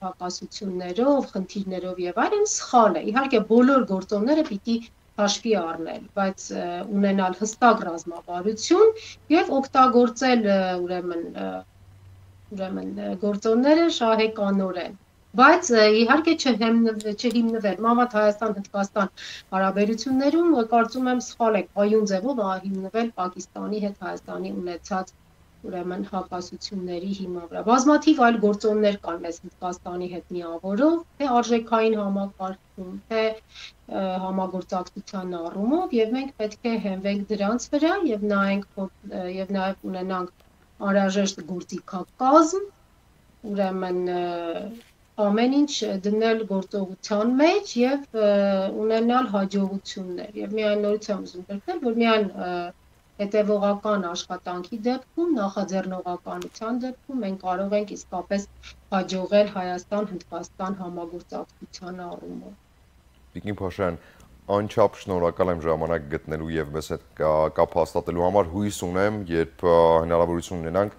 հակասություններով, խնդիրներով եւ այլն սխալ է։ Իհարկե բոլոր գործոնները պիտի հաշվի առնել, բայց ունենալ հստակ ռազմավարություն եւ օգտագործել ուրեմն ուրեմն գործոնները շահեկանորեն, բայց իհարկե չհիմնվել մավատ Հայաստան-Հնդկաստան հարաբերություններում կարծում եմ սխալ է կայուն ձևով հիմնվել Պակիստանի հետ Հայաստանի ունեցած ուրեմն հակասությունների հիման վրա։ Բազմաթիվ այլ գործոններ կան մեզ Հնդկաստանի հետ միավորով, թե արժեքային համակարգում, թե համագործակցության առումով եւ մենք պետք է հենվենք դրանց վրա եւ նայենք եւ նաեւ ունենանք անհրաժեշտ գործիքակազմ, ուրեմն ամեն ինչ դնել գործողության մեջ եւ ունենալ հաջողություններ եւ միայն նորից եմ ուզում գրել, որ միայն հետևողական աշխատանքի դեպքում, նախաձեռնողականության դեպքում մենք կարող ենք իսկապես հաջողել Հայաստան-Հնդկաստան համագործակցության առումով։ Տիկին Փաշյան, անչափ շնորհակալ եմ ժամանակ գտնելու եւ մեզ հետ կապ հաստատելու համար, հույս ունեմ, երբ հնարավորություն ունենանք,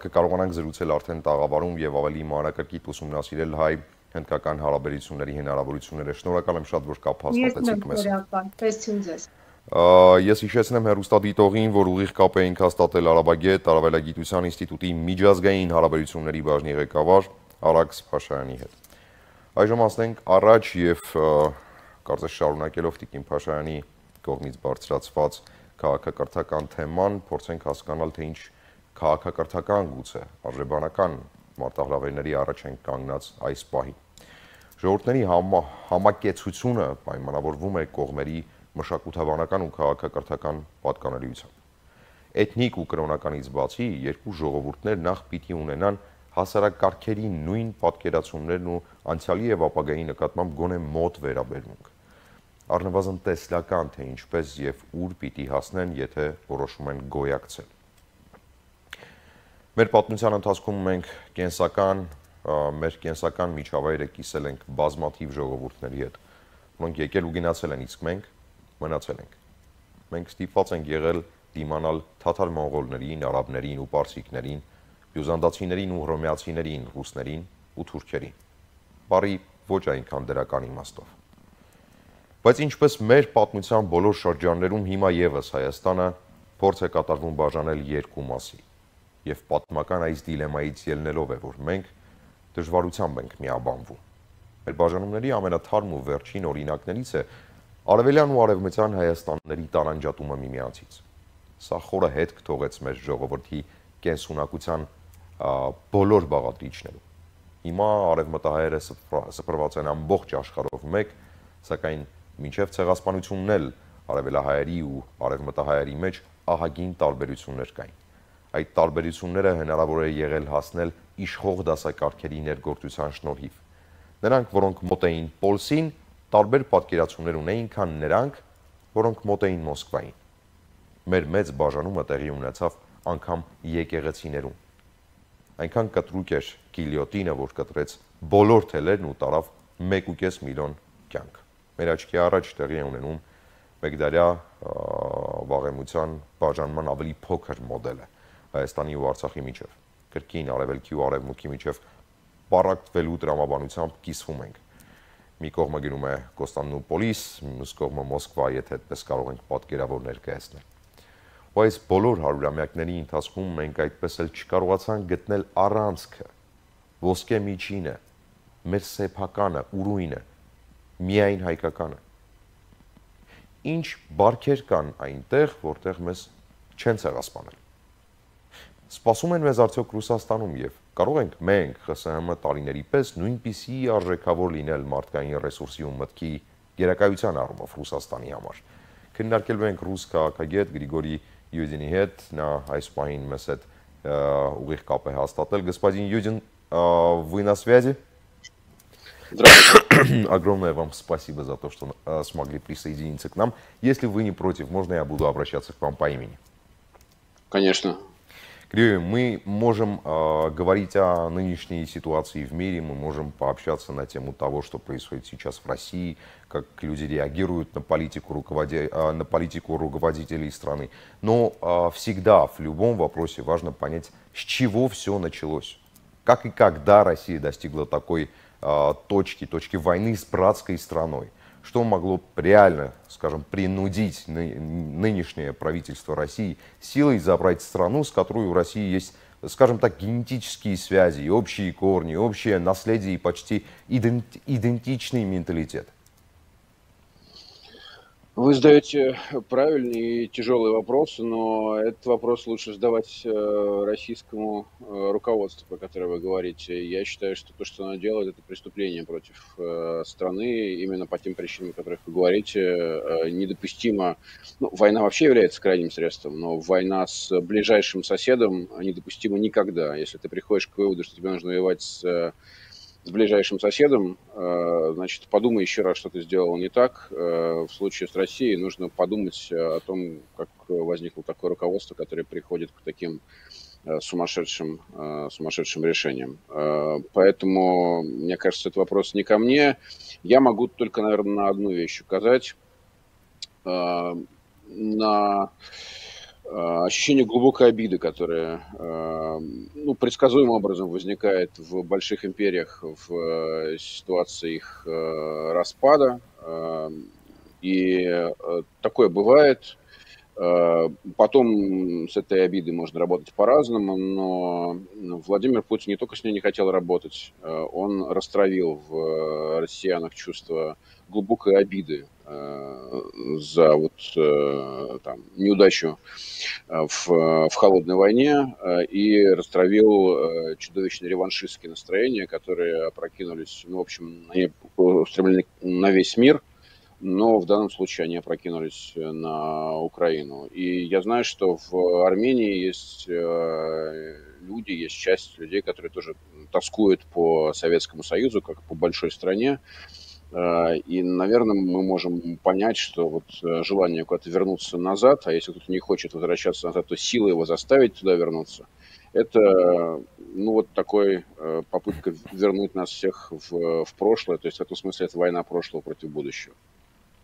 կկարողանանք զրուցել արդեն տաղավարում եւ ավելի մանրակրկիտ ուսումնասիրել հայ-հնդկական հարաբերությունների հնարավորությունները։ Շնորհակալ եմ շատ, որ կապ հաստատեցիք մեզ։ Ես Ես հիշեցնեմ հեռուստադիտողին, որ ուղիղ կապ էինք հաստատել Արաբագետ Արաբելագիտության ինստիտուտի միջազգային հարաբերությունների բաժնի ղեկավար Արաքս Փաշայանի հետ։ Այժմ ասենք առաջ եւ կարծես շարունակելով Տիկին Փաշայանի կողմից բարձրացված քաղաքակրթական թեման, փորձենք հասկանալ, թե ինչ քաղաքակրթական գուցե արժեբանական մարտահրավերների առաջ են կանգնած այս պահին։ Ժողովուրդների համակեցությունը պայմանավորվում է կողմերի մշակութաբանական ու քաղաքակրթական պատկանելիությամբ։ Էթնիկ ու կրոնականից բացի երկու ժողովուրդներ նախ պիտի ունենան հասարակարգերի նույն պատկերացումներն ու անցյալի եւ ապագայի նկատմամբ գոնե մոտ վերաբերմունք։ Առնվազն տեսլական, թե ինչպես եւ ուր պիտի հասնեն, եթե որոշում են գոյակցել։ Մեր պատմության ընթացքում մենք կենսական, մեր կենսական միջավայրը կիսել ենք բազմաթիվ ժողովուրդների հետ, որոնք եկել ու գնացել են, իսկ մենք մնացել ենք։ Մենք ստիպված ենք եղել դիմանալ թաթար մոնղոլներին, արաբներին ու պարսիկներին, բյուզանդացիներին ու հռոմեացիներին, ռուսներին ու թուրքերին։ Բարի ոչ այնքան դրական իմաստով։ Բայց ինչպես մեր պատմության բոլոր շրջաններում հիմա եւս Հայաստանը փորձ է կատարվում բաժանել երկու մասի, եւ պատմական այս դիլեմայից ելնելով է, որ մենք դժվարությամբ ենք միաբանվում։ Մեր բաժանումների ամենաթարմ ու վերջին օրինակներից է Արևելյան ու Արևմտյան Հայաստանների տարանջատումը միմյանցից։ Սա խորը հետք թողեց մեր ժողովրդի կենսունակության բոլոր բաղադրիչներում։ Հիմա արևմտահայերը սփռված են ամբողջ աշխարհով մեկ, սակայն մինչև ցեղասպանությունն էլ արևելահայերի ու արևմտահայերի մեջ ահագին տարբերություններ կային։ Այդ տարբերությունները հնարավոր է եղել հասնել իշխող դասակարգերի ներգործության շնորհիվ։ Նրանք, որոնք մոտ էին Պոլսին, տարբեր պատկերացումներ ունեին, քան նրանք, որոնք մոտ էին Մոսկվային։ Մեր մեծ բաժանումը տեղի ունեցավ անգամ եկեղեցիներում։ Այնքան կտրուկ էր գիլյոտինը, որ կտրեց բոլոր թելերն ու տարավ մեկ ու կես միլիոն կյանք։ Մեր աչքի առաջ տեղի է ունենում մեկդարյա վաղեմության բաժանման ավելի փոքր մոդելը Հայաստանի ու Արցախի միջև։ Կրկին արևելքի ու արևմուտքի միջև պարակտվելու տրամաբանությամբ կիսվում ենք։ Մի կողմը գնում է Կոստանդնուպոլիս, մյուս կողմը Մոսկվա, եթե այդպես կարող ենք պատկերավոր ներկայացնել։ Ու այս բոլոր հարյուրամյակների ընթացքում մենք այդպես էլ չկարողացանք գտնել առանցքը, ոսկե միջինը, մեր սեփականը, ուրույնը, միայն հայկականը։ Ինչ բարքեր կան այնտեղ, որտեղ մեզ չեն ցեղասպանել։ Սպասում են մեզ արդյոք Ռուսաստանում եւ կարող ենք մենք ԽՍՀՄ տարիների պես նույնպիսի արժեքավոր լինել մարդկային ռեսուրսի ու մտքի գերակայության առումով Ռուսաստանի համար։ Քննարկելու ենք ռուս քաղաքագետ Գրիգորի Յուդինի հետ, նա այս պահին մեզ հետ ուղիղ կապ է հաստատել։ Господин Юдин, вы на связи? Здравствуйте. огромное вам спасибо за то, что смогли присоединиться к нам. Если вы не против, можно я буду обращаться к вам по имени? Конечно. Григорий, мы можем э, говорить о нынешней ситуации в мире, мы можем пообщаться на тему того, что происходит сейчас в России, как люди реагируют на политику, руководи... э, на политику руководителей страны. Но э, всегда в любом вопросе важно понять, с чего все началось. Как и когда Россия достигла такой э, точки, точки войны с братской страной. Что могло реально, скажем, принудить нынешнее правительство России силой забрать страну, с которой у России есть, скажем так, генетические связи, и общие корни, общее наследие и почти идентичный менталитет? Вы задаете правильные и тяжелые вопросы, но этот вопрос лучше задавать российскому руководству, про которое вы говорите. Я считаю, что то, что оно делает, это преступление против страны, именно по тем причинам, о которых вы говорите, недопустимо. Ну, война вообще является крайним средством, но война с ближайшим соседом недопустима никогда. Если ты приходишь к выводу, что тебе нужно воевать с... с ближайшим соседом, значит, подумай еще раз, что ты сделал не так. В случае с Россией нужно подумать о том, как возникло такое руководство, которое приходит к таким сумасшедшим, сумасшедшим решениям. Поэтому, мне кажется, этот вопрос не ко мне. Я могу только, наверное, на одну вещь указать. На ощущение глубокой обиды, которое ну, предсказуемым образом возникает в больших империях в ситуации их распада. И такое бывает. Потом с этой обидой можно работать по-разному, но Владимир Путин не только с ней не хотел работать, он растравил в россиянах чувство глубокой обиды за вот, там, неудачу в, в холодной войне и растравил чудовищные реваншистские настроения, которые опрокинулись, ну, в общем, они устремлены на весь мир, но в данном случае они опрокинулись на Украину. И я знаю, что в Армении есть люди, есть часть людей, которые тоже тоскуют по Советскому Союзу, как по большой стране. И, наверное, мы можем понять, что вот желание куда-то вернуться назад, а если кто-то не хочет возвращаться назад, то сила его заставить туда вернуться, это, ну, вот такой попытка вернуть нас всех в, в прошлое. То есть в этом смысле это война прошлого против будущего.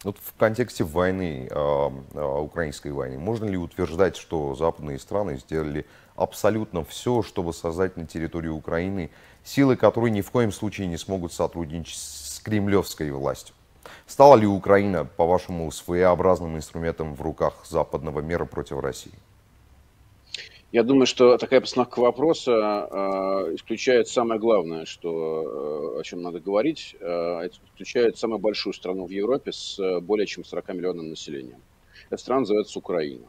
Вот в контексте войны, э, э, украинской войны, можно ли утверждать, что западные страны сделали абсолютно все, чтобы создать на территории Украины силы, которые ни в коем случае не смогут сотрудничать с кремлевской властью? Стала ли Украина, по-вашему, своеобразным инструментом в руках западного мира против России? Я думаю, что такая постановка вопроса э, исключает самое главное, что, э, о чем надо говорить, э, исключает самую большую страну в Европе с более чем сорока миллионным населением. Эта страна называется Украина.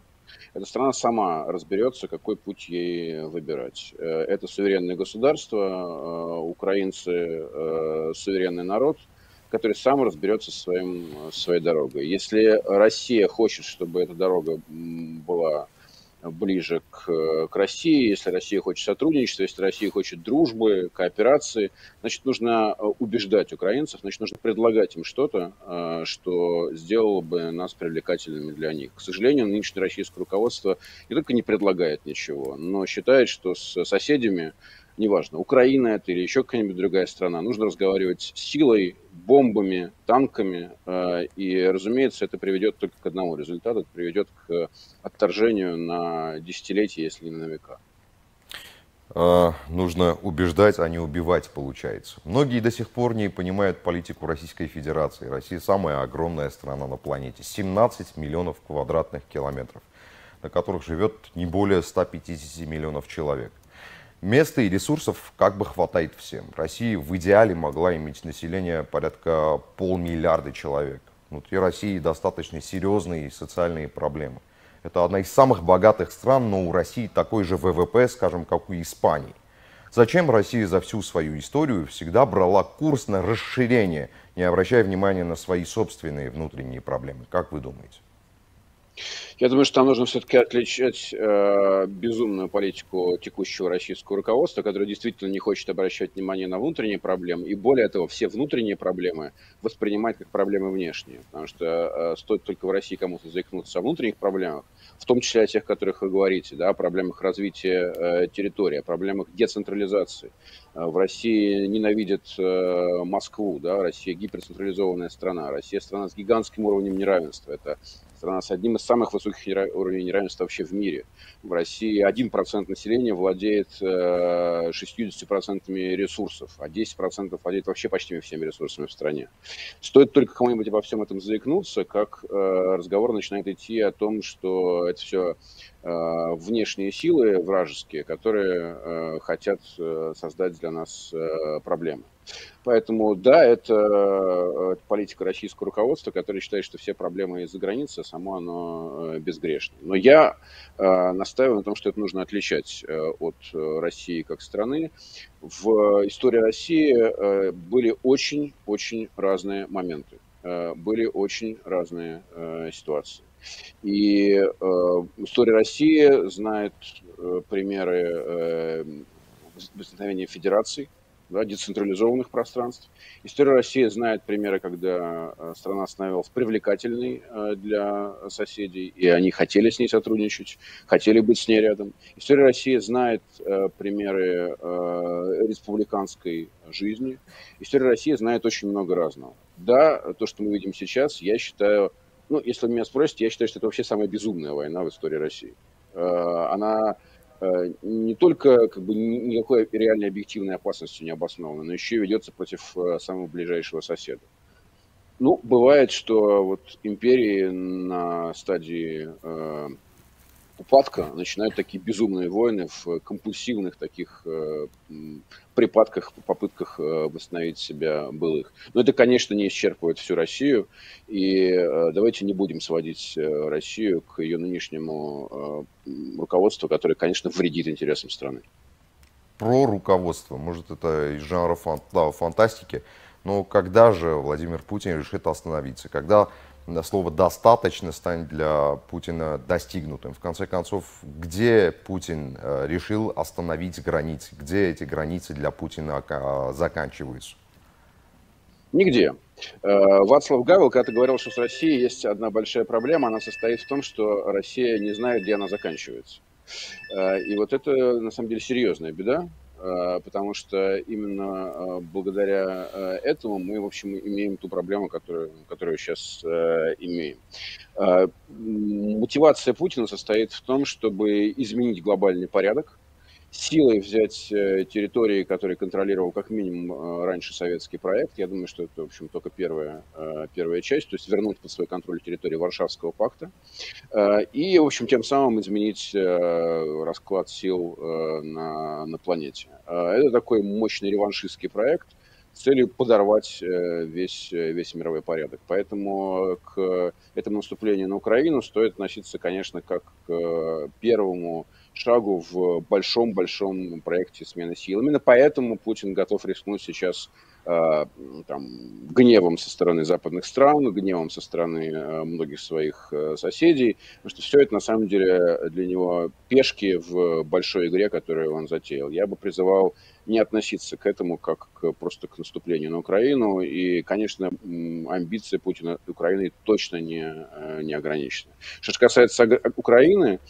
Эта страна сама разберется, какой путь ей выбирать. Это суверенное государство, э, украинцы э, суверенный народ, который сам разберется со своим, своей дорогой. Если Россия хочет, чтобы эта дорога была ближе к, к России, если Россия хочет сотрудничества, если Россия хочет дружбы, кооперации, значит, нужно убеждать украинцев, значит, нужно предлагать им что-то, что сделало бы нас привлекательными для них. К сожалению, нынешнее российское руководство не только не предлагает ничего, но считает, что с соседями, неважно, Украина это или еще какая-нибудь другая страна, нужно разговаривать силой, бомбами, танками. И, разумеется, это приведет только к одному результату. Это приведет к отторжению на десятилетия, если не на века. А, нужно убеждать, а не убивать, получается. Многие до сих пор не понимают политику Российской Федерации. Россия самая огромная страна на планете. семнадцать миллионов квадратных километров, на которых живет не более ста пятидесяти миллионов человек. Места и ресурсов как бы хватает всем. Россия в идеале могла иметь население порядка полмиллиарда человек. Внутри России достаточно серьезные социальные проблемы. Это одна из самых богатых стран, но у России такой же вэ вэ пэ, скажем, как у Испании. Зачем Россия за всю свою историю всегда брала курс на расширение, не обращая внимания на свои собственные внутренние проблемы? Как вы думаете? Я думаю, что там нужно все-таки отличать э, безумную политику текущего российского руководства, которое действительно не хочет обращать внимание на внутренние проблемы, и более того, все внутренние проблемы воспринимать как проблемы внешние. Потому что э, стоит только в России кому-то заикнуться о внутренних проблемах, в том числе о тех, о которых вы говорите, да, о проблемах развития э, территории, о проблемах децентрализации. Э, в России ненавидят э, Москву, да, Россия гиперцентрализованная страна, Россия страна с гигантским уровнем неравенства. Это страна с одним из самых высоких уровней неравенства вообще в мире. В России один процент населения владеет шестьюдесятью процентами ресурсов, а десять процентов владеет вообще почти всеми ресурсами в стране. Стоит только кому-нибудь обо всем этом заикнуться, как разговор начинает идти о том, что это все внешние силы вражеские, которые хотят создать для нас проблемы. Поэтому, да, это, это политика российского руководства, которое считает, что все проблемы из-за границы, а само оно безгрешно. Но я э, настаиваю на том, что это нужно отличать э, от России как страны. В истории России э, были очень-очень разные моменты, э, были очень разные э, ситуации. И э, история России знает э, примеры э, возникновения федераций, да, децентрализованных пространств. История России знает примеры, когда страна становилась привлекательной для соседей, и они хотели с ней сотрудничать, хотели быть с ней рядом. История России знает примеры республиканской жизни. История России знает очень много разного. Да, то, что мы видим сейчас, я считаю, ну, если вы меня спросите, я считаю, что это вообще самая безумная война в истории России. Она не только как бы, никакой реальной объективной опасности не обоснована, но еще и ведется против самого ближайшего соседа. Ну, бывает, что вот империи на стадии э, упадка начинают такие безумные войны в компульсивных таких э, припадках, попытках восстановить себя былых. Но это, конечно, не исчерпывает всю Россию, и э, давайте не будем сводить Россию к ее нынешнему э, руководству, которое, конечно, вредит интересам страны. Про руководство, может, это из жанра фан- да, фантастики, но когда же Владимир Путин решит остановиться? Когда слово «достаточно» станет для Путина достигнутым? В конце концов, где Путин решил остановить границы? Где эти границы для Путина заканчиваются? Нигде. Вацлав Гавел когда-то говорил, что с Россией есть одна большая проблема. Она состоит в том, что Россия не знает, где она заканчивается. И вот это, на самом деле, серьезная беда, потому что именно благодаря этому мы, в общем, имеем ту проблему, которую, которую сейчас имеем. Мотивация Путина состоит в том, чтобы изменить глобальный порядок, силой взять территории, которые контролировал как минимум раньше советский проект. Я думаю, что это, в общем, только первая, первая часть, то есть вернуть под свой контроль территории Варшавского пакта и, в общем, тем самым изменить расклад сил на, на планете. Это такой мощный реваншистский проект с целью подорвать весь, весь мировой порядок. Поэтому к этому наступлению на Украину стоит относиться, конечно, как к первому шагу в большом-большом проекте смены сил. Именно поэтому Путин готов рискнуть сейчас э, там, гневом со стороны западных стран, гневом со стороны э, многих своих э, соседей, потому что все это на самом деле для него пешки в большой игре, которую он затеял. Я бы призывал не относиться к этому как к, просто к наступлению на Украину. И, конечно, амбиции Путина Украины точно не, не ограничены. Что же касается Украины,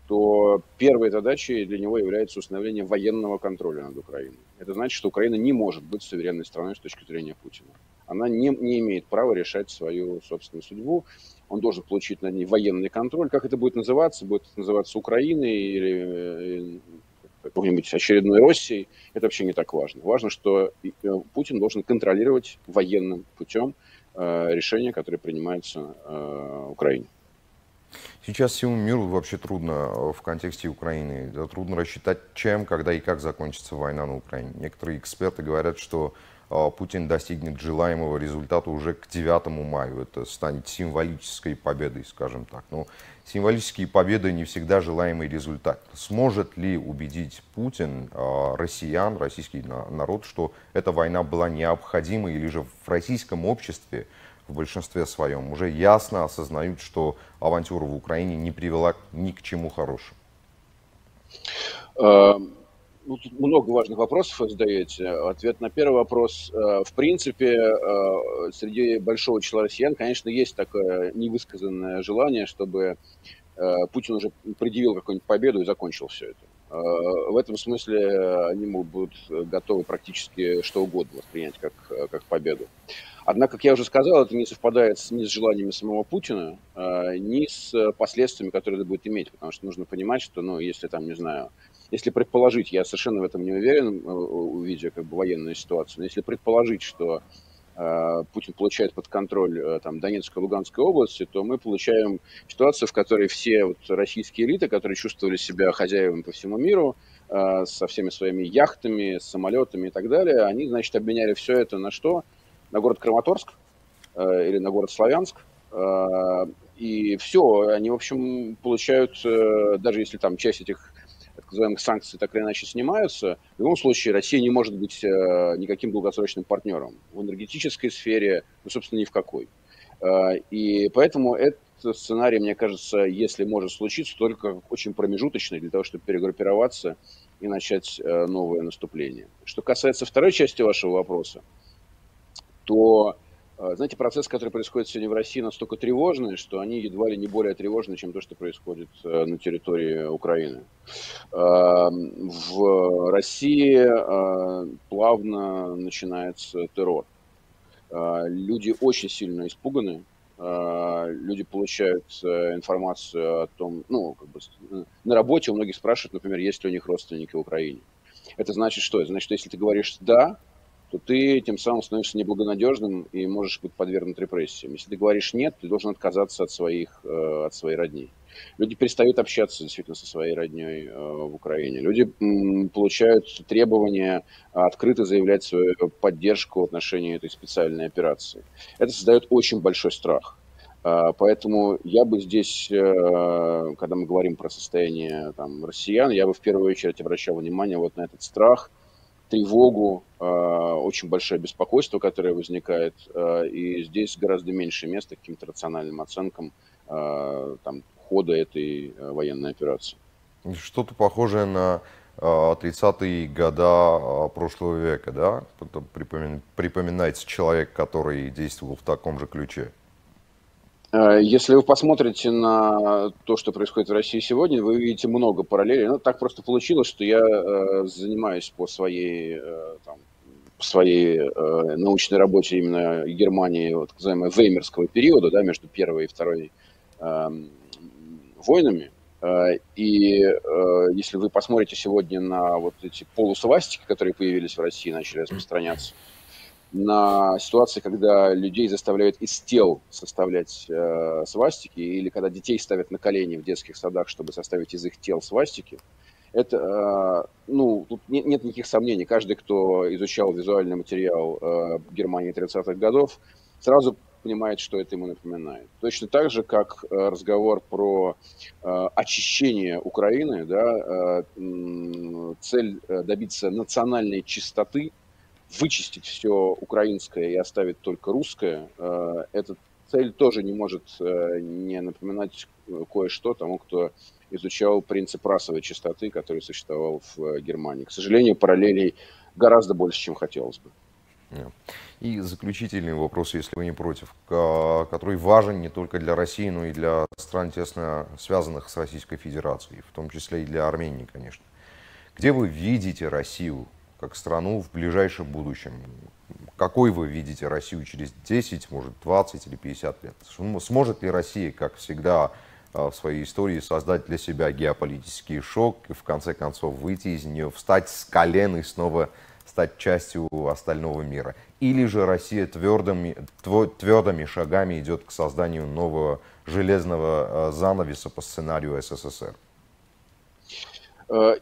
то первой задачей для него является установление военного контроля над Украиной. Это значит, что Украина не может быть суверенной страной с точки зрения Путина. Она не, не имеет права решать свою собственную судьбу. Он должен получить над ней военный контроль. Как это будет называться? Будет называться Украиной или какой-нибудь очередной Россией? Это вообще не так важно. Важно, что Путин должен контролировать военным путем решения, которые принимаются в Украине. Сейчас всему миру вообще трудно в контексте Украины. Трудно рассчитать, чем, когда и как закончится война на Украине. Некоторые эксперты говорят, что Путин достигнет желаемого результата уже к девятому мая. Это станет символической победой, скажем так. Но символические победы не всегда желаемый результат. Сможет ли убедить Путин россиян, российский народ, что эта война была необходима, или же в российском обществе в большинстве своем уже ясно осознают, что авантюра в Украине не привела ни к чему хорошему? Ну, тут много важных вопросов вы задаете. Ответ на первый вопрос. В принципе, среди большого числа россиян, конечно, есть такое невысказанное желание, чтобы Путин уже предъявил какую-нибудь победу и закончил все это. В этом смысле они будут готовы практически что угодно воспринять как, как победу. Однако, как я уже сказал, это не совпадает ни с желаниями самого Путина, ни с последствиями, которые это будет иметь. Потому что нужно понимать, что, ну, если там, не знаю, если предположить, я совершенно в этом не уверен, увидя как бы военную ситуацию, но если предположить, что Путин получает под контроль там, Донецкой и Луганской области, то мы получаем ситуацию, в которой все вот российские элиты, которые чувствовали себя хозяевами по всему миру, со всеми своими яхтами, самолетами и так далее, они, значит, обменяли все это на что? На город Краматорск или на город Славянск. И все, они, в общем, получают, даже если там часть этих так называемых санкций так или иначе снимаются, в любом случае Россия не может быть э, никаким долгосрочным партнером в энергетической сфере, ну, собственно, ни в какой. Э, и поэтому этот сценарий, мне кажется, если может случиться, только очень промежуточный для того, чтобы перегруппироваться и начать э, новое наступление. Что касается второй части вашего вопроса, то, э, знаете, процесс, который происходит сегодня в России, настолько тревожный, что они едва ли не более тревожны, чем то, что происходит э, на территории Украины. В России плавно начинается террор. Люди очень сильно испуганы. Люди получают информацию о том, ну, как бы на работе у многих спрашивают, например, есть ли у них родственники в Украине. Это значит что? Это значит, что если ты говоришь «да», то ты тем самым становишься неблагонадежным и можешь быть подвергнут репрессиям. Если ты говоришь «нет», ты должен отказаться от своих, от своей родни. Люди перестают общаться действительно со своей родней э, в Украине. Люди м, получают требования открыто заявлять свою поддержку в отношении этой специальной операции. Это создает очень большой страх. Э, поэтому я бы здесь, э, когда мы говорим про состояние там, россиян, я бы в первую очередь обращал внимание вот на этот страх, тревогу, э, очень большое беспокойство, которое возникает. Э, и здесь гораздо меньше места каким-то рациональным оценкам э, там, хода этой военной операции. Что-то похожее на тридцатые годы прошлого века, да? Припоминается человек, который действовал в таком же ключе. Если вы посмотрите на то, что происходит в России сегодня, вы увидите много параллелей. Ну, так просто получилось, что я занимаюсь по своей, там, по своей научной работе именно Германии, вот, так называемого веймерского периода, да, между первой и второй войнами. И если вы посмотрите сегодня на вот эти полусвастики, которые появились в России, начали распространяться, на ситуации, когда людей заставляют из тел составлять свастики, или когда детей ставят на колени в детских садах, чтобы составить из их тел свастики, это, ну, тут нет, нет никаких сомнений. Каждый, кто изучал визуальный материал Германии тридцатых годов, сразу понимает, что это ему напоминает. Точно так же, как разговор про э, очищение Украины, да, э, цель добиться национальной чистоты, вычистить все украинское и оставить только русское, э, эта цель тоже не может э, не напоминать кое-что тому, кто изучал принцип расовой чистоты, который существовал в Германии. К сожалению, параллелей гораздо больше, чем хотелось бы. И заключительный вопрос, если вы не против, который важен не только для России, но и для стран, тесно связанных с Российской Федерацией, в том числе и для Армении, конечно. Где вы видите Россию как страну в ближайшем будущем? Какой вы видите Россию через десять, может, двадцать или пятьдесят лет? Сможет ли Россия, как всегда в своей истории, создать для себя геополитический шок и в конце концов выйти из нее, встать с колен и снова стать частью остального мира? Или же Россия твердыми, твердыми шагами идет к созданию нового железного занавеса по сценарию СССР?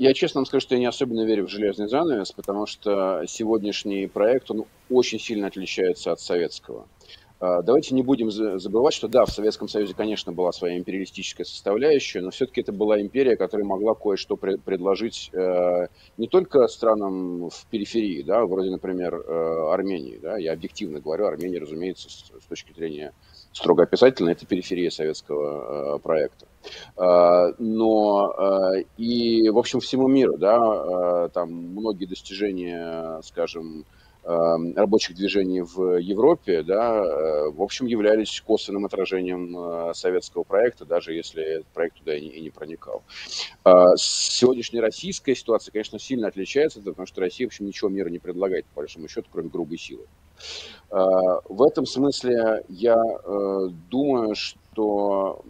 Я честно вам скажу, что я не особенно верю в железный занавес, потому что сегодняшний проект, он очень сильно отличается от советского. Давайте не будем забывать, что да, в Советском Союзе, конечно, была своя империалистическая составляющая, но все-таки это была империя, которая могла кое-что предложить не только странам в периферии, да, вроде, например, Армении. Да, я объективно говорю, Армения, разумеется, с точки зрения строго описательной, это периферия советского проекта. Но и, в общем, всему миру, да, там многие достижения, скажем, рабочих движений в Европе, да, в общем, являлись косвенным отражением советского проекта, даже если этот проект туда и не, и не проникал. Сегодняшняя российская ситуация, конечно, сильно отличается, потому что Россия, в общем, ничего миру не предлагает, по большому счету, кроме грубой силы. В этом смысле я думаю, что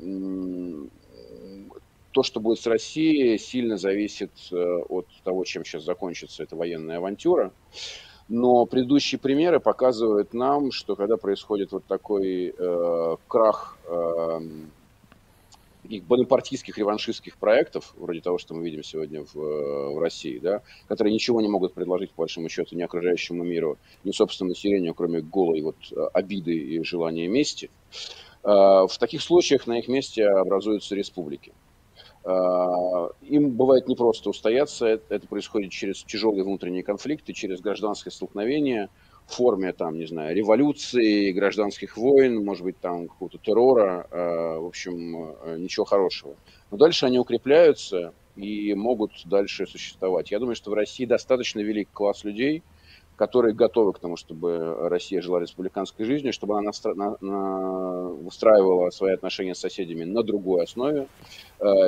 то, что будет с Россией, сильно зависит от того, чем сейчас закончится эта военная авантюра. Но предыдущие примеры показывают нам, что когда происходит вот такой э, крах э, бонапартийских реваншистских проектов, вроде того, что мы видим сегодня в, в России, да, которые ничего не могут предложить, по большому счету, ни окружающему миру, ни собственному населению, кроме голой вот обиды и желания мести, э, в таких случаях на их месте образуются республики. Им бывает непросто устояться, это происходит через тяжелые внутренние конфликты, через гражданское столкновение в форме, там, не знаю, революции, гражданских войн, может быть, там, какого-то террора, в общем, ничего хорошего. Но дальше они укрепляются и могут дальше существовать. Я думаю, что в России достаточно велик класс людей, которые готовы к тому, чтобы Россия жила республиканской жизнью, чтобы она настра... на... На... выстраивала свои отношения с соседями на другой основе,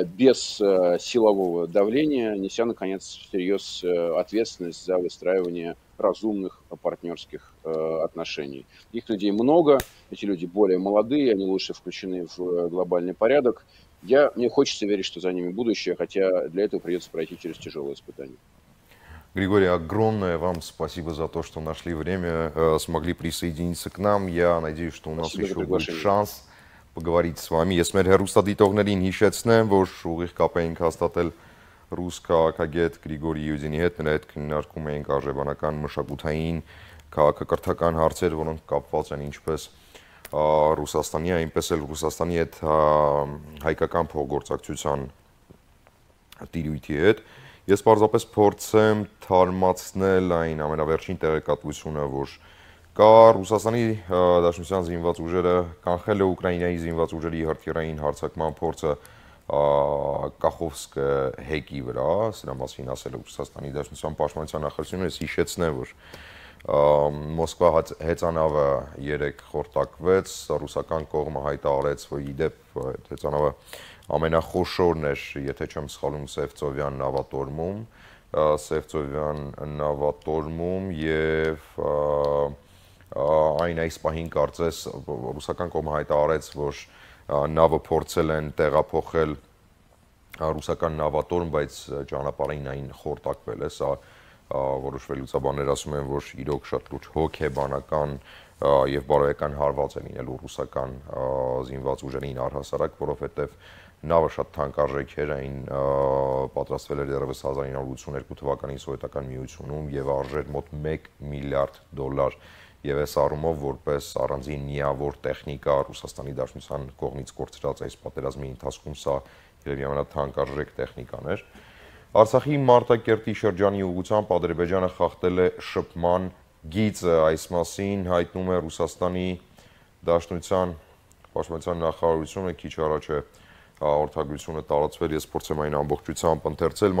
без силового давления, неся, наконец, всерьез ответственность за выстраивание разумных партнерских отношений. Их людей много, эти люди более молодые, они лучше включены в глобальный порядок. Я... Мне хочется верить, что за ними будущее, хотя для этого придется пройти через тяжелые испытания. Григорий, огромное вам спасибо за то, что нашли время, э, смогли присоединиться к нам. Я надеюсь, что у нас спасибо еще будет шанс поговорить с вами. Ես մեր հեռուստադիտողներին հիշեցնեմ, որ ուղիղ կապ էինք հաստատել ռուս քաղաքագետ Գրիգորի Յուդինի հետ, նրա հետ քննարկում էինք արժեվանական մշակութային, քաղաքակրթական հարցեր, որոնք կապված են ինչպես Ռուսաստանի, այնպես էլ Ռուսաստանի հետ հայկական փոխգործակցության տիրույթի հետ։ Ես պարզապես փորձեմ թարմացնել այն ամենավերջին տեղեկատվությունը, որ կա Ռուսաստանի Դաշնության զինված ուժերը կանխել է Ուկրաինայի զինված ուժերի հրթիռային հարձակման փորձը Կախովսկ հեկի վրա, սրա մասին ասել է Ռուսաստանի Դաշնության պաշտպանության նախարարությունը, ես հիշեցնեմ, որ Մոսկվա հեծանավը երեք խորտակվեց, ռուսական կողմը հայտարարեց, որ ի դեպ հեծանավը ամենախոշորն էր, եթե չեմ սխալվում, Սևծովյան նավատորմում, Սևծովյան նավատորմում եւ այն այս պահին կարծես ռուսական կողմը հայտարարեց, որ նավը փորձել են տեղափոխել ռուսական նավատորմ, բայց ճանապարհին այն խորտակվել է, սա որոշվելուց բաներ ասում են, որ իրոք շատ լուրջ հոգեբանական եւ բարոյական հարված է լինելու ռուսական զինված ուժերին առհասարակ, որովհետեւ նավը շատ թանկարժեք էր, այն պատրաստվել էր դեռևս հազար ինը հարյուր ութսունութ թվականի սովետական միությունում եւ արժեր մոտ մեկ միլիարդ դոլար եւ այս առումով որպես առանձին միավոր տեխնիկա Ռուսաստանի Դաշնության կողմից կորցրած այս պատերազմի ընթացքում սա երևի ամենաթանկարժեք տեխնիկան էր։ Արցախի Մարտակերտի շրջանի ուղղությամբ Ադրբեջանը խախտել է շփման գիծը, այս մասին հայտնում է Ռուսաստանի Դաշնության պաշտպանության նախարարությունը, քիչ առաջ է հաղորդագրությունը տարածվել, ես փորձեմ այն ամբողջությամբ ընթերցել։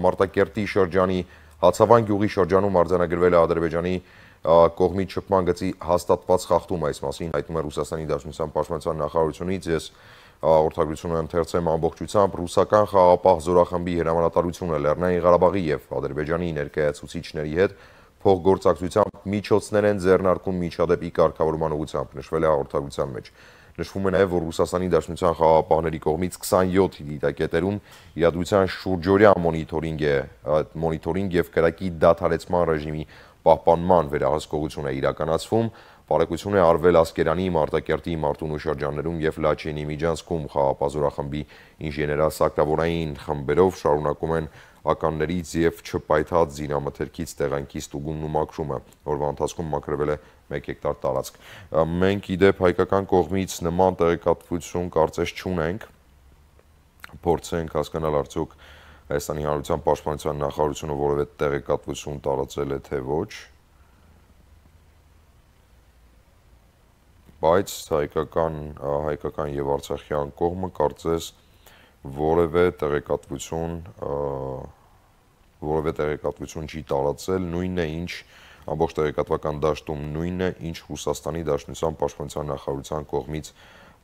Մարտակերտի շրջանի Հացավան գյուղի շրջանում արձանագրվել է Ադրբեջանի կողմից շփման գծի հաստատված խախտում, այս մասին հայտնում է Ռուսաստանի Դաշնության պաշտպանության նախարարությունից, ես հաղորդագրությունը ընթերցեմ ամբողջությամբ։ Ռուսական խաղապահ զորախմբի հրամանատարությունը Լեռնային Ղարաբաղի եւ Ադրբեջանի ներկայացուցիչների հետ փոխգործակցությամբ միջոցներ են ձեռնարկում միջադեպի կարգավորման ուղղությամբ, նշվել է հաղորդագրության մեջ։ Նշվում է նաև, որ Ռուսաստանի Դաշնության խաղապահների կողմից քսանյոթ դիտակետերում իրադրության շուրջօրյա մոնիթորինգ է, մոնիթորինգ եւ կրակի դադարեցման ռեժիմի պահպանման վերահսկողություն է իրականացվում։ Բարեկություն է արվել Ասկերանի, Մարտակերտի, Մարտունու շրջաններում եւ Լաչինի միջանցքում խաղապահ զորախմբի ինժեներասակտավորային խմբերով շարունակում են ականներից եւ չպայթած զինամթերքից տեղանքի ստուգումն ու մաքրումը, որվա ընթացքում մաքրվել է մեկ հեկտար տարածք։ Մենք իդեպ հայկական կողմից նման տեղեկատվություն կարծես չունենք, փորձենք հասկանալ արդյոք Հայաստանի Հանրության Պաշտպանության նախարարությունը որևէ տեղեկատվություն տարածել է թե ոչ, բայց հայկական հայկական եւ արցախյան կողմը կարծես որևէ տեղեկատվություն որևէ տեղեկատվություն չի տարածել, նույնն է ինչ ամբողջ տեղեկատվական դաշտում նույնն է ինչ Ռուսաստանի Դաշնության Պաշտպանության նախարարության կողմից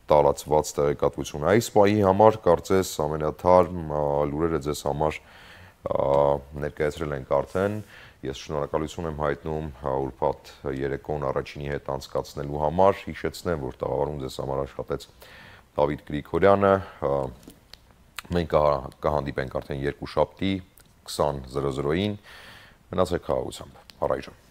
տարածված տեղեկատվություն։ Այս պահի համար կարծես ամենաթարմ լուրերը ձեզ համար ներկայացրել ենք արդեն։ Ես շնորհակալություն եմ հայտնում ուրբաթ երեկոն առաջինի հետ անցկացնելու համար։ Հիշեցնեմ, որ տաղավարում ձեզ համար աշխատեց Դավիթ Գրիգորյանը։ Մենք կհանդիպենք արդեն երկուշաբթի քսան զրո զրոյին։ Մնացեք խաղաղությամբ։ Առայժմ